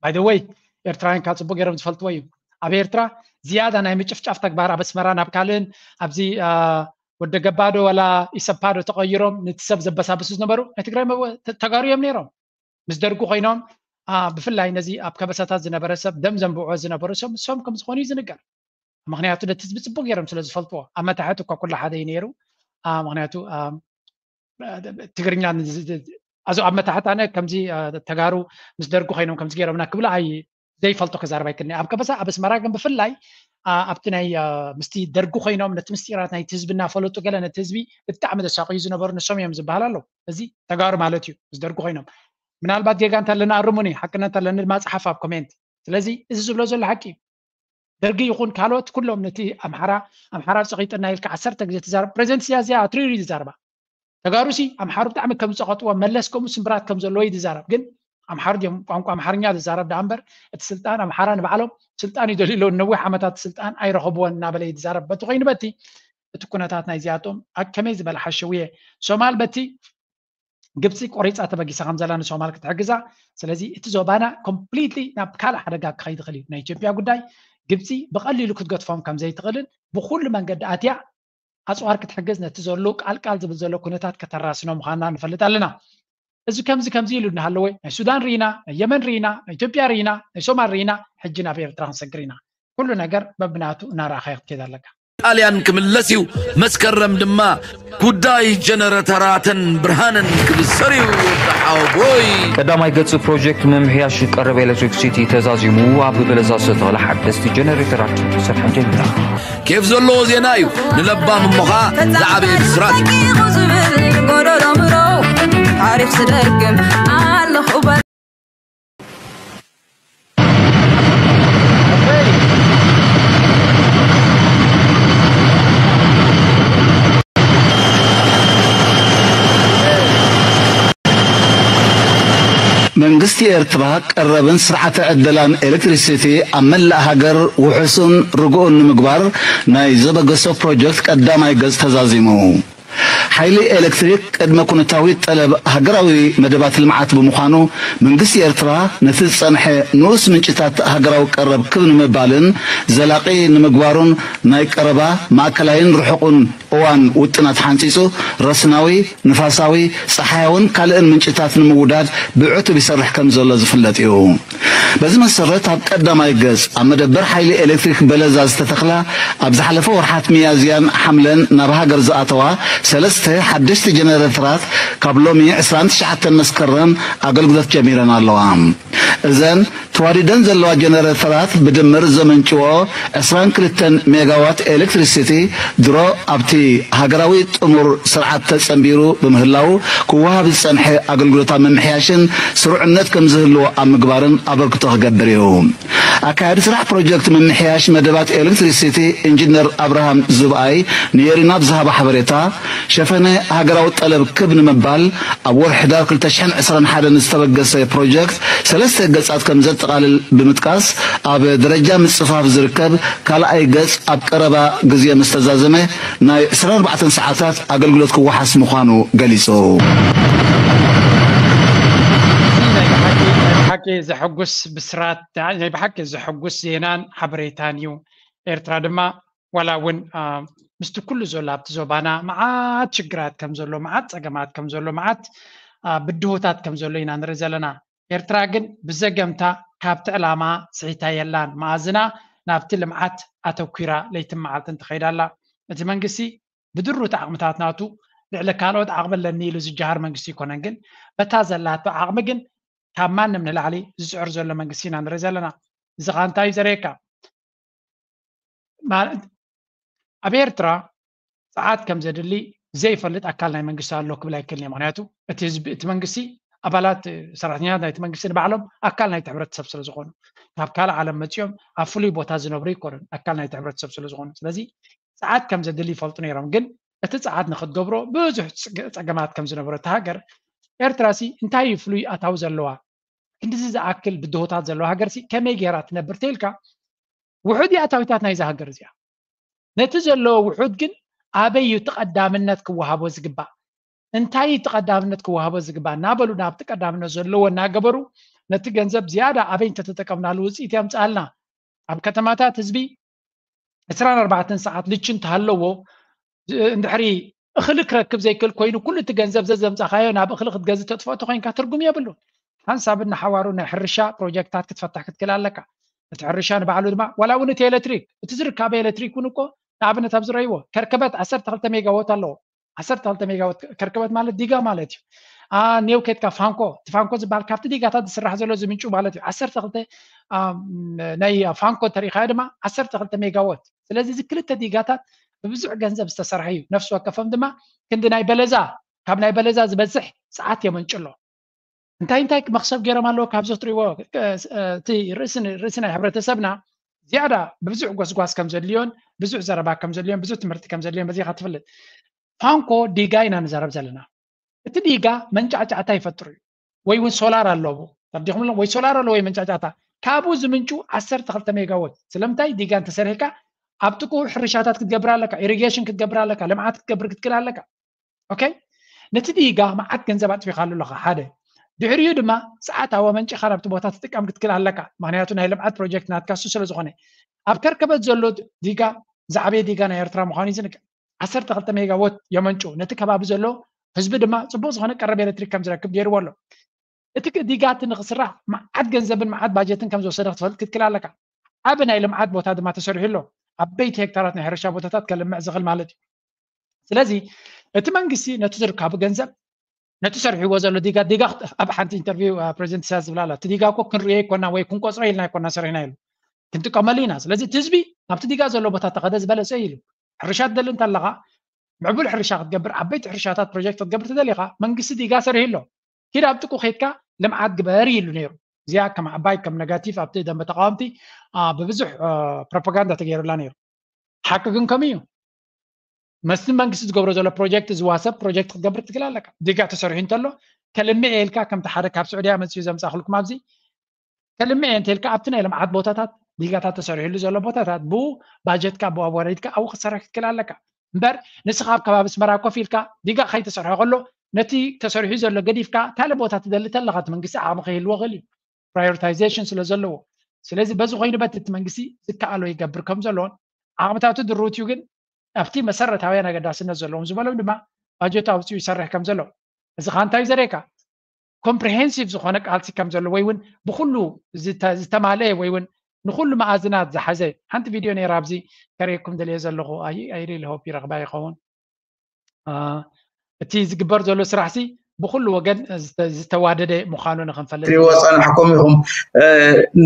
By the way ኤርትራውያን ካብ ፅቡቅ ገይሮም ዝፈልጥዎ እዩ። ኣብ ኤርትራ ዝያዳ ናይ ምጭፍጫፍ ተግባር ኣብ ኣስመራ ናብ ካልእን ኣብዚ ወደ ገባዶ ወላ ኢሰፓዶ ተቀይሮም ነቲ ሰብ ዘበሳብሱ ዝነበሩ ናይ ትግራይ ተጋሩ እዮም ነይሮም። ምስ ደርጉ ኮይኖም ብፍላይ ነዚ ኣብ ከበሳታት ዝነበረ ሰብ ደም ዘንብዑ ዝነበሩ ሰብ ንሶም ከም ዝኾኑ እዩ ዝንገር። ምክንያቱ ነቲ ህዝቢ ፅቡቅ ገይሮም ስለ ዝፈልጥዎ ኣብ መታሕት እኳ ኩሉ ሓደ እዩ ነይሩ። ምክንያቱ ትግርኛ ኣዞ ኣብ መታሕት ኣነ ከምዚ ተጋሩ ምስ ደርጉ ኮይኖም ከምዚ ገይሮምና ክብላ ኣይ ዘይፈልጦ ክዛረብ ኣይክእልን። ኣብ ከበሳ ኣብ ኣስመራ ግን ብፍላይ ኣብቲ ናይ ምስቲ ደርጉ ኮይኖም ነቲ ምስጢራት ናይቲ ህዝቢ እናፈለጡ ገለ ነቲ ህዝቢ ብጣዕሚ ዘሳቅዩ ዝነበሩ ንሶም እዮም ዝበሃል ኣለዉ። እዚ ተጋሩ ማለት እዩ። ምስ ደርጉ ኮይኖም ምናልባት ጌጋ እንተለና ኣርሙኒ፣ ሓቅነት እንተለኒ ድማ ጸሓፍ ኣብ ኮሜንት። ስለዚ እዚ ዝብሎ ዘሎ ሓቂ እዩ። ደርጊ ይኹን ካልኦት ኩሎም ነቲ ኣምሓራ ኣምሓራ ጸቂጥና ኢልካ ዓሰርተ ግዜ ትዛረብ። ፕሬዚደንት ኢሳያስ እዚኣ ኣትሪሩ እዩ ዝዛረባ። ተጋሩሲ ኣምሓሩ ብጣዕሚ ከም ዝጸቐጥዎ መለስ ከምኡ ስምብራት ከም ዘለዎ እዩ ዝዛረብ። ግን ኣምሓሩ ድዮም ቋንቋ ኣምሓርኛ ዝዛረብ ደኣ እምበር፣ እቲ ስልጣን ኣምሓራ ንባዕሎም ስልጣን ይደልዩ ኣለዉ፣ ነዊሕ ዓመታት ስልጣን ኣይረኸብዎን እናበለ እዩ ዝዛረብ። በቲ ኮይኑ በቲ እቲ ኩነታት ናይዚኣቶም ኣብ ከመይ ዝበለ ሓሸውየ ሶማል በቲ ግብፂ ቆሪፃ ተበጊሳ ከም ዘላ ንሶማል ክትሕግዛ። ስለዚ እቲ ዞባና ኮምፕሊትሊ ናብ ካልእ ሓደጋ ክኸይድ ይኽእል እዩ። ናይ ኢትዮጵያ ጉዳይ ግብፂ ብቐሊሉ ክትገድፎም ከም ዘይትኽእልን ብኩሉ መንገዲ ኣትያ ኣፅዋር ክትሕግዝ ነቲ ዘሎ ቃልቃል ዝብል ዘሎ ኩነታት ከተራስኖ ምዃንና ንፈልጥ ኣለና። እዚ ከምዚ ከምዚ ኢሉ እናሃለወ ናይ ሱዳን ርኢና፣ ናይ የመን ርኢና፣ ናይ ኢትዮጵያ ርኢና፣ ናይ ሶማል ርኢና፣ ሕጂ ናብ ኤርትራ ክንሰግር ኢና። ኩሉ ነገር በብናቱ እናረኣኻዮ ክትከይድ ኣለካ። ጣልያን ክምለስ እዩ። መስከረም ድማ ጉዳይ ጀነረተራትን ብርሃንን ክብሰር እዩ። ተሓቦይ ቀዳማይ ገጽ ፕሮጀክት ምምሕያሽ ቀረብ ኤሌክትሪክሲቲ ተዛዚሙ ኣብ በለሳ ዝተተኽለ ሓደስቲ ጀነሬተራት ስርሐን ጀሚራ። ኬፍ ዘለዎ ዜና እዩ። ንለባም እሞኻ ዝዓበየ ብስራት እዩ። ዝብል ጎደሎ ምሮ ታሪኽ ስደግም ኣለኹ መንግስቲ ኤርትራ ቀረብን ስርዓተ ዕደላን ኤሌክትሪሲቲ ኣብ መላእ ሃገር ውሑስን ርጉእን ንምግባር ናይ ዘበገሶ ፕሮጀክት ቀዳማይ ገጽ ተዛዚሙ። ሓይሊ ኤሌክትሪክ ቅድመ ኩነታዊ ጠለብ ሃገራዊ መደባት ልምዓት ብምዃኑ መንግስቲ ኤርትራ ነቲ ዝጸንሐ ንኡስ ምንጭታት ሃገራዊ ቀረብ ክብ ንምባልን ዘላቒ ንምግባሩን ናይ ቀረባ ማእከላይን ርሑቕን እዋን ውጥናት ሓንጺጹ ረስናዊ፣ ንፋሳዊ፣ ጸሓያውን ካልእን ምንጭታት ንምውዳድ ብዕቱብ ይሰርሕ ከም ዘሎ ዝፍለጥ እዩ። በዚ መሰረት ኣብ ቀዳማይ ገጽ ኣብ መደበር ሓይሊ ኤሌክትሪክ በለዛ ዝተተኽላ ኣብ ዝሓለፈ ወርሓት ሚያዝያን ሓምለን ናብ ሃገር ዝኣተዋ ሰለስተ ሓደሽቲ ጀነሬተራት ካብ ሎሚ ዕስራን ትሽዓተን መስከረም ኣገልግሎት ጀሚረን ኣለዋ። እዘን ተዋዲደን ዘለዋ ጀነሬተራት ብድምር ዘመንጭዎ ዕስራን ክልተን ሜጋዋት ኤሌክትሪሲቲ ድሮ ኣብቲ ሃገራዊ ጥሙር ስርዓት ተጸንቢሩ ብምህላው ክወሃብ ዝጸንሐ ኣገልግሎታት ምምሕያሽን ስሩዕነት ከም ዝህልዎ ኣብ ምግባርን ኣበርክቶ ክገብር እዩ። ኣካያዲ ስራሕ ፕሮጀክት ምምሕያሽ መደባት ኤሌክትሪሲቲ ኢንጂነር ኣብርሃም ዝብኣይ ንኤሪና ብዝሃቦ ሓበሬታ ሸፈነ ሃገራዊ ጠለብ ክብ ንምባል ኣብ ወርሒ ሕዳር ክልተ ሽሕን ዕስራን ሓደን ዝተበገሰ ፕሮጀክት ሰለስተ ገጻት ከም ዘጠቓልል ብምጥቃስ ኣብ ደረጃ ምጽፋፍ ዝርከብ ካልኣይ ገጽ ኣብ ቀረባ ግዜ ምስ ተዛዘመ ናይ ዕስራን ኣርባዕተን ሰዓታት ኣገልግሎት ክወሓስ ምዃኑ ገሊጹ። እዚ ናይ ብሓቂ ናይ ብሓቂ ዘሐጉስ ብስራት ናይ ብሓቂ ዘሐጉስ ዜናን ሓበሬታን እዩ። ኤርትራ ድማ ዋላ እውን ምስቲ ኩሉ ዘሎ ኣብቲ ዞባና መዓት ሽግራት ከም ዘሎ መዓት ጸገማት ከም ዘሎ መዓት ብድሆታት ከም ዘሎ ኢና ንርኢ ዘለና። ኤርትራ ግን ብዘገምታ ካብቲ ዕላማ ስሒታ የላን። መኣዝና ናብቲ ልምዓት ኣተኲራ ለይትን መዓልትን ትኸይድ ኣላ። እቲ መንግስቲ ብድሩት ዓቕምታት ናቱ ልዕሊ ካልኦት ዓቕሚ ኣለኒ ኢሉ ዝጀሃር መንግስቲ ኣይኮነን። ግን በታ ዘላቶ ዓቕሚ ግን ካብ ማንም ንላዕሊ ዝፅዕር ዘሎ መንግስቲ ኢና ንርኢ ዘለና። እዚ ኸዓ እንታይ እዩ ዘርእየካ? ማለት ኣብ ኤርትራ ፀዓት ከም ዘድሊ ዘይፈልጥ ኣካል ናይ መንግስቲ ኣሎ ክብል ኣይክእልን እየ። ምክንያቱ እቲ ህዝቢ እቲ መንግስቲ ኣባላት ሰራሕተኛታት ናይቲ መንግስቲ ንባዕሎም ኣካል ናይቲ ሕብረተሰብ ስለ ዝኾኑ ካብ ካልእ ዓለም መፂኦም ኣብ ፍሉይ ቦታ ዝነብሩ ኣይኮኑን ኣካል ናይቲ ሕብረተሰብ ስለ ዝኾኑ ስለዚ ፀዓት ከም ዘድሊ ይፈልጡ ነይሮም። ግን እቲ ፀዓት ንክትገብሮ ብዙሕ ፀገማት ከም ዝነበሮ እታ ሃገር ኤርትራ ሲ እንታይ እዩ ፍሉይ ኣታዊ ዘለዋ ክንድዚ ዝኣክል ብድሆታት ዘለዋ ሃገር ሲ ከመይ ገይራ ትነብር ተይልካ ውሑድ ኣታዊታት ናይዛ ሃገር እዚኣ ነቲ ዘለዎ ውሑድ ግን ኣበይ እዩ እቲ ቀዳምነት ክወሃቦ ዝግባእ እንታይ እዩ እቲ ቀዳምነት ክወሃቦ ዝግባእ እናበሉ ናብቲ ቀዳምነት ዘለዎ እናገበሩ ነቲ ገንዘብ ዝያዳ ኣበይ እንተተጠቀምናሉ ውፅኢት የምፅኣልና ኣብ ከተማታት ህዝቢ ዕስራን ኣርባዕተን ሰዓት ልቺ እንተሃለዎ እንድሕሪ እኽሊ ክረክብ ዘይክእል ኮይኑ ኩሉ እቲ ገንዘብ ዘዘምፃኻዮ ናብ እኽሊ ክትገዝእ ተጥፍኦ ተኮይንካ ትርጉም የብሉን። ሓንሳብ እናሓዋሩ ናይ ሕርሻ ፕሮጀክትታት ክትፈትሕ ክትክእል ኣለካ። እቲ ሕርሻ ንባዕሉ ድማ ዋላ እውን እቲ ኤሌክትሪክ እቲ ዝርካበ ኤሌክትሪክ እውን እኮ ንኣብነት ኣብ ዝረይዎ ከርከበት ዓሰርተ ክልተ ሜጋዎት ኣለዎ። ዓሰርተ ክልተ ሜጋዎት ከርከበት ማለት ዲጋ ማለት እዩ። ኔው ከድካ ፋንኮ እቲ ፋንኮ ዝበሃል ካብቲ ዲጋታት ዝስራሕ ዘሎ ዝምንጩ ማለት እዩ። ዓሰርተ ክልተ ናይ ፋንኮ እንተሪኢኻዮ ድማ ዓሰርተ ክልተ ሜጋዎት። ስለዚ እዚ ክልተ ዲጋታት ብብዙሕ ገንዘብ ዝተሰርሐ እዩ። ነፍሲ ወከፎም ድማ ክንዲ ናይ በለዛ ካብ ናይ በለዛ ዝበዝሕ ሰዓት የመንጭሎ። እንታይ እንታይ መኽሰብ ገይሮም ኣለዎ ካብዚ ክትሪእዎ እቲ ርእሲ ናይ ሕብረተሰብና ዝያዳ ብብዙሕ ጎስጓስ ከም ዘድልዮን ብዙሕ ዘረባ ከም ዘድልዮን ብዙሕ ትምህርቲ ከም ዘድልዮን በዚኻ ትፍልጥ። ፋንኮ ዲጋ ኢና ንዛረብ ዘለና። እቲ ዲጋ መንጫዕጫዕታ ይፈጥር እዩ ወይ እውን ሶላር ኣለዎ። ተረዲኹም ኣለኹም ወይ ሶላር ኣሎ ወይ መንጫጫታ ካብኡ ዝምንጩ ዓሰርተ ክልተ ሜጋወት ስለምንታይ ዲጋ እንተሰሪሕካ ኣብ ጥቁ ሕርሻታት ክትገብር ኣለካ ኢሪጌሽን ክትገብር ኣለካ ልምዓት ክትገብር ክትክል ኣለካ okay ነቲ ዲጋ መዓት ገንዘብ ኣጥፊኻሉ ኣለኻ ሓደ ድሕሪኡ ድማ ሰዓታዊ መንጭኻ ናብቲ ቦታ ትጥቀም ክትክል ኣለካ ምክንያቱ ናይ ልምዓት ፕሮጀክት ናትካ እሱ ስለ ዝኾነ ኣብ ከርከበት ዘሎ ዲጋ ዝዓበየ ዲጋ ናይ ኤርትራ ምዃኑ እዩ ዝንገር ዓሰርተ ክልተ ሜጋወት የመንጩ ነቲ ከባቢ ዘሎ ህዝቢ ድማ ፅቡቅ ዝኾነ ቀረብ ኤሌክትሪክ ከም ዝረክብ ገይርዎ ኣሎ እቲ ዲጋ እቲ ንክስራሕ መዓት ገንዘብን መዓት ባጀትን ከም ዝወሰደ ክትፈልጥ ክትክል ኣለካ ዓብ ናይ ልምዓት ቦታ ድማ ተሰሪሑ ኣሎ ዓበይቲ ሄክታራት ናይ ሕርሻ ቦታታት ከልምዕ ዝኽእል ማለት እዩ ስለዚ እቲ መንግስቲ ነቲ ዝርካቡ ገንዘብ ነቲ ሰሪሕዎ ዘሎ ዲጋ ዲጋ ኣብ ሓንቲ ኢንተርቪው ፕሬዚደንት ኢሳያስ ዝብላ ኣላ እቲ ዲጋ እኮ ክንሪኦ ይኮና ወይ ክንቆፅሮ ኢልና ይኮና ሰሪሕና ኢሉ ክንጥቀመሉ ኢና ስለዚ እቲ ህዝቢ ኣብቲ ዲጋ ዘሎ ቦታ ተኸደ ዝበለፀ ኢሉ ሕርሻ ትደሊ እንተለኻ ምዕቡል ሕርሻ ክትገብር ዓበይቲ ሕርሻታት ፕሮጀክት ክትገብር ትደሊኻ መንግስቲ ዲጋ ሰሪሑ ኣሎ ኪድ ኣብ ጥቁ ከይድካ ልምዓት ግበር ኢሉ ነይሩ እዚኣ ከም ዓባይ ከም ነጋቲቭ ኣብቲ ደንበ ተቃወምቲ ብብዙሕ ፕሮፓጋንዳ ተገይሩላ ነይሩ ሓቂ ግን ከምኡ እዩ መስቲ መንግስቲ ዝገብሮ ዘሎ ፕሮጀክት ዝዋሰብ ፕሮጀክት ክትገብር ትክል ኣለካ ዲጋ ተሰሪሑ እንተሎ ከልምዕ ኢልካ ከምቲ ሓደ ካብ ስዑድያ መፅኡ ዘምፃእክልኩም ኣብዚ ከልምዕ እንተልካ ኣብቲ ናይ ልምዓት ቦታታት ዲጋታት ተሰሪሕሉ ዘሎ ቦታታት ብኡ ባጀትካ ብኡ ኣወረድካ ኣብኡ ክትሰርሕ ክትክል ኣለካ እምበር ንስኻ ኣብ ከባቢ ኣስመራ ኮፍ ኢልካ ዲጋ ከይተሰርሖ ከሎ ነቲ ተሰሪሑ ዘሎ ገዲፍካ ካልእ ቦታ ትደሊ ተለኻ እቲ መንግስቲ ዓቕሚ ከይህልዎ ክእል እዩ ፕራዮሪታይዜሽን ስለ ዘለዎ ስለዚ በዚ ኮይኑ በቲ እቲ መንግስቲ ዝከኣሎ ይገብር ከም ዘለዎን ዓቕምታቱ ድሩት እዩ ግን ኣብቲ መሰረታውያን ኣገዳስነት ዘለዎም ዝበሎም ድማ ባጀቱ ኣውፅኡ ይሰርሕ ከም ዘሎ እዚ ከዓ እንታይ ዘርእየካ ኮምፕሪሄንሲቭ ዝኾነ ቃልሲ ከም ዘሎ ወይ እውን ብኩሉ ዝተማልአ ወይ እውን ንኩሉ መኣዝናት ዝሓዘ ሓንቲ ቪድዮ ነይራ ኣብዚ ከርእየኩም ደልየ ዘለኹ ኣይሪል ሆፕ ይረኽባ ይኸውን እቲ ዝግበር ዘሎ ስራሕ ሲ ብኩሉ ወገን ዝተዋደደ ምዃኑ ንክንፈልጥ ትሪዎ ፀናሕኩም ኢኹም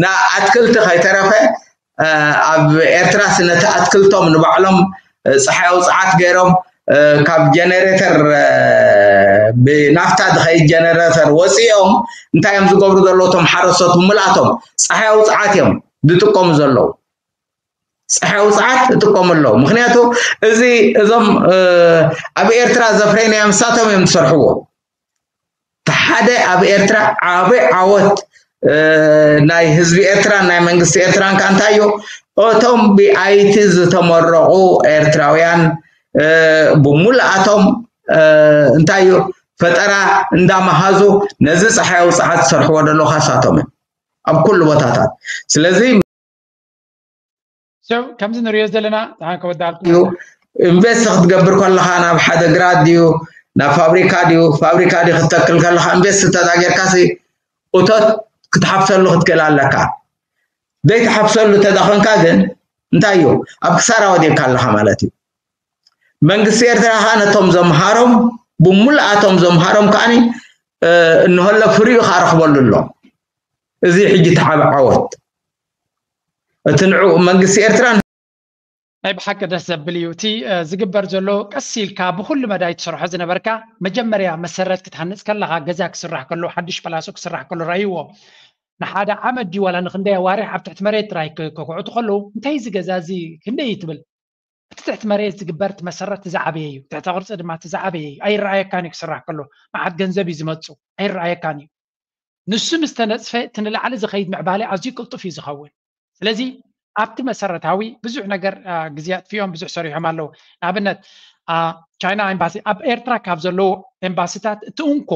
ንኣትክልቲ ከይተረፈ ኣብ ኤርትራ ስነቲ ኣትክልቶም ንባዕሎም ፀሓይ ኣውፅዓት ገይሮም ካብ ጀነሬተር ብናፍታ ዝኸይድ ጀነሬተር ወፂኦም እንታይ እዮም ዝገብሩ ዘለዉ ቶም ሓረስቶት ብምልኣቶም ፀሓይ ኣውፅዓት እዮም ዝጥቀሙ ዘለዉ ፀሓይ ኣውፅዓት ይጥቀሙ ኣለዉ ምክንያቱ እዚ እዞም ኣብ ኤርትራ ዘፍረይናዮም ንሳቶም እዮም ዝሰርሕዎ ሓደ ኣብ ኤርትራ ዓቢ ዓወት ናይ ህዝቢ ኤርትራን ናይ መንግስቲ ኤርትራን ከዓ እንታይ እዩ እቶም ብኣይቲ ዝተመረቑ ኤርትራውያን ብምሉኣቶም እንታይ እዩ ፈጠራ እንዳመሃዙ ነዚ ፀሓይ ኣውፅዓት ዝሰርሕዎ ዘለዉ ካሳቶም እዩ ኣብ ኩሉ ቦታታት ስለዚ ከምዚ ንሪኦ ዘለና ከወዳልኩ እዩ ኢንቨስት ክትገብር ከለካ ናብ ሓደ ግራት ድዩ ናብ ፋብሪካ ድዩ ፋብሪካ ድዩ ክትተክል ከለካ ኢንቨስት ተዳጌርካ እቶት ክትሓፍሰሉ ክትክእል ኣለካ ዘይትሓፍሰሉ ተዳኮንካ ግን እንታይ እዩ ኣብ ክሳራ ወዲቅካ ኣለካ ማለት እዩ መንግስቲ ኤርትራ ከዓ ነቶም ዘምሃሮም ብምሉኣቶም ዘምሃሮም ከዓኒ እንሀሎ ፍሪኡ ከዓ ረክበሉ ኣሎ እዚ ሕጂ ተዓበ ዓወት እቲ ንዑ መንግስቲ ኤርትራ ናይ ብሓቂ ደስ ዘብል እዩ እቲ ዝግበር ዘሎ ቀስ ኢልካ ብኩሉ መዳይ ትሰርሖ ዝነበርካ መጀመርያ መሰረት ክትሃንፅ ከለካ ገዛ ክስራሕ ከሎ ሓድሽ ጳላሶ ክስራሕ ከሎ ራእይዎ ንሓደ ዓመት ድዩ ዋላ ንክንደይ ኣዋርሕ ኣብ ትሕቲ መሬት ጥራይ ከኩዕቱ ከለዉ እንታይ እዚ ገዛ እዚ ክንደይ እዩ ትብል እቲ ትሕቲ መሬት ዝግበር እቲ መሰረት እቲ ዝዓበየ እዩ ትሕቲ ቅርፂ ድማ እቲ ዝዓበየ እዩ ኣይረኣየካን እዩ ክስራሕ ከሎ መዓት ገንዘብ እዩ ዝመፁ ኣይረኣየካን እዩ ንሱ ምስ ተነፅፈ እቲ ንላዕሊ ዝኸይድ ምዕባለ ኣዝዩ ቅልጡፍ እዩ ዝኸውን ስለዚ ኣብቲ መሰረታዊ ብዙሕ ነገር ግዜ ኣጥፊኦም ብዙሕ ሰሪሖም ኣለዉ ንኣብነት ቻይና ኤምባሲ ኣብ ኤርትራ ካብ ዘለዉ ኤምባሲታት እቲ እንኮ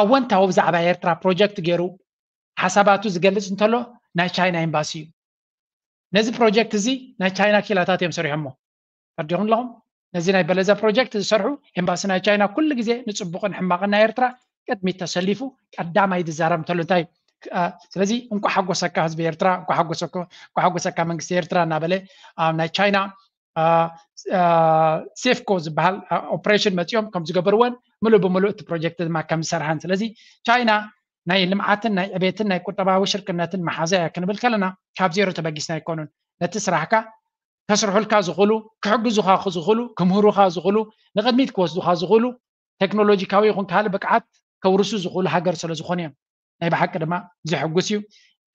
ኣወንታዊ ብዛዕባ ኤርትራ ፕሮጀክት ገይሩ ሓሳባቱ ዝገልፅ እንተሎ ናይ ቻይና ኤምባሲ እዩ ነዚ ፕሮጀክት እዚ ናይ ቻይና ኪላታት እዮም ሰሪሖሞ ተረዲኹም ኣለኹም ነዚ ናይ በለዛ ፕሮጀክት ዝሰርሑ ኤምባሲ ናይ ቻይና ኩሉ ግዜ ንፅቡቅን ሕማቅን ናይ ኤርትራ ቅድሚት ተሰሊፉ ቀዳማይ ዝዛረብ እንተሎ እንታይ ስለዚ እንኳ ሓጎሰካ ህዝቢ ኤርትራ እንኳ ሓጎሰካ መንግስቲ ኤርትራ እናበለ ኣብ ናይ ቻይና ሴፍኮ ዝበሃል ኦፕሬሽን መፂኦም ከም ዝገበርዎን ምሉእ ብምሉእ እቲ ፕሮጀክት ድማ ከም ዝሰርሓን ስለዚ ቻይና ናይ ልምዓትን ናይ ዕቤትን ናይ ቁጠባዊ ሽርክነትን መሓዛ እያ ክንብል ከለና ካብ ዜሮ ተበጊስና ኣይኮኑን ነቲ ስራሕካ ከስርሑልካ ዝኽእሉ ክሕግዙኻ ዝኽእሉ ክምህሩኻ ዝኽእሉ ንቕድሚት ክወስዱኻ ዝኽእሉ ቴክኖሎጂካዊ ይኹን ካልእ ብቅዓት ከውርሱ ዝኽእሉ ሃገር ስለ ዝኾኑ እዮም ናይ ብሓቂ ድማ ዘሕጉስ እዩ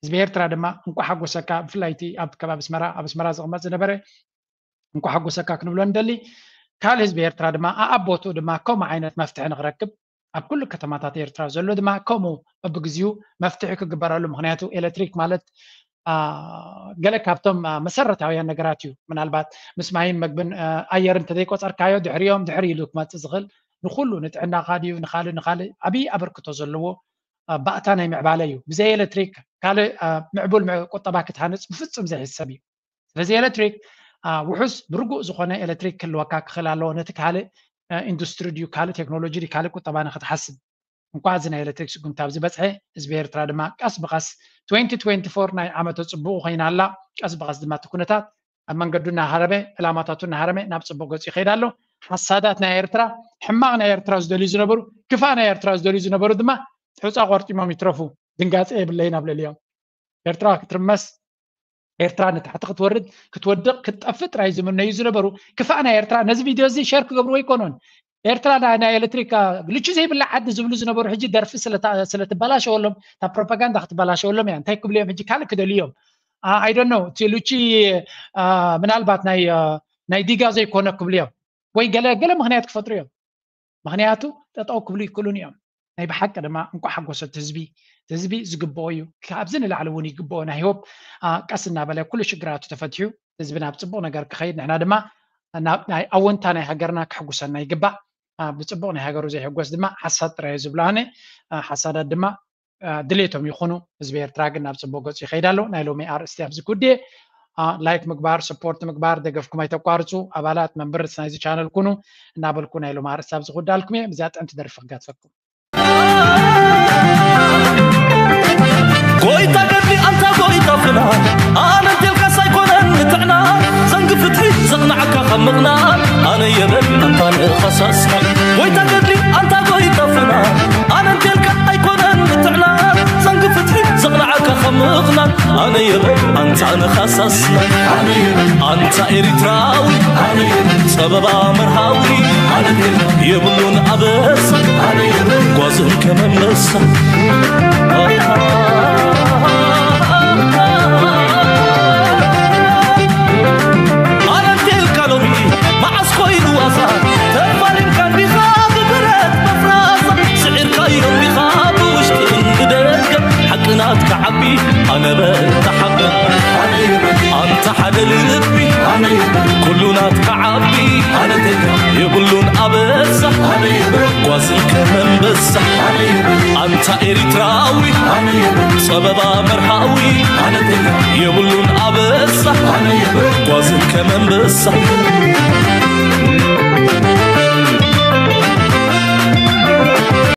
ህዝቢ ኤርትራ ድማ እንኳ ሓጎሰካ ብፍላይ እቲ ኣብ ከባቢ ኣስመራ ኣብ ኣስመራ ዝቕመጥ ዝነበረ እንኳ ሓጎሰካ ክንብሎ ንደሊ ካልእ ህዝቢ ኤርትራ ድማ ኣኣቦቱ ድማ ከምኡ ዓይነት መፍትሒ ንክረክብ ኣብ ኩሉ ከተማታት ኤርትራ ዘሎ ድማ ከምኡ በብግዚኡ መፍትሒ ክግበረሉ። ምክንያቱ ኤሌክትሪክ ማለት ገለ ካብቶም መሰረታውያን ነገራት እዩ። ምናልባት ምስ ማይን መግብን ኣየር እንተዘይቆፀርካዮ ድሕሪኦም ድሕሪ ኢሉ ክመፅእ ዝኽእል ንኩሉ ንጥዕናኻ ድዩ ንካልእ ንካልእ ዓብዪ ኣበርክቶ ዘለዎ ባእታ ናይ ምዕባለ እዩ። ብዘይ ኤሌክትሪክ ካልእ ምዕቡል ቁጠባ ክትሃንፅ ብፍፁም ዘይሕሰብ እዩ። ስለዚ ኤሌክትሪክ ውሑስ ብርጉእ ዝኾነ ኤሌክትሪክ ክህልወካ ክኽእል ኣለዎ፣ ነቲ ካልእ ኢንዱስትሪ ድዩ ካልእ ቴክኖሎጂ ድዩ ካልእ ቁጠባ ንክትሓስብ። እንኳ እዚ ናይ ኤሌክትሪክ ስጉምቲ ኣብዚ በፅሐ፣ ህዝቢ ኤርትራ ድማ ቀስ ብቐስ twenty twenty-four ናይ ዓመተ ፅቡቑ ኮይና ኣላ። ቀስ ብቐስ ድማ እቲ ኩነታት ኣብ መንገዱ እናሃረመ ዕላማታቱ እናሃረመ ናብ ፅቡቕ ገፁ ይኸይድ ኣሎ። ሓሳዳት ናይ ኤርትራ፣ ሕማቕ ናይ ኤርትራ ዝደልዩ ዝነበሩ፣ ክፋእ ናይ ኤርትራ ዝደልዩ ዝነበሩ ድማ ሑፃ ቆርጢሞም ይትረፉ። ድንጋፀ የብለይን ኣብ ልዕሊኦም። ኤርትራ ክትርመስ፣ ኤርትራ ንታሕቲ ክትወርድ ክትወድቕ ክትጠፍእ ጥራይ ዝምነዩ ዝነበሩ ክፋእ ናይ ኤርትራ ነዚ ቪድዮ እዚ ሸር ክገብርዎ ኣይኮኑን። ኤርትራ ናይ ኤሌክትሪክ ልቺ ዘይብላ ዓዲ ዝብሉ ዝነበሩ ሕጂ ደርፊ ስለትበላሸወሎም እታ ፕሮፓጋንዳ ክትበላሸወሎም እያ። እንታይ ክብሉ እዮም ሕጂ ካልእ ክደልዩ እዮም። ኣይዶኖ እቲ ልቺ ምናልባት ናይ ዲጋ ዘይኮነ ክብሉ እዮም ወይ ገለ ገለ ምክንያት ክፈጥሩ እዮም። ምክንያቱ ጠጠው ክብሉ ይክእሉን እዮም። ናይ ብሓቂ ድማ እንኳ ሓጎሰ እቲ ህዝቢ፣ እቲ ህዝቢ ዝግብኦ እዩ። ካብዚ ንላዕሊ እውን ይግብኦ ናይ ሆፕ ቀስ እናበለ ኩሉ ሽግራቱ ተፈትሑ ህዝቢ ናብ ፅቡቕ ነገር ክኸይድ ንሕና ድማ ናይ ኣወንታ ናይ ሃገርና ክሕጉሰና ይግባእ። ብፅቡቕ ናይ ሃገሩ ዘይሕጎስ ድማ ሓሳድ ጥራይ ዝብሉ ኣነ ሓሳዳት ድማ ድሌቶም ይኹኑ። ህዝቢ ኤርትራ ግን ናብ ፅቡቅ ገፁ ይኸይድ ኣሎ። ናይ ሎሚ ኣርእስቲ ኣብዚ ኩዴ ላይክ ምግባር፣ ሰፖርት ምግባር፣ ደገፍኩም ኣይተቋርፁ። ኣባላት መንበርስ ናይዚ ቻነል ኩኑ እናበልኩ ናይ ሎሚ ኣርእስቲ ኣብዚ ክወዳልኩም እየ። ብዛ ጥዕምቲ ደርፊ ክጋትፈኩም። ጎይታ ገድሊ ኣንታ ጎይታ ፍና ኣነ እንቴልካስ ኣይኮነን ንጥዕና ዘንግ ፍትሒ ዘቕናዓካ ካብ ምቕናት ኣነ የበል ኣንታ ንኸሳስካ ጎይታ ገድሊ ኣንታ ጎይታ ፍና ኣነ እንቴልካ ኣይኮነን ንጥዕና ዘንግ ፍትሒ ዘቕናዓካ ካብ ምቕናት ኣነ የበል ኣንታ ንኸሳስና ኣንታ ኤሪትራዊ ጸበባ መርሃዊ የብሉን ኣበሳ ጓዝም ከመመሳ ኣነንቴልካ ሎሚ መዓስ ኮይኑ ዋሳ ተፋሊምካ እንዲኻ ብብረት መፍራሳ ስዒርካዮ እንዲኻ ብውሽጥን ብደገ ሓቂ ናትካ ዓቢ ኣነ በታ ሓቂ ኣንታ ሓደ ልቢ ኩሉ ናትካ ዓቢ የብሉን ኣበሳ ጓዝን ከመንበሳ ኣንታ ኤሪትራዊ ጸበባ መርሃዊ የብሉን ኣበሳ ጓዝን ከመንበሳ